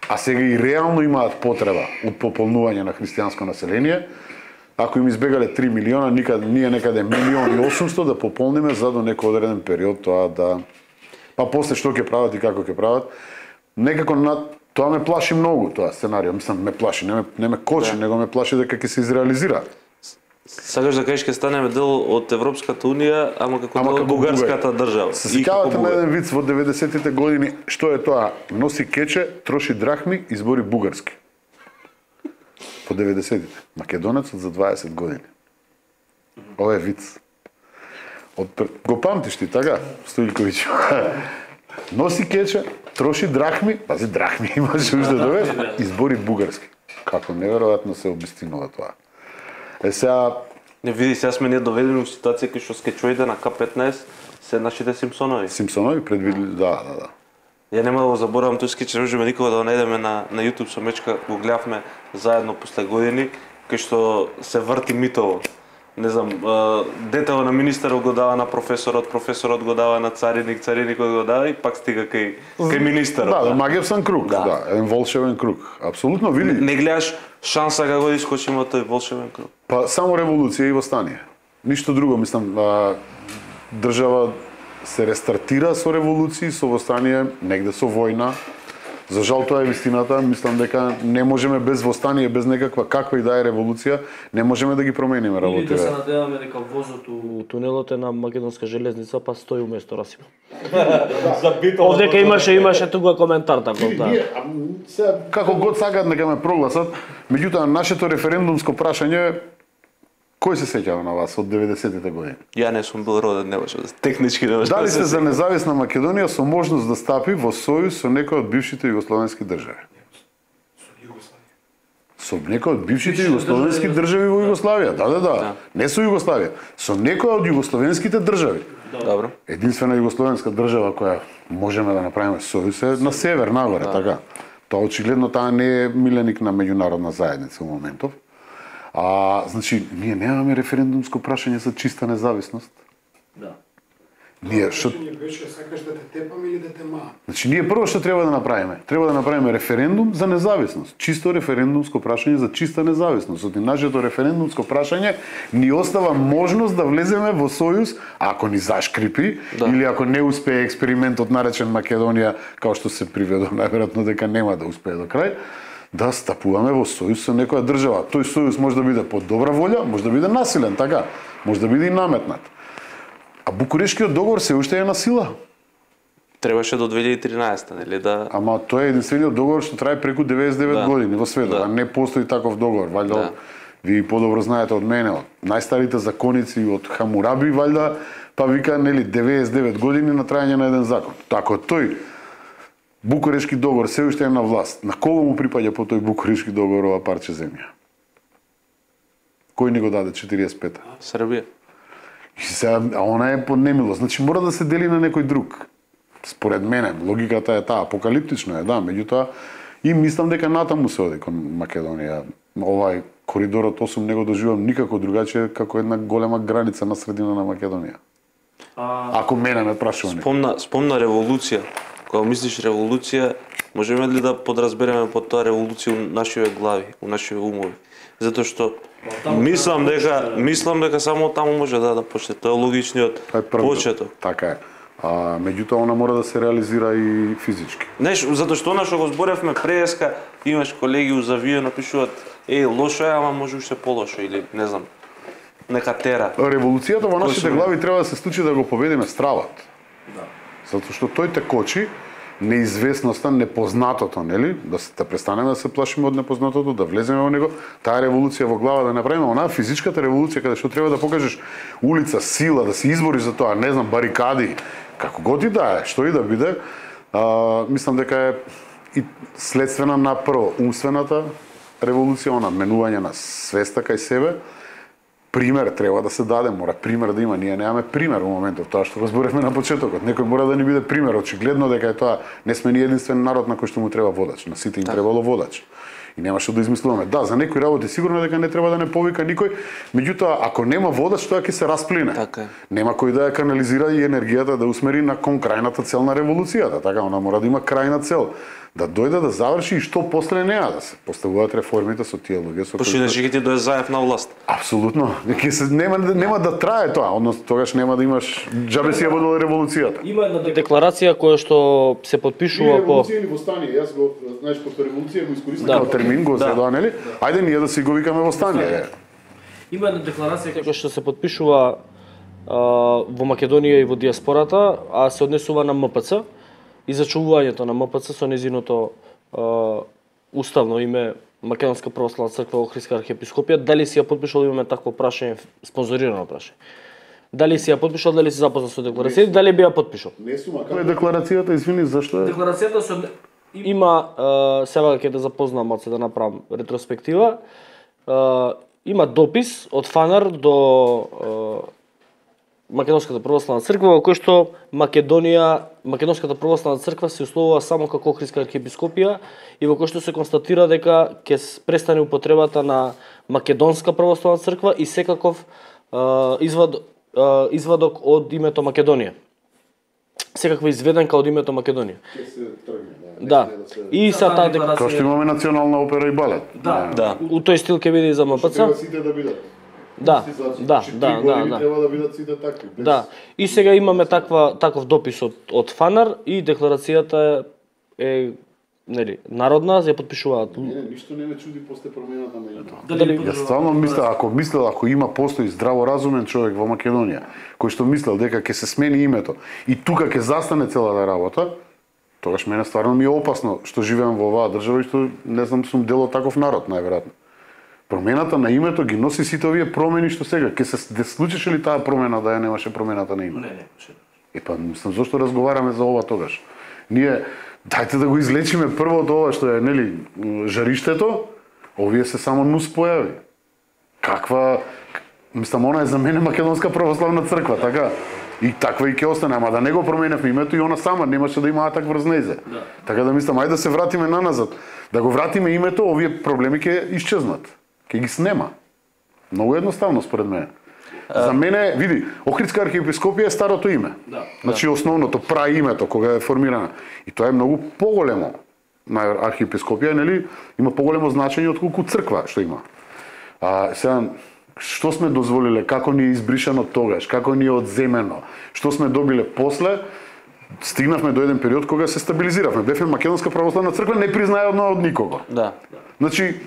Speaker 3: А сега и реално имаат потреба од пополнување на христијанско население. Ако им избегале 3 милиона, ние некаде 1.800.000 да пополниме за до некој одреден период тоа да... Па после што ќе прават и како ќе прават. Некако тоа ме плаши многу, тоа сценарио. Мислам, ме плаши, не ме кочи, него ме плаши дека ќе се изреализира.
Speaker 4: Сакаш да кажеш ќе станеме дел од Европската унија, ама како дел од бугарската држава.
Speaker 3: Се сеќавате на еден виц во 90-тите години, што е тоа? Носи кече, троши драхми, избори бугарски. По 90-тите. Македонецот за 20 години. Ова е виц. Го памтиш ти, така, Стојковиќ? Носи кече, троши драхми, пази драхми имаш уште дове, избори бугарски. Како неверојатно се обистинува тоа. Сега...
Speaker 4: Не види, сега сме ние доведени во ситуација кај што скечоите на К15 се нашите Симпсонови.
Speaker 3: Симпсонови предвидели, да.
Speaker 4: Ја нема да го заборавам тој скеч, не можеме никога да го најдеме на YouTube со Мечка, го гледавме заедно после години, кај што се врти митово. Не знам, детето на министерот го дава на професорот го дава на цариникот го дава и пак стига кај министерот.
Speaker 3: Да, магиевсан круг, да, еден волшебен круг. Апсолутно, види.
Speaker 4: Не гледаш шанса како да искочиме тој волшебен круг.
Speaker 3: Па само револуција и восстание. Ништо друго, мислам, држава се рестартира со револуции, со восстание, негде со војна. За жал тоа е вистината, мислам дека не можеме без восстание, без каква и да е револуција, не можеме да ги промениме работите.
Speaker 1: Или да се надеваме дека возот у тунелот е на македонска железница, па стои уместо Расима. Овдека имаше тука коментар така од таа.
Speaker 3: Како год сакаат нека ме прогласат, меѓутоа нашето референдумско прашање, кој се сеќава на вас од 90-тите години?
Speaker 4: Ја не сум бил роден, не може, технички не може.
Speaker 3: Дали сте за независна Македонија со можност да стапи во сојуз со некој од бившите југословенски држави? Со некој од бившите југословенски држави во Југославија, да. Не со Југославија, со некој од југословенските држави.
Speaker 4: Добро.
Speaker 3: Единствена југословенска држава која можеме да направиме сојуз е на север, нагоре, така. Тоа очигледно таа не е миленик на меѓународна заедница во моментов. Значи, ние немаме референдумско прашање за чиста независност.
Speaker 1: Да.
Speaker 3: Ние што
Speaker 2: беше сакаш да те тепам или да те маам?
Speaker 3: Значи, ние прво што треба да направиме? Треба да направиме референдум за независност. Чисто референдумско прашање за чиста независност. Од нашето референдумско прашање ни остава можност да влеземе во сојуз, ако ни зашкрипи, или ако не успее експериментот наречен Македонија, као што се приведува, најверојатно дека нема да успее до крај, да стапуваме во сојуз со некоја држава. Тој сојуз може да биде под добра волја, може да биде насилен, така, може да биде и наметнат. А Букурешкиот договор се уште е на сила.
Speaker 4: Требаше до 2013, нели да...
Speaker 3: Ама тој е единствениот договор што трае преку 99 години во светот, а не постои таков договор. Вајда, ви подобро знаете од мене, од најстарите законици од Хамураби, вајда, па вика, нели, 99 години на трајање на еден закон. Тако тој Букурешки договор се уште е на власт. На кого му припаѓа по тој Букурешки договор ова парче земја? Кој ни го даде 45-та?
Speaker 4: Србија.
Speaker 3: И сега, она е под немилост. Значи мора да се дели на некој друг. Според мене, логиката е таа, апокалиптично е, да, меѓутоа и мислам дека натаму се оди кон Македонија. Овај коридорот 8 не го доживам никако другаче како една голема граница на средина на Македонија. Ако мене ме прашува некој.
Speaker 4: Спомна револуција. Кога мислиш револуција, можеме ли да подразбереме под тоа револуција у нашиве глави, у нашиве умови? затоа што мислам дека само таму може да почне. Тоа е логичниот почеток.
Speaker 3: Така е. Меѓутоа она мора да се реализира и физички.
Speaker 4: Знаеш, затоа што она што го зборевме преска, имаш колеги узавио напишуваат лошо е, ама може уште полошо или не знам. Нека тера.
Speaker 3: Револуцијата во нашите глави треба да се случи да го победиме стравот. Да. Затоа што тој те кочи неизвестноста, непознатото, нели? Да престанеме да се плашиме од непознатото, да влеземе во него, таа револуција во глава да направиме, онаа физичката револуција каде што треба да покажеш улица, сила, да се избориш за тоа, не знам, барикади, како god и да е, што и да биде, мислам дека е и следствена на прво умствената револуција, она менување на свеста кај себе. Пример треба да се даде, мора пример да има. Ние немаме пример во моментов, тоа што го зборевме на почетокот. Некој мора да ни биде пример, очигледно дека е тоа, не сме ни единствен народ на кој што му треба водач, на сите им требало водач. И нема што да измислуваме. Да, за некои работи сигурно дека не треба да не повика никој, меѓутоа ако нема водач, тоа ќе се расплине.
Speaker 4: Така.
Speaker 3: Нема кој да ја канализира и енергијата да усмери на кон крајната цел на револуцијата, така она мора да има крајна цел. Да дојде да заврши и што после неа да се поставуваат реформите со тие луѓе со
Speaker 4: кои ќе ти дое заев на власт.
Speaker 3: Апсолутно. Нема да трае тоа, односно тогаш нема да имаш џабе си ја водела револуцијата.
Speaker 1: Има една декларација која што се потпишува по
Speaker 3: револуција или востание. Јас го знаеш по револуција го искористив како термин, го зедоа, нели? Ајде ние да си го викаме востание.
Speaker 1: Има една декларација која што се потпишува во Македонија и во диаспората, а се однесува на МПЦ. И зачувувањето на МПЦ со незиното уставно име Македонска православна црква Охридска архиепископија, дали си ја потпишал, имаме такво прашање, спонзорирано прашање. Дали си ја потпишал, дали си запознат со декларацијата, дали би ја потпишал?
Speaker 3: Не сум, како е декларацијата, извини, зашто е?
Speaker 1: Декларацијата има, сега ќе да запознам од се да направам ретроспектива, има допис од Фанар до Македонската православна црква, во кој што Македонската православна црква се условува само како Охридска архиепископија и во кој што се констатира дека ќе престане употребата на Македонска православна црква и секаков извадок од името Македонија. Секаква изведенка од името Македонија.
Speaker 3: Ќе се тргне,
Speaker 1: да. И са таа декларација.
Speaker 3: Тоа што имаме национална опера и балет.
Speaker 1: Да. У тој стил ќе биде и за МПЦ.
Speaker 3: Треба сите да бидат.
Speaker 1: Да.
Speaker 3: Треба да бидат сите такви.
Speaker 1: Да. И сега имаме таков допис од Фанар и декларацијата е нели народна, ја потпишуваат.
Speaker 3: Не, ништо не ме чуди после промената на името. Јас стварно мислел, ако постои здраворазумен човек во Македонија, кој што мислел дека ќе се смени името и тука ќе застане целата работа, тогаш мене стварно ми е опасно што живеам во оваа држава и што не знам сум дел од таков народ, најверојатно. Промената на името ги носи сите овие промени што сега. Ке се случеше ли таа промена да ја немаше промената на името? Не. Мислам, зошто разговараме за ова тогаш? Ние, дајте да го излечиме прво од ова што е, нели, жариштето, овие се само нус појави. Мислам, она е за мене Македонска православна црква, така? И таква и ќе остане, ама да не го променевме името и она сама немаше да има атак врз нејзе. Да. Така да мислам, ајде да се вратиме наназад. Да го вратиме името, овие проблеми ќе исчезнат. Ќе ги снема. Многу едноставно според мене. За мене, види, Охридска архиепископија е старото име. Да. Значи основното праимето кога е формирана. И тоа е многу поголемо. На архиепископија, нели, има поголемо значење отколку црква што има. Сега што сме дозволиле, како ни е избришано тогаш, како ни е одземено, што сме добиле после, стигнавме до еден период кога се стабилизиравме. Бевме Македонска православна црква, не признаена од никого.
Speaker 4: Да.
Speaker 3: Значи,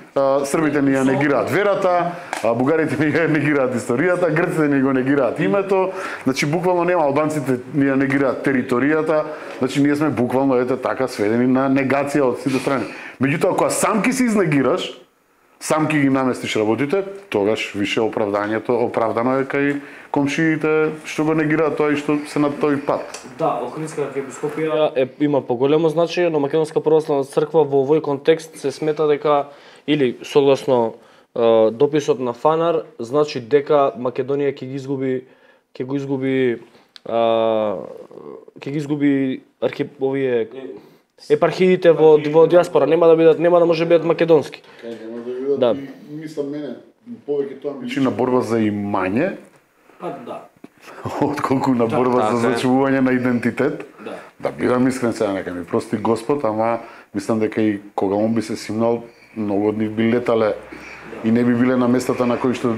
Speaker 3: србите ни ја негираат верата, бугарите ни ја негираат историјата, грците ни го негираат името, значи буквално нема, албанците ни ја негираат територијата, значи ние сме буквално така сведени на негација од сите страни. Меѓутоа, кога сам ки се изнегираш, сам ки ги наместиш работите, тогаш више оправдано е кај комшиите што го негираат тоа и што се на тој пат.
Speaker 1: Да, Охридска архиепископија има поголемо значење, но Македонска православна црква во овој контекст се смета дека или согласно дописот на Фанар, значи дека Македонија ќе ги изгуби овие епархиите во диаспора, нема да може да бидат македонски.
Speaker 3: Да. Мислам мене повеќе тоа ми на борба за имање.
Speaker 1: Да.
Speaker 3: Отколку на борба за зачувување на идентитет. Да бидам искрен сега, нека ми прости Господ, ама мислам дека и кога он би се симнал, многу од нив би летале и не би биле на местата на кои што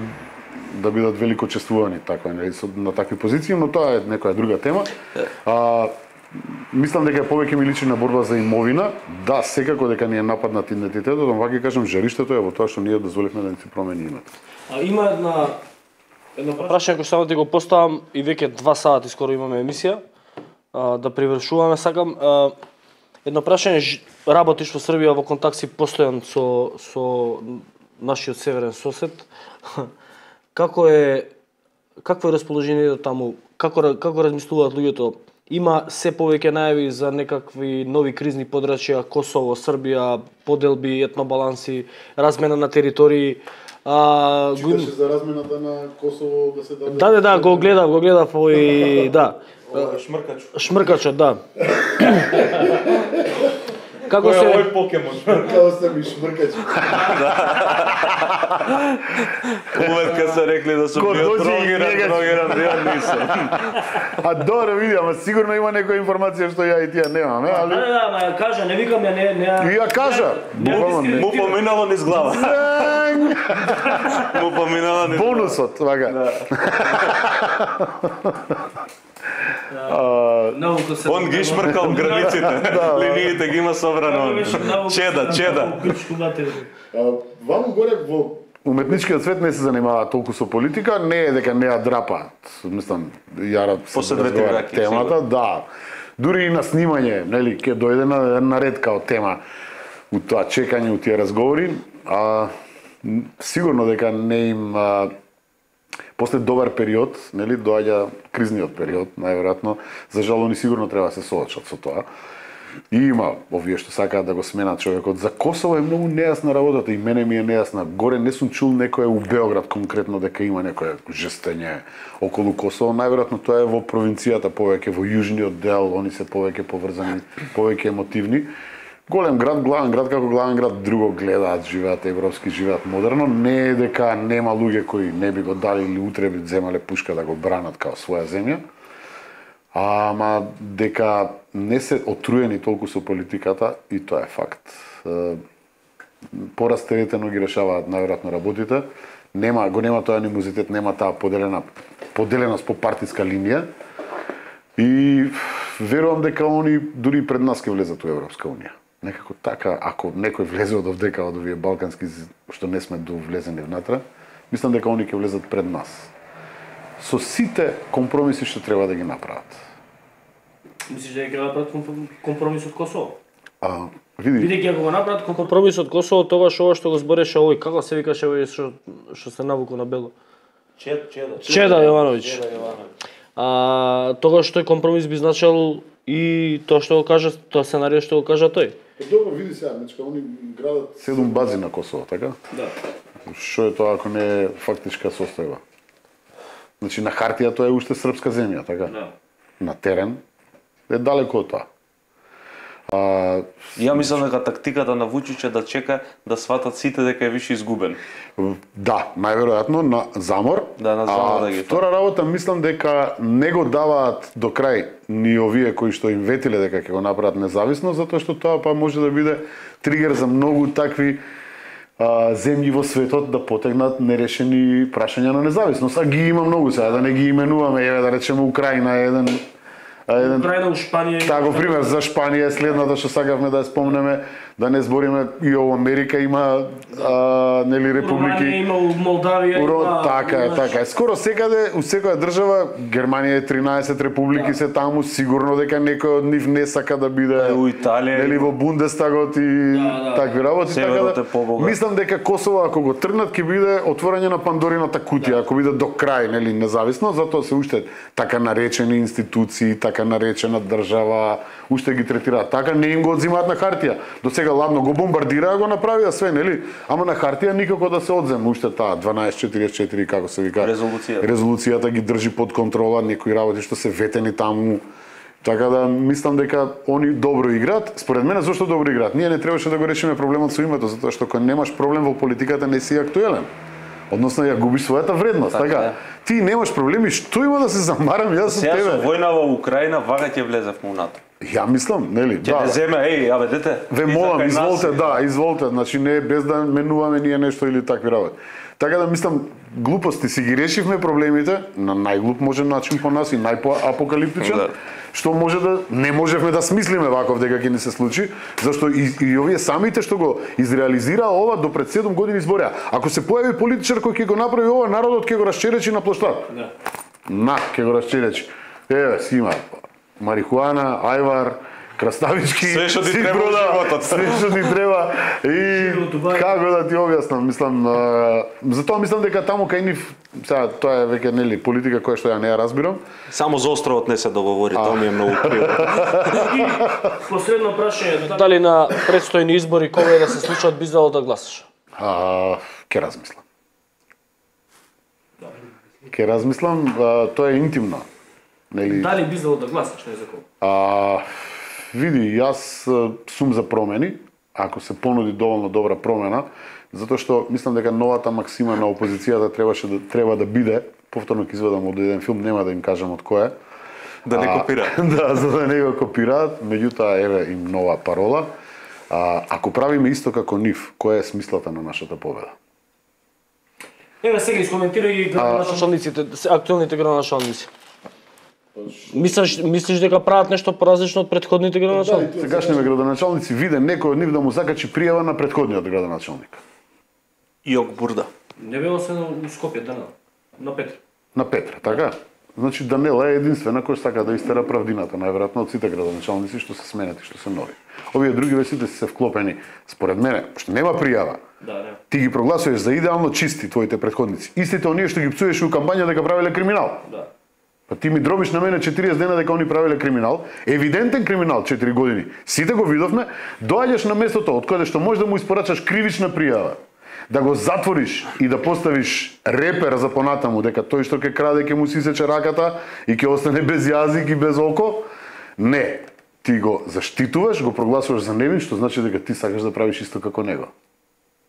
Speaker 3: да бидат велико чествувани така на такви позиции, но тоа е некоја друга тема. Мислам дека повеќе ми личи на борба за имовина. Да, секако дека ни е нападнат идентитетот, но вака кажам, жариштето е во тоа што ние дозволивме да ни се промени името.
Speaker 1: Има едно прашање кој само ти го поставам и веќе 2 сати скоро имаме емисија. Да привршуваме, сакам едно прашање, работиш во Србија во контакт си постојан со нашиот северен сосед. Какво е расположението таму? Како размислуваат луѓето? Има се повеќе најави за некакви нови кризни подрачја, Косово, Србија, поделби, етнобаланси, размена на територии.
Speaker 3: Читаше за размената на Косово да се даде?
Speaker 1: Да, го гледав и да. Шмркачот, да. Како се
Speaker 5: овој покемон?
Speaker 3: Како се ми шмркачи?
Speaker 4: Увек кога се рекли да сум био дрогиран, ја нисам.
Speaker 3: Добро, види, ама сигурно има некоја информација што ја и тија немаме, али...
Speaker 1: Да, ма кажа, не викам ја, не...
Speaker 3: Ја кажа!
Speaker 4: Му поминало низ глава. Му поминало низ глава.
Speaker 3: Бонусот, вака.
Speaker 4: Он ги шмркал границите, линиите ги има собрано. Чеда.
Speaker 3: Ваму горе во уметничкиот свет не се занимава толку со политика, не е дека не ја драпаат. Мислам, јара се разговара темата, да. Дури и на снимање, нели, ќе дојде на ред као тема у тоа чекање, у тие разговори, сигурно дека не им после добар период, нели, доаѓа кризниот период, најверојатно, за жал они сигурно треба да се соочат со тоа. И има овие што сакаат да го сменат човекот. За Косово е многу нејасна работата и мене ми е нејасна. Горе не сум чул некој у Београд конкретно дека има некое жестење околу Косово. Најверојатно тоа е во провинцијата повеќе, во јужниот дел, они се повеќе поврзани, повеќе емотивни. Голем град, главен град, како главен град, друго гледаат, живеат европски, живеат модерно. Не е дека нема луѓе кои не би го дали или утре би земале пушка да го бранат као своја земја. Ама дека не се отруени толку со политиката и тоа е факт. Порастеретено ги решаваат најверојатно работите. Го нема тој анимозитет, нема таа поделеност по партиска линија. И верувам дека они дури пред нас ќе влезат во Европска унија. Некако така, ако некој влезе од овдека, од овие балкански, што не сме довлезени внатре, мислам дека они ќе влезат пред нас. Со сите компромиси што треба да ги направат.
Speaker 1: Мислиш дека ќе направат компромис од Косово?
Speaker 3: Види,
Speaker 1: ако го направат компромис од Косово, тогаш ова што го збореше овој, како се викаше овој што се навуку на бело? Чеда Јовановиќ. Тогаш тој компромис би значил и тоа што го кажа, тоа сценарио што го кажа тој.
Speaker 3: Добро, види сега, значи они градат 7 бази на Косово, така?
Speaker 1: Да.
Speaker 3: Што е тоа ако не е фактичка состојба? Значи на хартија тоа е уште српска земја, така?
Speaker 1: Да.
Speaker 3: На терен е далеко од тоа.
Speaker 4: Ја мислам дека тактиката на Вучич е да чека да сватат сите дека е више изгубен.
Speaker 3: Да, најверојатно на замор.
Speaker 4: Да, на замор да ги.
Speaker 3: Втора работа мислам дека не го даваат до крај ни овие кои што им ветиле дека ќе го направат независно, затоа што тоа па може да биде тригер за многу такви земји во светот да потегнат нерешени прашања на независност. А ги има многу сега, да не ги именуваме, еве да речеме Украина е еден
Speaker 1: Украина, Шпанија.
Speaker 3: Тако пример за Шпанија е следната што сакавме да ја спомнеме, да не збориме и во Америка има нели републики.
Speaker 1: Има Молдавија, има.
Speaker 3: Така е. Скоро секаде, у секоја држава, Германија е 13 републики се таму, сигурно дека некој од нив не сака да биде
Speaker 4: у Италија,
Speaker 3: нели во Бундестагот и такви работи, така да. Мислам дека Косово ако го тргнат ќе биде отворање на Пандорината кутија, ако биде до крај, нели независно, затоа се уште така наречени институции, така наречена држава, уште ги третираат така, не им го одзимаат на хартија. До сега ладно го бомбардираа, го направија све, нели? Ама на хартија никако да се одземе уште таа 1244 како се вика. Резолуцијата ги држи под контрола, некои работи што се ветени таму. Така да мислам дека они добро играат. Според мене зошто добро играат? Ние не требаше да го решиме проблемот со името, затоа што кога немаш проблем во политиката не си актуелен. Односно ја губиш својата вредност, така? Ти немаш проблеми, што има да се замарам јас со тебе?
Speaker 4: Сега со војна во Украина вага ќе влезев во НАТО.
Speaker 3: Ја мислам, нели?
Speaker 4: Ќе не земе, абе дете.
Speaker 3: Ве молам, изволте, значи не без да менуваме ние нешто или такви работи. Така да мислам, глупости си ги решивме проблемите на најглуп можен начин по нас и најпоапокалиптичен. Што може да не можевме да смислиме ваков дека ќе ни се случи, зашто и овие самите што го изреализира ова до пред 7 години изборија. Ако се појави политичар кој ќе го направи ова, народот ќе го расчеречи на площад. Ќе го расчеречи. Еве, си има марихуана, ајвар, краставички,
Speaker 4: све што ти треба во животот.
Speaker 3: Све што ти треба и како да ти објаснам, мислам, затоа мислам дека таму кај нив, сега тоа е веќе нели политика која што ја не ја разбирам.
Speaker 4: Само за островот не се договори, тоа ми е многу криво.
Speaker 1: И последно прашање, дали на предстојни избори кога да се случат би зало да гласаш?
Speaker 3: Ке размислам. Ке размислам, тоа е интимно. Нели?
Speaker 1: Дали би зало да гласаш, не за кого?
Speaker 3: Види, јас сум за промени, ако се понуди доволно добра промена, затоа што мислам дека новата максима на опозицијата треба да биде, повторно ќе изведам од еден филм, нема да им кажам од кој е.
Speaker 4: Да не копираат.
Speaker 3: Да, за да не го копираат, меѓутоа еве им нова парола. Ако правиме исто како нив, која е смислата на нашата победа?
Speaker 1: Еве сега искоментирај ги градоначалниците, актуелните градоначалници. Мислиш дека прават нешто поразлично од претходните градоначалници?
Speaker 3: Сегашните градоначалници виде некој од нив да му закачи пријава на претходниот градоначалник.
Speaker 4: Јок Бурда.
Speaker 1: Не било се на Скопје, на Петра.
Speaker 3: На Петра, така? Значи Данела е единствена кој сака да истера правдината, најверојатно од сите градоначалници што се сменати, што се нови. Овие други сите се вклопени, според мене, што нема пријава. Ти ги прогласуваш за идеално чисти твоите претходници. Истите оние што ги пцуеш у кампања дека правеле криминал. Па ти ми дробиш на мене 40 дена дека они правеле криминал, евидентен криминал 4 години. Сите го видовме, доаѓаш на местото од кое што можеш да му испорачаш кривична пријава, да го затвориш и да поставиш репер за понатаму дека тој што ќе краде ќе му сисече раката и ќе остане без јазик и без око. Не, ти го заштитуваш, го прогласуваш за невин, што значи дека ти сакаш да правиш исто како него.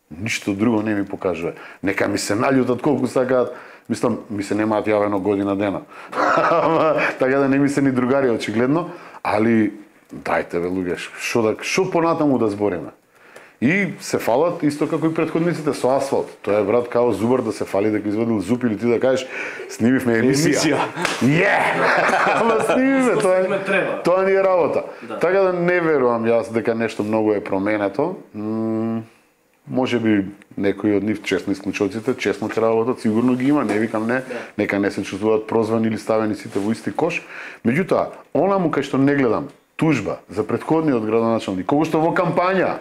Speaker 3: Ништо друго не ми покажува. Нека ми се наљутат колку сакаат. Мислам, ми се немаат јавено година дена. Така да не ми се ни другари очигледно, али дајте бе луѓе, што понатаму да збориме. И се фалат исто како и претходниците со асфалт. Тоа е брат као зубар да се фали дека извадил зуб или ти да кажеш снимивме емисија. Ама снимивме, тоа ни е работа. Така да не верувам јас дека нешто многу е променето. Може би некои од нив честни исклучоците, честно ќе работат, сигурно ги има, не викам не, нека не се чувствуваат прозвани или ставени сите во исти кош. Меѓутоа, онаму кај што не гледам тужба за претходниот градоначалник, кога што во кампања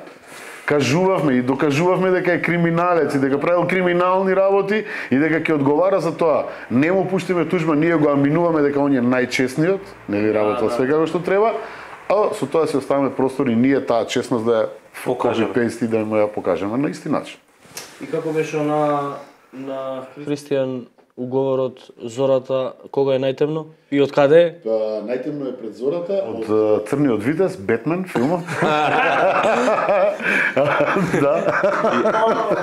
Speaker 3: кажувавме и докажувавме дека е криминалец и дека правил криминални работи и дека ќе одговара за тоа, не му пуштиме тужба, ние го аминуваме дека он е најчестниот, нели работел све како што треба, а со тоа се оставаме простор и ние таа честност да ја покажеме, да ја покажеме на исти начин.
Speaker 1: И како беше на Христијан уговорот Зората, кога е најтемно и од каде е?
Speaker 3: Најтемно е пред Зората, од Црниот витез, Бетмен, филмот.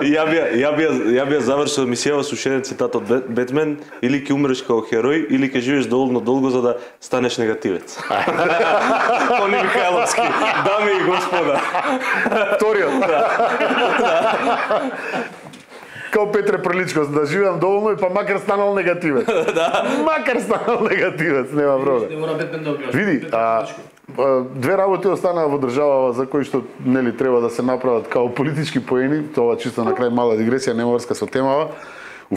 Speaker 4: Ја би завршил емисијава со уште еден цитат од Бетмен: или ќе умреш како херој, или ќе живееш доволно долго за да станеш негативец. Тони Михајловски, дами и господа.
Speaker 3: Вториот. Као Петре Приличко, да живеам доволно и па макар станал негативец. Макар станал негативец, нема проблем.
Speaker 1: Не мора Бетмен да објашни.
Speaker 3: Види, две работи останаа во државава за кои што нели треба да се направат као политички поени, тоа чисто на крај мала дигресија, нема врска со темава. У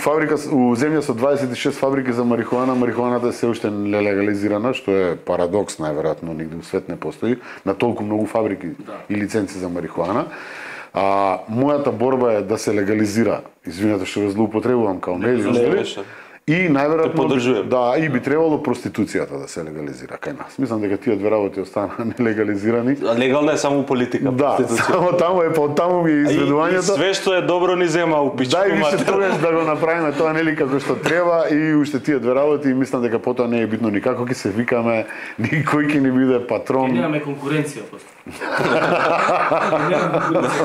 Speaker 3: земја со 26 фабрики за марихуана, марихуаната е се уште нелегализирана, што е парадокс, најверојатно нигде во свет не постои, на толку многу фабрики и лиценци за марихуана. Мојата борба е да се легализира. Извинете што ве злоупотребувам као медиум. И најверојатно и би требало проституцијата да се легализира кај нас. Мислам дека тие две работи останаа нелегализирани.
Speaker 4: Легална е само политика.
Speaker 3: Да, само таму е, таму ми е изведувањето.
Speaker 4: И све што е добро ни зема у пичку.
Speaker 3: Дај више тогаш да го направиме тоа нели како што треба и уште тие две работи и мислам дека потоа не е битно никако ќе се викаме, никој ќе ни биде патрон.
Speaker 1: Ќе немаме конкуренција после.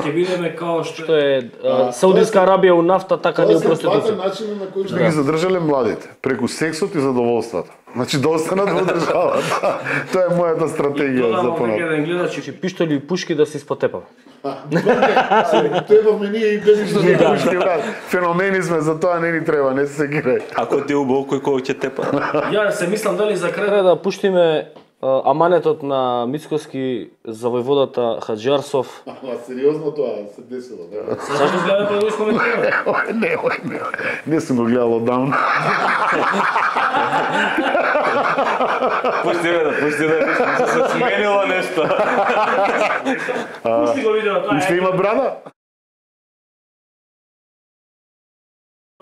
Speaker 1: Ќе бидеме као што е Саудиска Арабија у нафта, така ни у проституција.
Speaker 3: Начинот на кој што ги задржале младите, преку сексот и задоволството. Значи да останат во државата. Тоа е мојата стратегија за понапред.
Speaker 1: Додавам веќе гледачи, че пиштоли и пушки да се испотепам.
Speaker 2: Требавме ние и без ништо
Speaker 3: Да, пушки, брат. Феномени сме, за тоа не ни треба, не се гире.
Speaker 4: Ако ти убаво кој ќе тепа.
Speaker 1: Ја се мислам дали за крај да пуштиме аманетот на Мицкоски за војводата Хаџиарсов.
Speaker 2: Сериозно тоа се десило, да.
Speaker 1: Зашто гледаме па да го искоментираме?
Speaker 3: Не сум го гледал оддавна.
Speaker 4: Пусти да се сменило нешто.
Speaker 1: Пушти го видео,
Speaker 3: Уште има брада?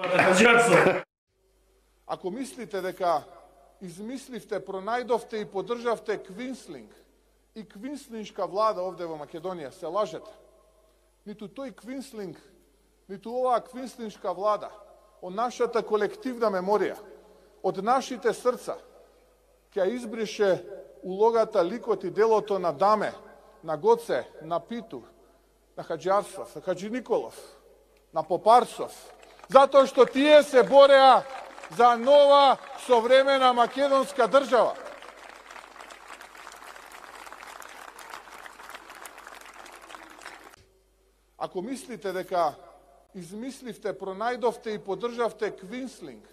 Speaker 1: Хаџиарсов.
Speaker 6: Ако мислите дека измисливте, пронајдовте и поддржавте квинслинг и квинслиншка влада овде во Македонија, се лажете. Ниту тој квинслинг, ниту оваа квинслиншка влада, од нашата колективна меморија, од нашите срца, ќе избрише улогата, ликот и делото на Даме, на Гоце, на Питу, на Хаџиарсов, на Хаџи Николов, на Попарсов, затоа што тие се бореа за нова современа македонска држава. Ако мислите дека измисливте, пронајдовте и поддржавте квинслинг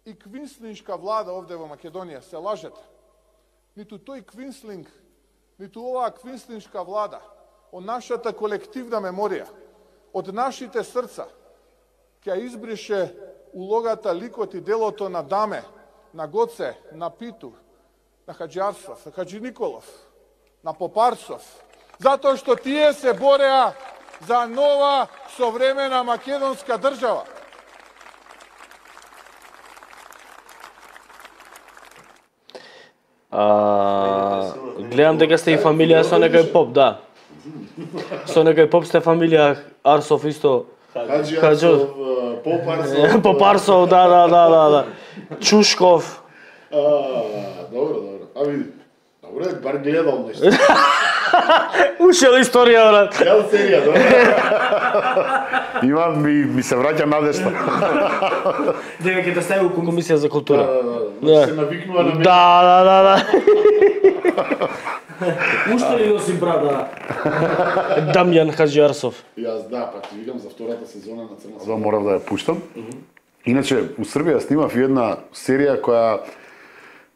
Speaker 6: и квинслиншка влада овде во Македонија, се лажете. Ниту тој квинслинг, ниту оваа квинслиншка влада, од нашата колективна меморија, од нашите срца, ќе избрише улогата, ликот и делото на Даме, на Гоце, на Питу, на Хаџиарсов, на Хаџи Николов, на Попарсов, затоа што тие се бореа за нова современа македонска држава.
Speaker 1: Гледам дека сте и фамилија со некој поп, да. Со некој поп сте фамилија Арсов исто.
Speaker 2: Хаџиарсов, Попарсов.
Speaker 1: Попарсов, да. Чушков.
Speaker 2: Добро. А види. Добро, бар гледал нешто.
Speaker 1: Ушел историја, брат.
Speaker 2: Гледал серија, добро.
Speaker 3: Има ми се враќа надежда.
Speaker 1: Дека ќе те стави у комисија за култура.
Speaker 2: Да. Се навикнува на мене.
Speaker 1: Да. Уште ли носи брада? Дамјан Хаџиарсов.
Speaker 2: Јас да, па ти викам за втората сезона на Црна свадба.
Speaker 3: Морав да ја пуштам. Иначе, у Србија снимав една серија која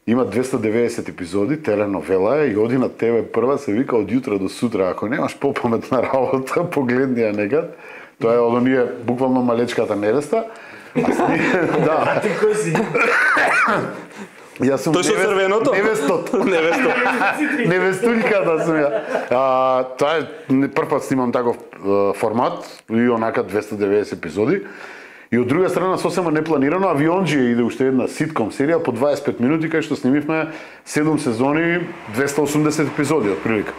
Speaker 3: има 290 епизоди, теленовела е и оди на ТВ прва, се вика од јутро до сутра. Ако немаш попаметна работа, погледни ја некад. Тоа е од оние буквално малечката невеста. Да.
Speaker 1: Ти кој си?
Speaker 3: Јас сум
Speaker 4: Тој со црвеното?
Speaker 3: Невестульката сум ја. Тоа е прв пат снимам таков формат и онака 290 епизоди. И од друга страна сосема непланирано Авионџија иде уште една ситком серија по 25 минути кај што снимивме 7 сезони, 280 епизоди отприлика.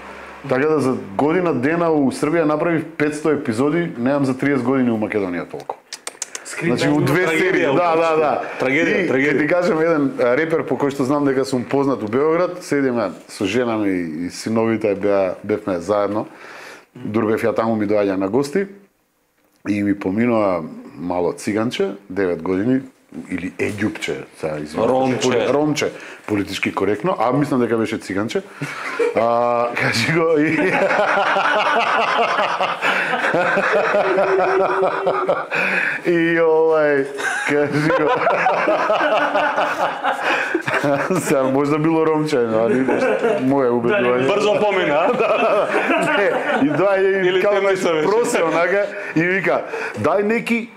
Speaker 3: Така да за година дена у Србија направив 500 епизоди, немам за 30 години у Македонија толку. Значи у две серии, да.
Speaker 4: Трагедија.
Speaker 3: Ти кажем еден репер по кој што знам дека сум познат у Београд, седиме со жена ми и синовите бевме заедно. Дур бев ја таму, ми доаѓа на гости и ми поминува мало циганче, 9 години, или еѓупче, сега извинувам. Ромче, политички коректно, а мислам дека беше циганче. Кажи го и... И кажи го... Сега, можда било ромче, али моје убедување.
Speaker 4: Брзо помина,
Speaker 3: И доаѓа и као просе, онака, и вика, дај неки...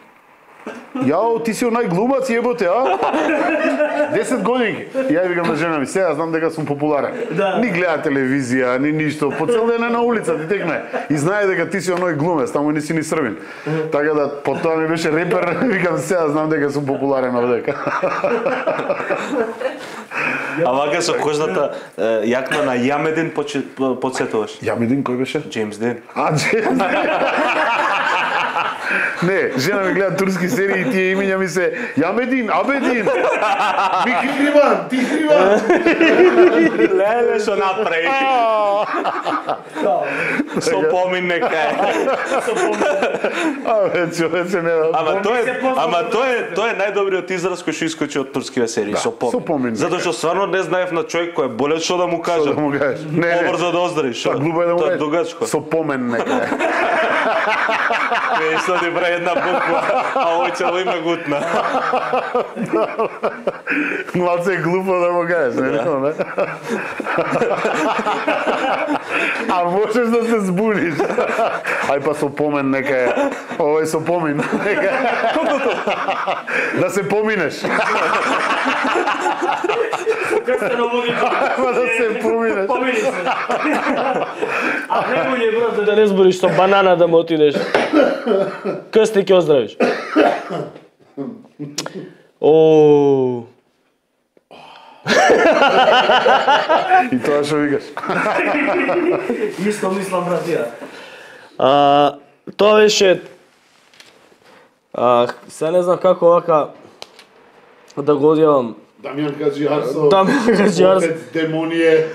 Speaker 3: Јао, ти си онај глумац, јеботе, а? 10 години. Ја викам на жена ми, сега знам дека сум популарен. Ни гледа телевизија, ни ништо, по цел ден е на улица, ти текне. И знае дека ти си оној глумец, таму не си ни србин. Така да, потоа ми беше репер, викам, сега знам дека сум популарен овдека.
Speaker 4: А вака со кожната јакна на Јамедин подсетуваш?
Speaker 3: Јамедин кој беше?
Speaker 4: Джеймс Ден.
Speaker 3: А, Джеймс Ден. Не, жена ми гледа турски серии и тие имиња ми се Јамедин, Абедин.
Speaker 2: Мики Криван, ти Криван.
Speaker 4: Леле што направи. Со помин нека е.
Speaker 3: Човече не.
Speaker 4: Тоа е најдобриот израз кој што искочи од турските серии, со помин. Затоа што стварно не знаев на човек кој е болен што да му кажа. Побрзо да оздравиш.
Speaker 3: Па глупо е да му
Speaker 4: кажеш. Дугачко.
Speaker 3: Со помен нека е.
Speaker 4: Исто ти прави една буква, а овој цело име гутна.
Speaker 3: Малце е глупо да му кажеш, не? А можеш да се збуниш. Ај па со помен нека е. Овој со помин нека е. Да се поминеш. Ама да се поминеш.
Speaker 1: Помини се. А најбоље брат да не збориш со банана да му отидеш. Крсти ќе оздравиш. О.
Speaker 3: И тоа што викаш?
Speaker 1: Исто мислам братија. Тоа беше се не знам како вака да го одјавам.
Speaker 2: Дамјан Хаџијарсов.
Speaker 1: Дамјан Хаџијарсов.
Speaker 2: Демоние.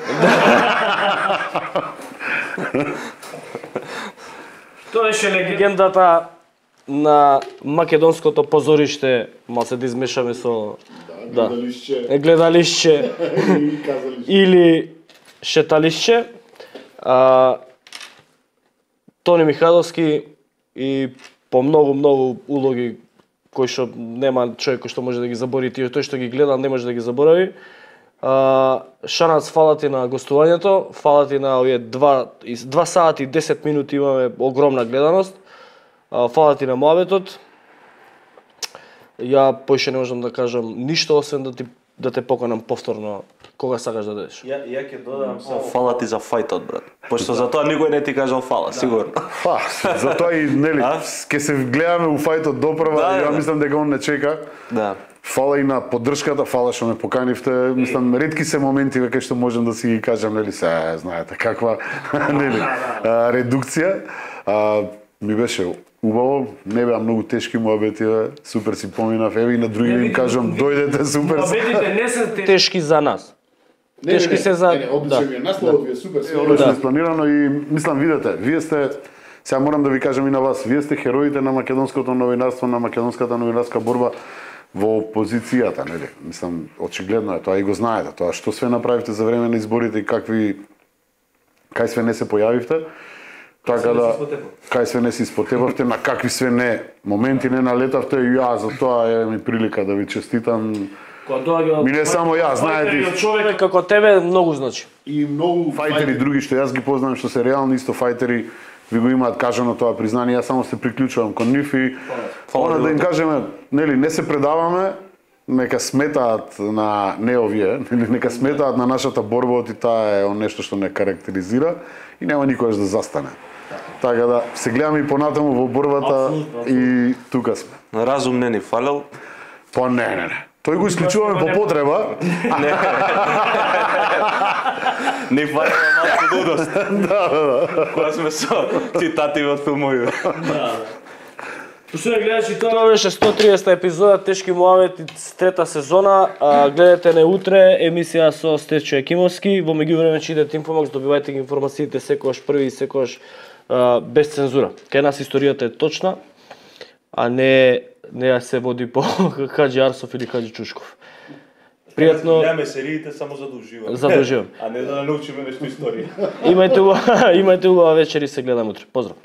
Speaker 1: Тоа беше легендата на македонското позориште, малце да измешаме со гледалишче или шеталишче. Тони Михайловски и по многу улоги кои што нема човек кој што може да ги забори, тој што ги гледа не може да ги заборави. Шанац, фала ти на гостувањето, фала ти на овие 2 сати и 10 минути имаме огромна гледаност. Фала ти на моабетот. Ја поише не можам да кажам ништо освен да те поканам повторно кога сакаш да дадеш.
Speaker 4: Ја ќе додам со фала ти за фајтот, брат. Пошто за тоа никој не ти кажал фала, сигурно.
Speaker 3: Па, затоа и нели ќе се гледаме у фајтот допрва, ја мислам дека он не чека.
Speaker 4: Да.
Speaker 3: Фала и на поддршката, фала што ме поканивте. Мислам ретки се моменти кај што можам да си ги кажам, нели се знаете каква нели редукција. Ми беше убаво, не беа многу тешки муабети, супер си поминав, еве и на други им кажам, дојдете супер.
Speaker 1: Муабетите не се тешки за нас. Тешки се за
Speaker 2: Одличен ми е насловот, ви е супер.
Speaker 3: Одлично испланирано и мислам видете, вие сте сега морам да ви кажам и на вас, вие сте хероите на македонското новинарство, на македонската новинарска борба во опозицијата, нели? Мислам очигледно е тоа и го знаете, тоа што све направивте за време на изборите и кај све не се појавивте. Така да, кај све не се испотепавте, на какви све не моменти не налетавте и ја за тоа е ми прилика да ви честитам. Ми не само ја, знаете.
Speaker 1: Човек како тебе многу значи.
Speaker 3: И многу фајтери други што јас ги познавам што се реални исто фајтери ви го имаат кажано тоа признание, јас само се приклучувам кон нив и да им кажеме, нели не се предаваме, нека сметаат на не овие, нека сметаат на нашата борба, и таа е нешто што не карактеризира и нема никогаш да застане. Така да се гледаме и понатаму во борбата и тука сме.
Speaker 4: Разум не ни фалел.
Speaker 3: Па не. Тој го исклучуваме по потреба.
Speaker 4: Не фалел малку дудост. Да. Кога сме со цитати од филмови.
Speaker 1: Пошто гледачи, тоа беше 130 епизода Тешки муабети, трета сезона. Гледате не утре емисија со Стечо Екимовски. Во меѓувреме читате Инфомакс, добивајте ги информациите секогаш први и секогаш без цензура. Кај нас историјата е точна, а не ја се води по Хаџијарсов или Хаџи Чушков. Пријатно.
Speaker 5: Гледаме сериите само за да уживаме.
Speaker 1: За да уживаме.
Speaker 5: А не да научиме нешто историја.
Speaker 1: Имајте убава вечер и се гледаме утре. Поздрав.